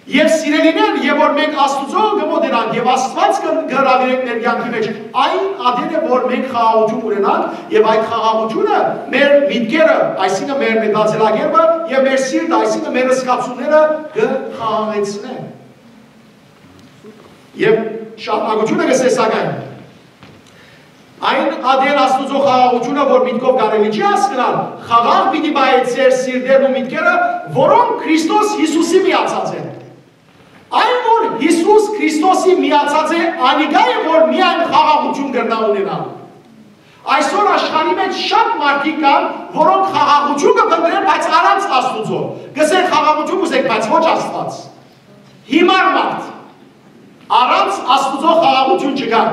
Եւ սիրելիներ, եւ որ մենք Աստուծոյ կը մօտենանք եւ Աստուած կը, կը հրաւիրենք մեր կեանքի մէջ, այն ատեն է, որ մենք խաղաղութիւն ունենանք եւ այդ խաղաղութիւնը մեր միտքերը, այսինքն մեր մտածելակերպը եւ մեր սիրտը, այսինքն մեր զգացումները կը խաղաղեցնեն։ Եւ շարունակութիւնը կ'ըսէ, սակայն, այն ատեն Աստուծոյ խաղաղութիւնը, որ միտքով կարելի չի հասկնալ, խաղաղ պիտի պահէ ձեր սիրտերն ու միտքերը, որոնք Քրիստոս Յիսուսի միացած են։ Այն, որ Յիսուս Քրիստոսի միացած է, անիկա է, որ միայն խաղաղութիւն կրնայ ունենալ։ Այսօր աշխարհի մէջ շատ մարդիկ կան, որոնք խաղաղութիւն կը փնտռեն, բայց առանց Աստուծոյ։ Կ'ըսեն, խաղաղութիւն կ'ուզենք, բայց ոչ Աստուած։ Հիմար մարդ։ Առանց Աստուծոյ խաղաղութիւն չկայ։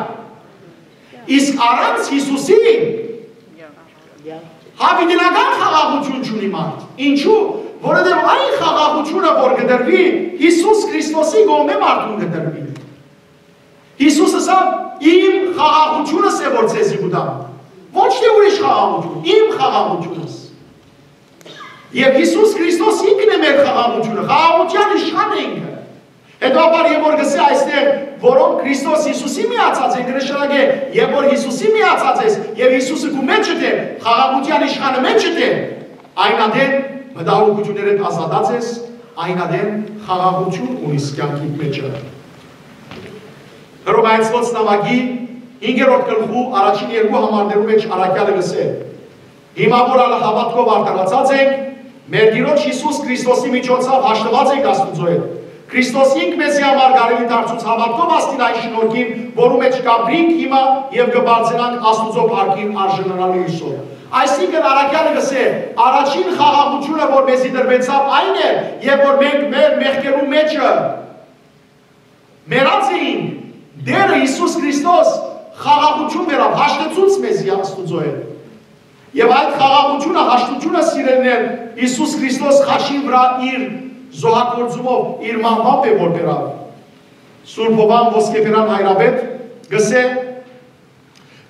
Իսկ առանց Յիսուսի յաւիտենական խաղաղութիւն չունի մարդ։ Ինչու՞, որովհետեւ այն խաղաղութիւնը, որ կը տրուի, Յիսուս Քրիստոսի կողմէ մարդուն կը տրուի։ Յիսուս ըսաւ. «Իմ խաղաղութիւնս է, որ ձեզի կու տամ»։ Ոչ թէ ուրիշ խաղաղութիւն, իմ խաղաղութիւնս։ Եւ Յիսուս Քրիստոս ինքն է մեր խաղաղութիւնը, խաղաղութեան իշխանը ինքը։ Հետո ապար, եւ որ կ'ըսէ այստեղ, որոնք Քրիստոս Յիսուսի միացած են, կը նշանակէ, եւ որ Յիսուսի միացած ես, եւ Յիսուսը քու մէջդ է, խաղաղութեան իշխանը մէջդ է, այն ատեն մտահոգութիւններէդ ազատած ես, այն ատեն խաղաղութիւն ունիս կեանքիդ մէջը։ Հռովմայեցիներուն նամակի հինգերորդ գլխու առաջին երկու համարներու մէջ առաքեալը կ'ըսէ. «Հիմա որ ալ հաւատքով արդարացած ենք, մեր Տիրոջ Յիսուս Քրիստոսի միջոցով հաշտուած ենք Աստուծոյ հետ։ Քրիստոս ինք մեզի համար կարելի դարձուց հաւատքով հասնիլ այն շնորհքին, որու մէջ կ'ապրինք հիմա եւ կը բարձրանանք Աստուծոյ փառքին արժանանալու հոյսով»։ Այսինքն առաքեալը կ'ըսէ. առաջին խաղաղութիւնը, որ մեզի տրուեցաւ, այն է, եւ որ մենք մեր մեղքերու մէջը մեռած էինք, Տէրը Յիսուս Քրիստոս խաղաղութիւն բերաւ, հաշտեցուց մեզի Աստուծոյ հետ։ Եւ այդ խաղաղութիւնը, հաշտութիւնը, սիրելիներ, Յիսուս Քրիստոս խաչին վրայ իր զոհագործումով, իր մահուան պէ որ բերաւ։ Սուրբ Յովհան Ոսկեբերան հայրապետ կ'ըսէ,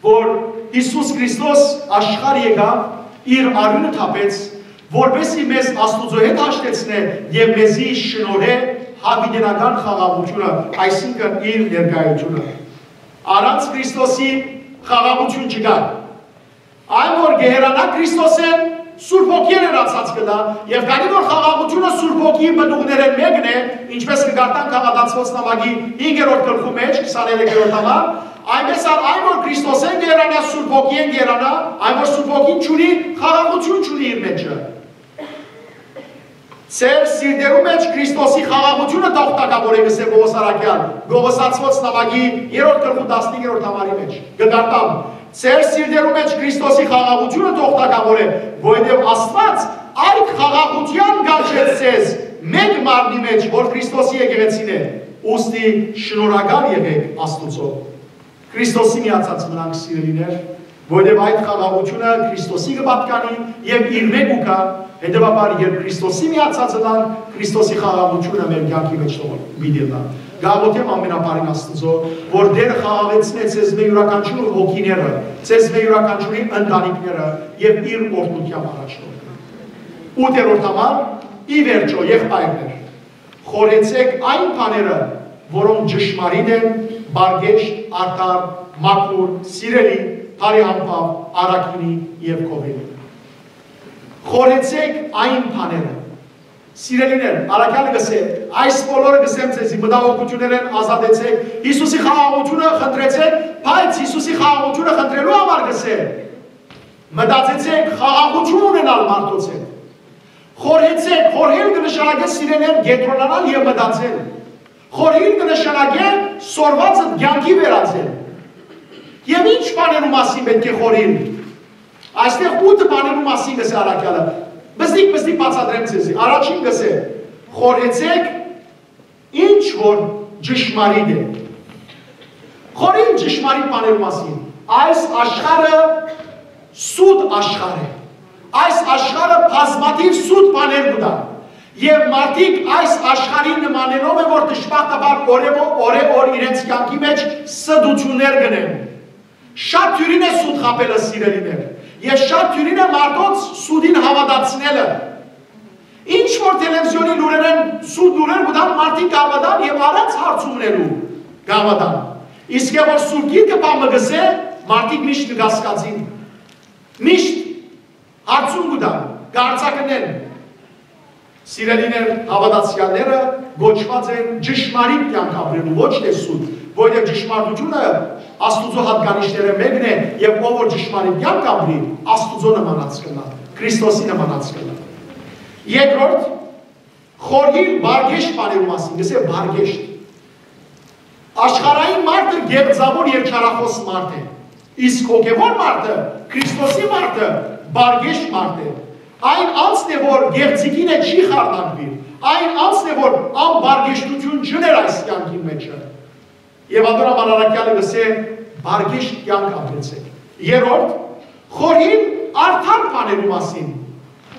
որ Յիսուս Քրիստոս աշխարհ եկաւ, իր արիւնը թափեց, որպեսզի մեզ Աստուծոյ հետ հաշտեցնէ եւ մեզի շնորհէ յաւիտենական խաղաղութիւնը, այսինքն իր ներկայութիւնը։ Առանց Քրիստոսի խաղաղութիւն չկայ։ Այն, որ կը հեռանայ Քրիստոսէն, Սուրբ Հոգիէն հեռացած կը տայ, եւ քանի որ խաղաղութիւնը Սուրբ Հոգիի պտուղներէն մէկն է, ինչպէս կը կարդանք Հաղատացուոց նամակի հինգերորդ գլխու մէջ, քսաներեքերորդ համար, այնպէս ալ այն որ Քրիստոսէն կ'երանայ, Սուրբ Հոգիէն կ'երանայ, այն որ Սուրբ Հոգին չունի, խաղաղութիւն չունի իր մէջը։ Ձեր սիրտերու մէջ Քրիստոսի խաղաղութիւնը թող թագաւորէ, կ'ըսէ Պօղոս առաքեալ, Կողոսացուոց նամակի երրորդ գլխու տասնհինգերորդ համարի մէջ։ Կը կարդամ. «Ձեր սիրտերու մէջ Քրիստոսի խաղաղութիւնը թող թագաւորէ, որովհետեւ Աստուած այդ խաղաղութեան կանչեց ձեզ մէկ մարմնի մէջ, որ Քրիստոսի եկեղեցին է։ Ուստի շնորհակալ եղէք Աստուծոյ»։ Քրիստոսի միացած մնանք, սիրելիներ, որովհետեւ այդ խաղաղութիւնը Քրիստոսի կը պատկանի եւ իրմէ կու գայ, հետեւաբար, երբ Քրիստոսի միացած ըլանք, Քրիստոսի խաղաղութիւնը մեր կեանքի մէջ թող պիտի ըլլայ։ Կ'աղոթեմ ամենաբարին Աստուծոյ, որ Տէրը խաղաղեցնէ ձեզմէ իւրաքանչիւր հոգիները, ձեզմէ իւրաքանչիւրի ընտանիքները եւ իր օրհնութեամբ առաջնորդի։ Ութերորդ համար, ի վերջոյ, եղբայրներ, խորհեցէք այն բաները, որոնք ճշմարիտ են, պարկեշտ, արդար, մաքուր, սիրելի, բարեհամբաւ, առաքինի եւ գովելի։ Խորհեցէք այն բաները։ Սիրելիներ, առաքեալը կ'ըսէ, այս բոլորը կ'ըսեմ ձեզի, մտահոգութիւններէն ազատեցէք, Յիսուսի խաղաղութիւնը խնդրեցէք, բայց Յիսուսի խաղաղութիւնը խնդրելու համար կ'ըսէ, մտածեցէք խաղաղութիւն ունենալ մարդոց հետ։ Խորհեցէք, խորհել կը նշանակէ, սիրելիներ, կեդրոնանալ եւ մտածել։ Խորհիլ կը նշանակէ սորվածը կեանքի վերածել։ Եւ ինչ բաներու մասին պէտք է խորհիլ։ Այստեղ ութը բաներու մասին կ'ըսէ առաքեալը։ Բզդիկ, բզդիկ բացատրեմ ձեզի։ Առաջին կ'ըսէ. «Խորհեցեք ինչ որ ճշմարիտ է»։ Խորհիլ ճշմարիտ բաներու մասին։ Այս աշխարհը սուտ աշխարհ է։ Այս աշխարհը բազմաթիւ սուտ բաներ կու տայ։ Եւ մարդիկ այս աշխարհին նմանելով է, որ դժբախտաբար օրը օրը օր իրենց կեանքի մէջ ստություններ կ'ընեն։ Շատ դիւրին է սուտ խաբելը, սիրելիներ, եւ շատ դիւրին է մարդոց սուտին հաւատացնելը։ Ինչ որ թելեվիզիոնի լուրերէն սուտ լուրեր կու տան, մարդիկ կ'հաւատան եւ առանց հարցումներու կ'հաւատան։ Իսկ որ Սուրբ Գիրքը բան մը կ'ըսէ, մարդիկ միշտ կը կասկածին, միշտ հարցում կու տան, կ'արձակնեն։ Սիրելիներ, հաւատացեալները կոչուած են ճշմարիտ կեանք ապրելու, ոչ թե սուտ, որովհետեւ ճշմարտությունը Աստուծոյ յատկանիշներէն մէկն է, եւ ով որ ճշմարիտ կեանք ապրի, Աստուծոյ նմանած կ'ըլլայ, Քրիստոսի նմանած կ'ըլլայ։ Երկրորդ, խորհիլ պարկեշտ բաներու մասին, կ'ըսէ պարկեշտ։ Աշխարհային մարդը գեղձաւոր եւ չարախօս մարդ է, իսկ հոգեւոր մարդը, Քրիստոսի մարդը, պարկեշտ մարդ է։ Այն անձն է, որ գեղձիկին հետ չի խառնակուիր, այն անձն է, որ անպարկեշտութիւն չուներ այս կեանքին մէջը։ Եւ ատոր համար առաքեալը կ'ըսէ. «Պարկեշտ կեանք ապրեցէք»։ Երրորդ, խորհիլ արդար բաներու մասին։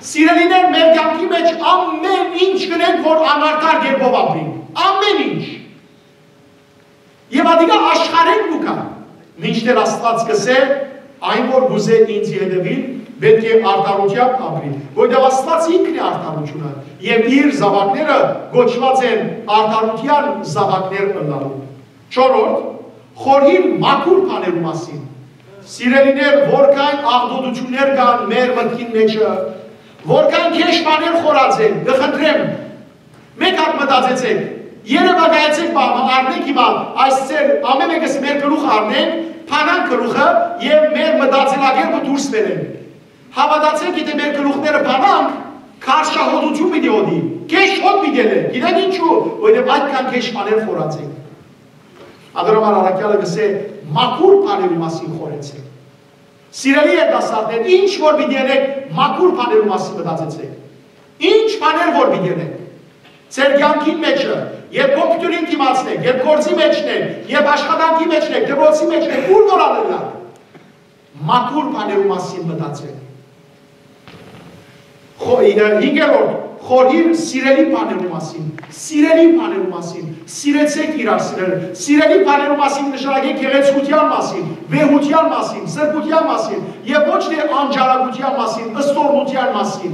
Սիրելիներ, մեր կեանքի մէջ ամեն ինչ կ'ընենք, որ անարդար կերպով ապրենք։ Ամեն ինչ։ Եւ ատիկա աշխարհէն կու գայ, մինչդեռ Աստուած կ'ըսէ. «Այն որ կ'ուզէ ինծի հետեւիլ, պէտք է արդարութեամբ ապրի, որովհետեւ Աստուած ինքն է արդարութիւնը, եւ իր զաւակները կոչուած են արդարութեան զաւակներ ըլլալու»։ Չորրորդ, խորհիլ մաքուր բաներու մասին։ Սիրելիներ, որքան աղտոտութիւններ կան մեր մտքին մէջը, որքան գէշ բաներ խորած են, կը խնդրեմ, մէկ հատ մտածեցէք, երեւակայեցէք բանը, առնենք հիմա այս ձեր, ամեն մեկս մեր գլուխ առնենք, փանանք գլուխը եւ մեր մտածելակերպը դուրս բերենք։ Հաւատացեք, եթէ մեր գլուխները փանանք, քարշահոտութիւն պիտի յոտի, գէշ հոտ պիտի ելլէ, գիտեք ինչու, որովհետեւ այդքան գէշ բաներ խորած ենք։ Ատոր համար առաքեալը կ'ըսէ. «Մաքուր բաներու մասին խորհեցէք»։ Սիրելի երիտասարդներ, ինչ որ պիտի ընեք, մաքուր բաներու մասին մտածեցէք։ Ինչ բաներ որ պիտի ընեք, ձեր կեանքին մէջը, երբ կոմպիւտերին դիմացն եք, երբ գործի մէջն եք, երբ աշխատանքի մէջն եք, դպրոցի մէջն եք, ուր որ ալ ըլլաք, մաքուր բաներու մասին մտածեք։ Խո-, ինը, հինգերորդ, խորհիլ սիրելի բաներու մասին, սիրելի բաներու մասին, սիրեցեք իրար սիրել, սիրելի բաներու մասին նշանակեք գեղեցկութեան մասին, վեհութեան մասին, սրբութեան մասին, եւ ոչ թե անճարակութեան մասին, ստորմութեան մասին։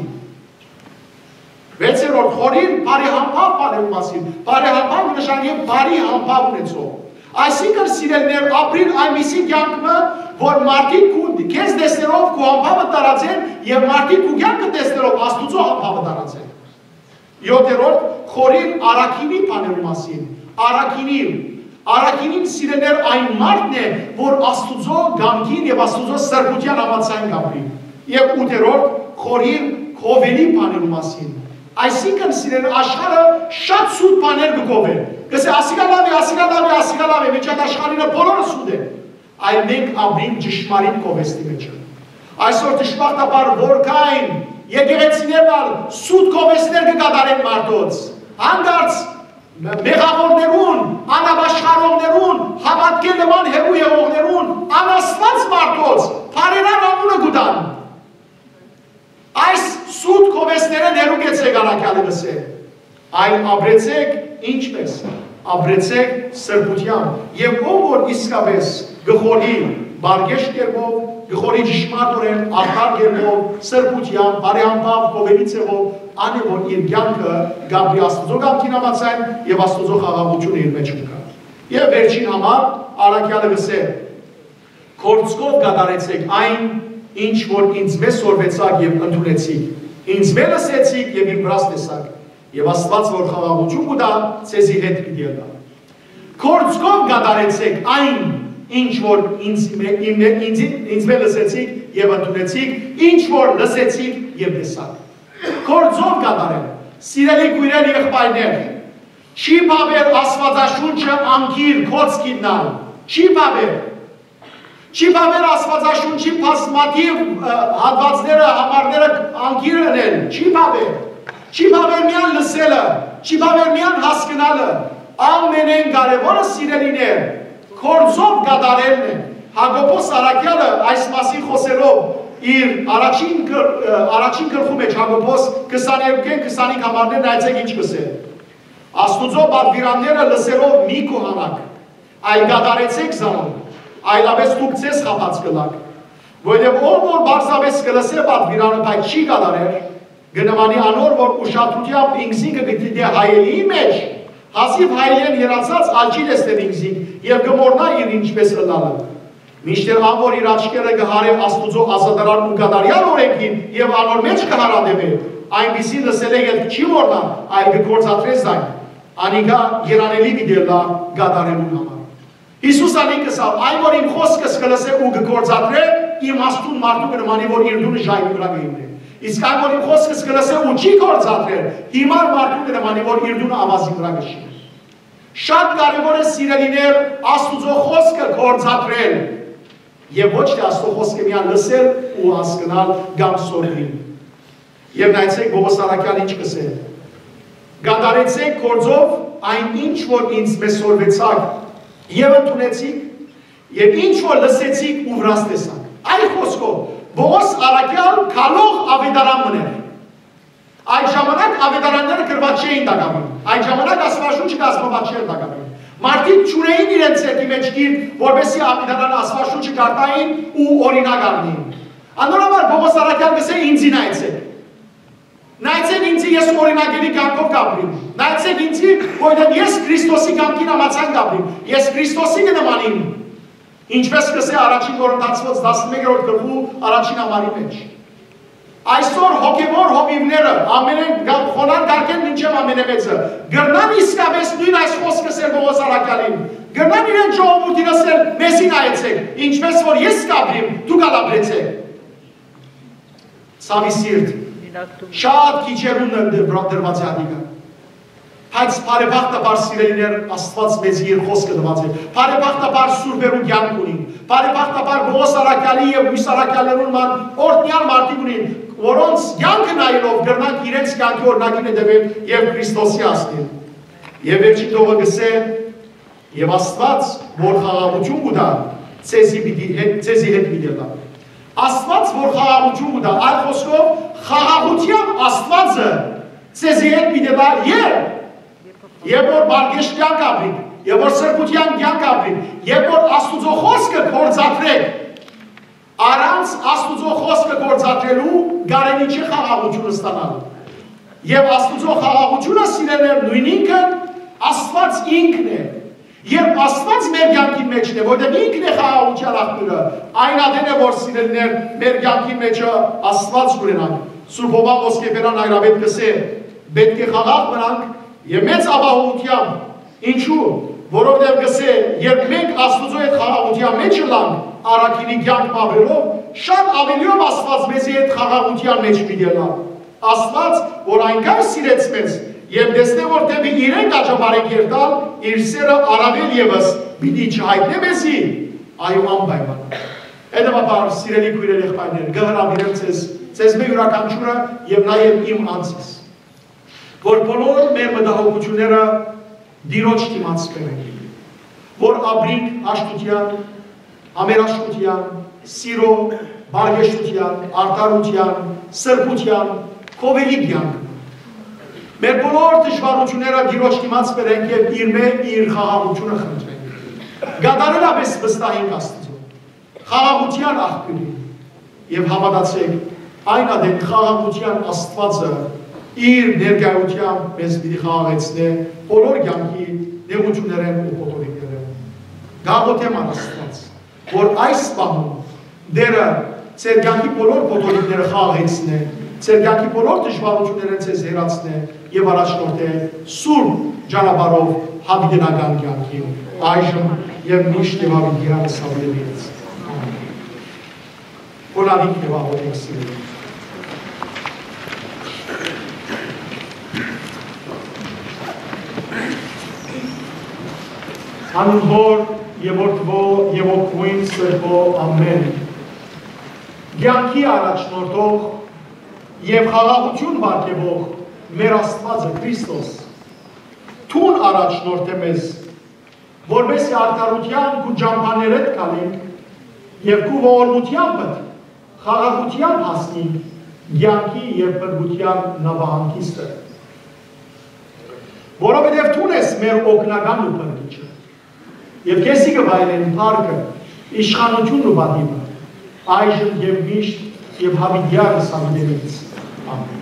Վեցերորդ, խորհիլ բարեհամբաւ բաներու մասին, բարեհամբաւ նշանակեք բարի համբաւ ունեցող։ Այսինքն, սիրելիներ, ապրիլ այնպիսի կեանք մը, որ մարդիկ քու, քեզ տեսնելով քու համբաւը տարածեն եւ մարդիկ քու կեանքը տեսնելով Աստուծոյ համբաւը տարածեն։ Յոթերորդ, խորհիր առաքինի բաներու մասին։ Առաքինի, առաքինին, սիրելիներ, այն մարդն է, որ Աստուծոյ կամքին եւ Աստուծոյ սրբութեան համաձայն կապրի։ Եւ ութերորդ, խորհիր կովելի բաներու մասին։ Այսինքն, սիրելիներ, աշխարհը շատ սուտ բաներ կը կովէ։ Կ'ըսէ, «Ասիկա լաւ է, ասիկա լաւ է, ասիկա լաւ է», միջան աշխարհինը բոլորը սուտ է։ Այլ մենք ապրինք ճշմարիտ կովեստի մէջ։ Այսօր, դժբախտաբար, որքան եկեղեցիներն ալ սուտ կովեստներ կը կատարեն մարդոց, հանկարծ մեղավորներուն, անապաշխարողներուն, հաւատքէ նման հեռու եղողներուն, անաստուած մարդոց բարերար անունը կու տան։ Այս սուտ կովեստներէն հեռու գեցէք, առաքեալը կ'ըսէ, այլ ապրեցէք ինչպէս, ապրեցէք սրբութեամբ, եւ ով որ իսկապէս կը խորհի բարգեշտ կերպով, կը խորհի ճշմարտօրէն, արդար կերպով, սրբութեամբ, բարեհամբաւ, կովելի ձեւով, ան է որ իր կեանքը կապրի Աստուծոյ կամքին համաձայն եւ Աստուծոյ խաղաղութիւնը իր մէջ կու գայ։ Եւ վերջին համար, առաքեալը կ'ըսէ, «Գործքով կատարեցէք այն, ինչ որ ինձմէ սորվեցաք եւ ընդունեցիք, ինձմէ լսեցիք եւ իմ վրաս տեսաք, եւ Աստուած որ խաղաղութիւն կու տայ, ձեզի հետ պիտի ըլլայ։ Գործքով կատարեցէք այն, ինչ որ ինձմէ, ինձ, ինձմէ լսեցիք եւ ընդունեցիք, ինչ որ լսեցիք եւ տեսաք»։ Գործով կատարել, սիրելի քոյրեր, եղբայրներ, չի բաւեր Աստուածաշունչը անգիր կոց գիտնալ, չի բաւեր։ Չի բաւեր Աստուածաշունչի բազմաթիւ, ը, հատուածները, համարները անգիր ընել, չի բաւեր։ Չի բաւեր միայն լսելը, չի բաւեր միայն հասկնալը։ Ամենէն կարեւորը, սիրելիներ, գործով կատարելն է։ Յակոբոս առաքեալը այս մասին խօսելով իր առաջին գլ-, ը, առաջին գլխու մէջ, Յակոբոս քսաներկուքէն քսանհինգ համարներ, նայեցէք ինչ կ'ըսէ. «Աստուծոյ պատուիրանները լսելով մի գոհանաք, այլ կատարեցէք զանոնք, այլապէս դուք ձեզ խաբած կ'ըլլաք։ Որովհետեւ ով որ պարզապէս կը լսէ պատուիրանը, բայց չի կատարեր, կը նմանի անոր որ ուշադրութեամբ ինքզինքը կը դիտէ հայելիի մէջ, հազիւ հայելիէն հեռացած ալ չի տեսներ ինքզինք եւ կը մոռնայ իր ինչպէս ըլլալը։ Մինչդեռ ան որ իր աչքերը կը յարէ Աստուծոյ ազատարար ու կատարեալ օրէնքին եւ անոր մէջ կը յարատեւէ, այնպիսին լսելէ ետք չի մոռնար, այլ կը գործադրէ զայն, անիկա երանելի պիտի ըլլայ կատարելուն համար»։ Յիսուս ալ ինք ըսաւ. «Այն որ իմ խօսքս կը լսէ ու կը գործադրէ, իմաստուն մարդու կը նմանի որ իր տունը ժայռի վրայ կը հիմնէ։ Իսկ այն որ իմ խօսքս կը լսէ ու չի գործադրեր, յիմար մարդու կը նմանի որ իր տունը աւազի վրայ կը շինէ»։ Շատ կարեւոր է, սիրելիներ, Աստուծոյ խօսքը գործադրել եւ ոչ թէ Աստուծոյ խօսքը միայն լսել ու հասկնալ կամ սորվել։ Եւ նայեցէք, Պողոս առաքեալ ինչ կ'ըսէ. «Կատարեցէք գործով այն, ինչ որ ինձմէ սորվեցաք եւ ընդունեցիք, եւ ինչ որ լսեցիք ու վրաս տեսաք»։ Այլ խօսքով, Պողոս առաքեալ գալող աւետարան մըն էր։ Այդ ժամանակ աւետարանները գրուած չէին տակաւին։ Այդ ժամանակ Աստուածաշունչը կազմուած չէր տակաւին։ Մարդիկ չունէին իրենց ձեռքի մէջ գիրք, որպեսզի աւետարան Աստուածաշունչը կարդային ու օրինակ առնեին։ Անոր համար Պողոս առաքեալ կ'ըսէ. «Ինձի նայեցէք։ Նայեցէք ինձի, ես օրինակելի կեանքով կ'ապրիմ։ Նայեցէք ինձի, որովհետեւ ես Քրիստոսի կամքին համաձայն կ'ապրիմ։ Ես Քրիստոսի կը նմանիմ»։ Ինչպէս կ'ըսէ առաջին Կորինթացիներուն տասնմեկերորդ գլխու առաջին համարի մէջ։ Այսօր հոգեւոր հովիւները, ամենէն գ-, խոնար կարգէն մինչեւ ամենամեծը, կրնան իսկապէս նոյն այս խօսքը ըսել Պողոս առաքեալին, կրնան իրեն ժողովուրդին ըսել. «Մեզի նայեցէք, ինչպէս որ ես կ'ապրիմ, դուք ալ ապրեցէք»։ Ցաւի սիրտ, շատ քիչերուն դրված է ատիկա։ Բայց բարեբախտաբար, սիրելիներ, Աստուած մեզի իր խօսքը տուած է։ Բարեբախտաբար, սուրբերու կեանք ունին։ Բարեբախտաբար, Պողոս առաքեալի եւ միւս առաքեալներուն ման օրհնեալ մարդիկ ունին, որոնց կեանքը նայելով կրնանք իրենց կեանքի օրինակին հետեւել եւ Քրիստոսի հասնել։ Եւ վերջին տողը կ'ըսէ. «Եւ Աստուած, որ խաղաղութիւն կու տայ, ձեզի պիտի հետ, ձեզի հետ պիտի ըլլայ»։ Աստուած, որ խաղաղութիւն կու տայ, այլ խօսքով, խաղաղութեան Աստուածը ձեզի հետ պիտի ըլլայ, երբ, երբ որ բարգեշտ կեանք ապրիք, երբ որ սրբութեան կեանք ապրիք, երբ որ Աստուծոյ խօսքը գործադրեք, առանց Աստուծոյ խօսքը գործադրելու կարելի չի խաղաղութիւն ստանալ։ Եւ Աստուծոյ խաղաղութիւնը, սիրելիներ, նոյնինքն Աստուած ինքն է։ Երբ Աստուած մեր կեանքին մէջն է, որտեղ ինքն է խաղաղութեան աղբիւրը, այն ատեն է, որ սիրելիներ, մեր կեանքին մէջը Աստուած կ'ունենանք։ Սուրբ Յովհան Ոսկեբերան հայրապետ կ'ըսէ. «Պէտք է խաղաղ մնանք եւ մեծ ապահովութեամբ»։ Ինչու՞։ Որովհետեւ կ'ըսէ. «Երբ մենք Աստուծոյ հետ խաղաղութեան մէջ ըլանք, առաքինի կեանք մը ապրելով, շատ աւելիով Աստուած մեզի հետ խաղաղութեան մէջ պիտի ըլլայ»։ Աստուած, որ այնքան սիրեց մեզ, եւ տեսնէ, որ դէպի իրեն կ'աճապարենք երթալ, իր սէրը առաւել եւս պիտի չյայտնէ մեզի, այո, անպայման։ Հետեւաբար, սիրելի քոյրեր, եղբայրներ, կը հրաւիրեմ ձեզ, ձեզմէ իւրաքանչիւրը եւ նաեւ իմ անձս, որ բոլոր մեր մտահոգութիւնները Տիրոջ դիմաց բերենք, որ ապրինք հաշտութեան, համերաշխութեան, սիրո, բարեկեցութեան, արդարութեան, սրբութեան, գովելի կեանք։ Մեր բոլոր դժուարութիւնները Տիրոջ դիմաց բերենք եւ իրմէ իր խաղաղութիւնը խնդրենք։ Կատարելապէս վստահենք Աստուծոյ, խաղաղութեան աղբիւրին, եւ հաւատացէք, այն ատեն խաղաղութեան Աստուածը իր ներկայութեամբ մեզ պիտի խաղաղեցնէ բոլոր կեանքի նեղութիւններէն ու փոթորիկներէն։ Կ'աղօթեմ առ Աստուած, որ այս պահուն Տէրը ձեր կեանքի բոլոր փոթորիկները խաղաղեցնէ, ձեր կեանքի բոլոր դժուարութիւններէն ձեզ հեռացնէ եւ առաջնորդէ սուրբ ճանապարհով յաւիտենական կեանքին, այժմ եւ միշտ եւ յաւիտեանս յաւիտենիցս։ Ամէն։ Խոնարհենք եւ աղօթենք, սիրելի։ Անունով Հօր եւ Որդւոյ եւ Հոգւոյն Սրբոյ, ամէն։ Կեանքի առաջնորդող եւ խաղաղութիւն պարգեւող մեր Աստուածը Քրիստոս, դուն առաջնորդէ մեզ, որպէս զի արդարութեան քու ճամբաներէդ գալինք եւ քու ողորմութեամբդ խաղաղութեան հասնինք կեանքի եւ փրկութեան նաւահանգիստը։ Որովհետեւ դուն ես մեր օգնականն ու փրկիչը, եւ քեզի կը վայելեն փառքը, իշխանութիւնն ու պատիւը, այժմ եւ միշտ եւ յաւիտեանս յաւիտենիցս։ Ամէն։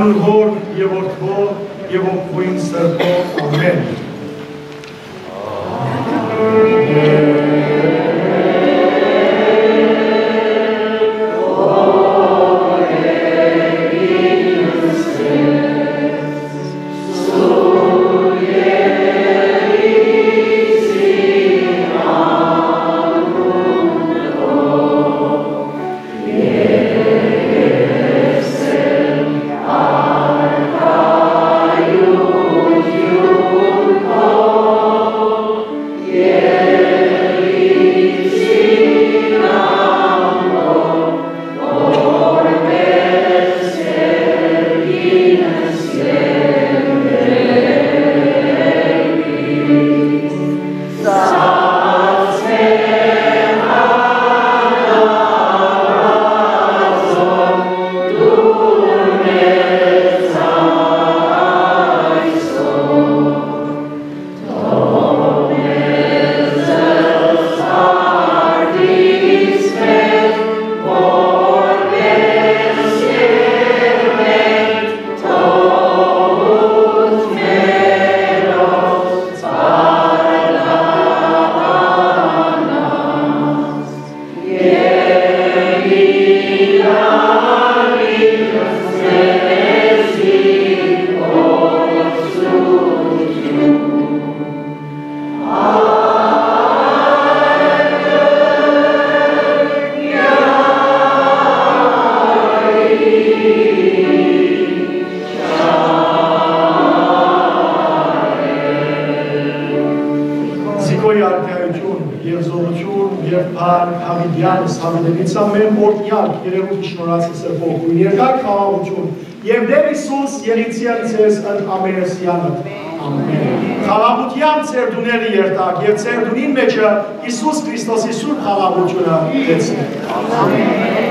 Յանուն Հօր եւ Որդի եւ Ոգին Սրբոյ։ Ամէն։ Զիգոյ արքայութիւն եւ զօրութիւն եւ փառք յաւիտեանս, յաւիտենից ամէն օրհնեալ, երերուտ շնորհացը սրբոյ գոյն երկար խաղաղութիւն եւ Տէր Յիսուս երիցի ալ ձեզ ընդ ամենեսեանը։ Ամէն։ Խաղաղութեան ձեր տուները երթաք եւ ձեր տունին մէջը Յիսուս Քրիստոսի սուրբ խաղաղութիւնը գեցնի։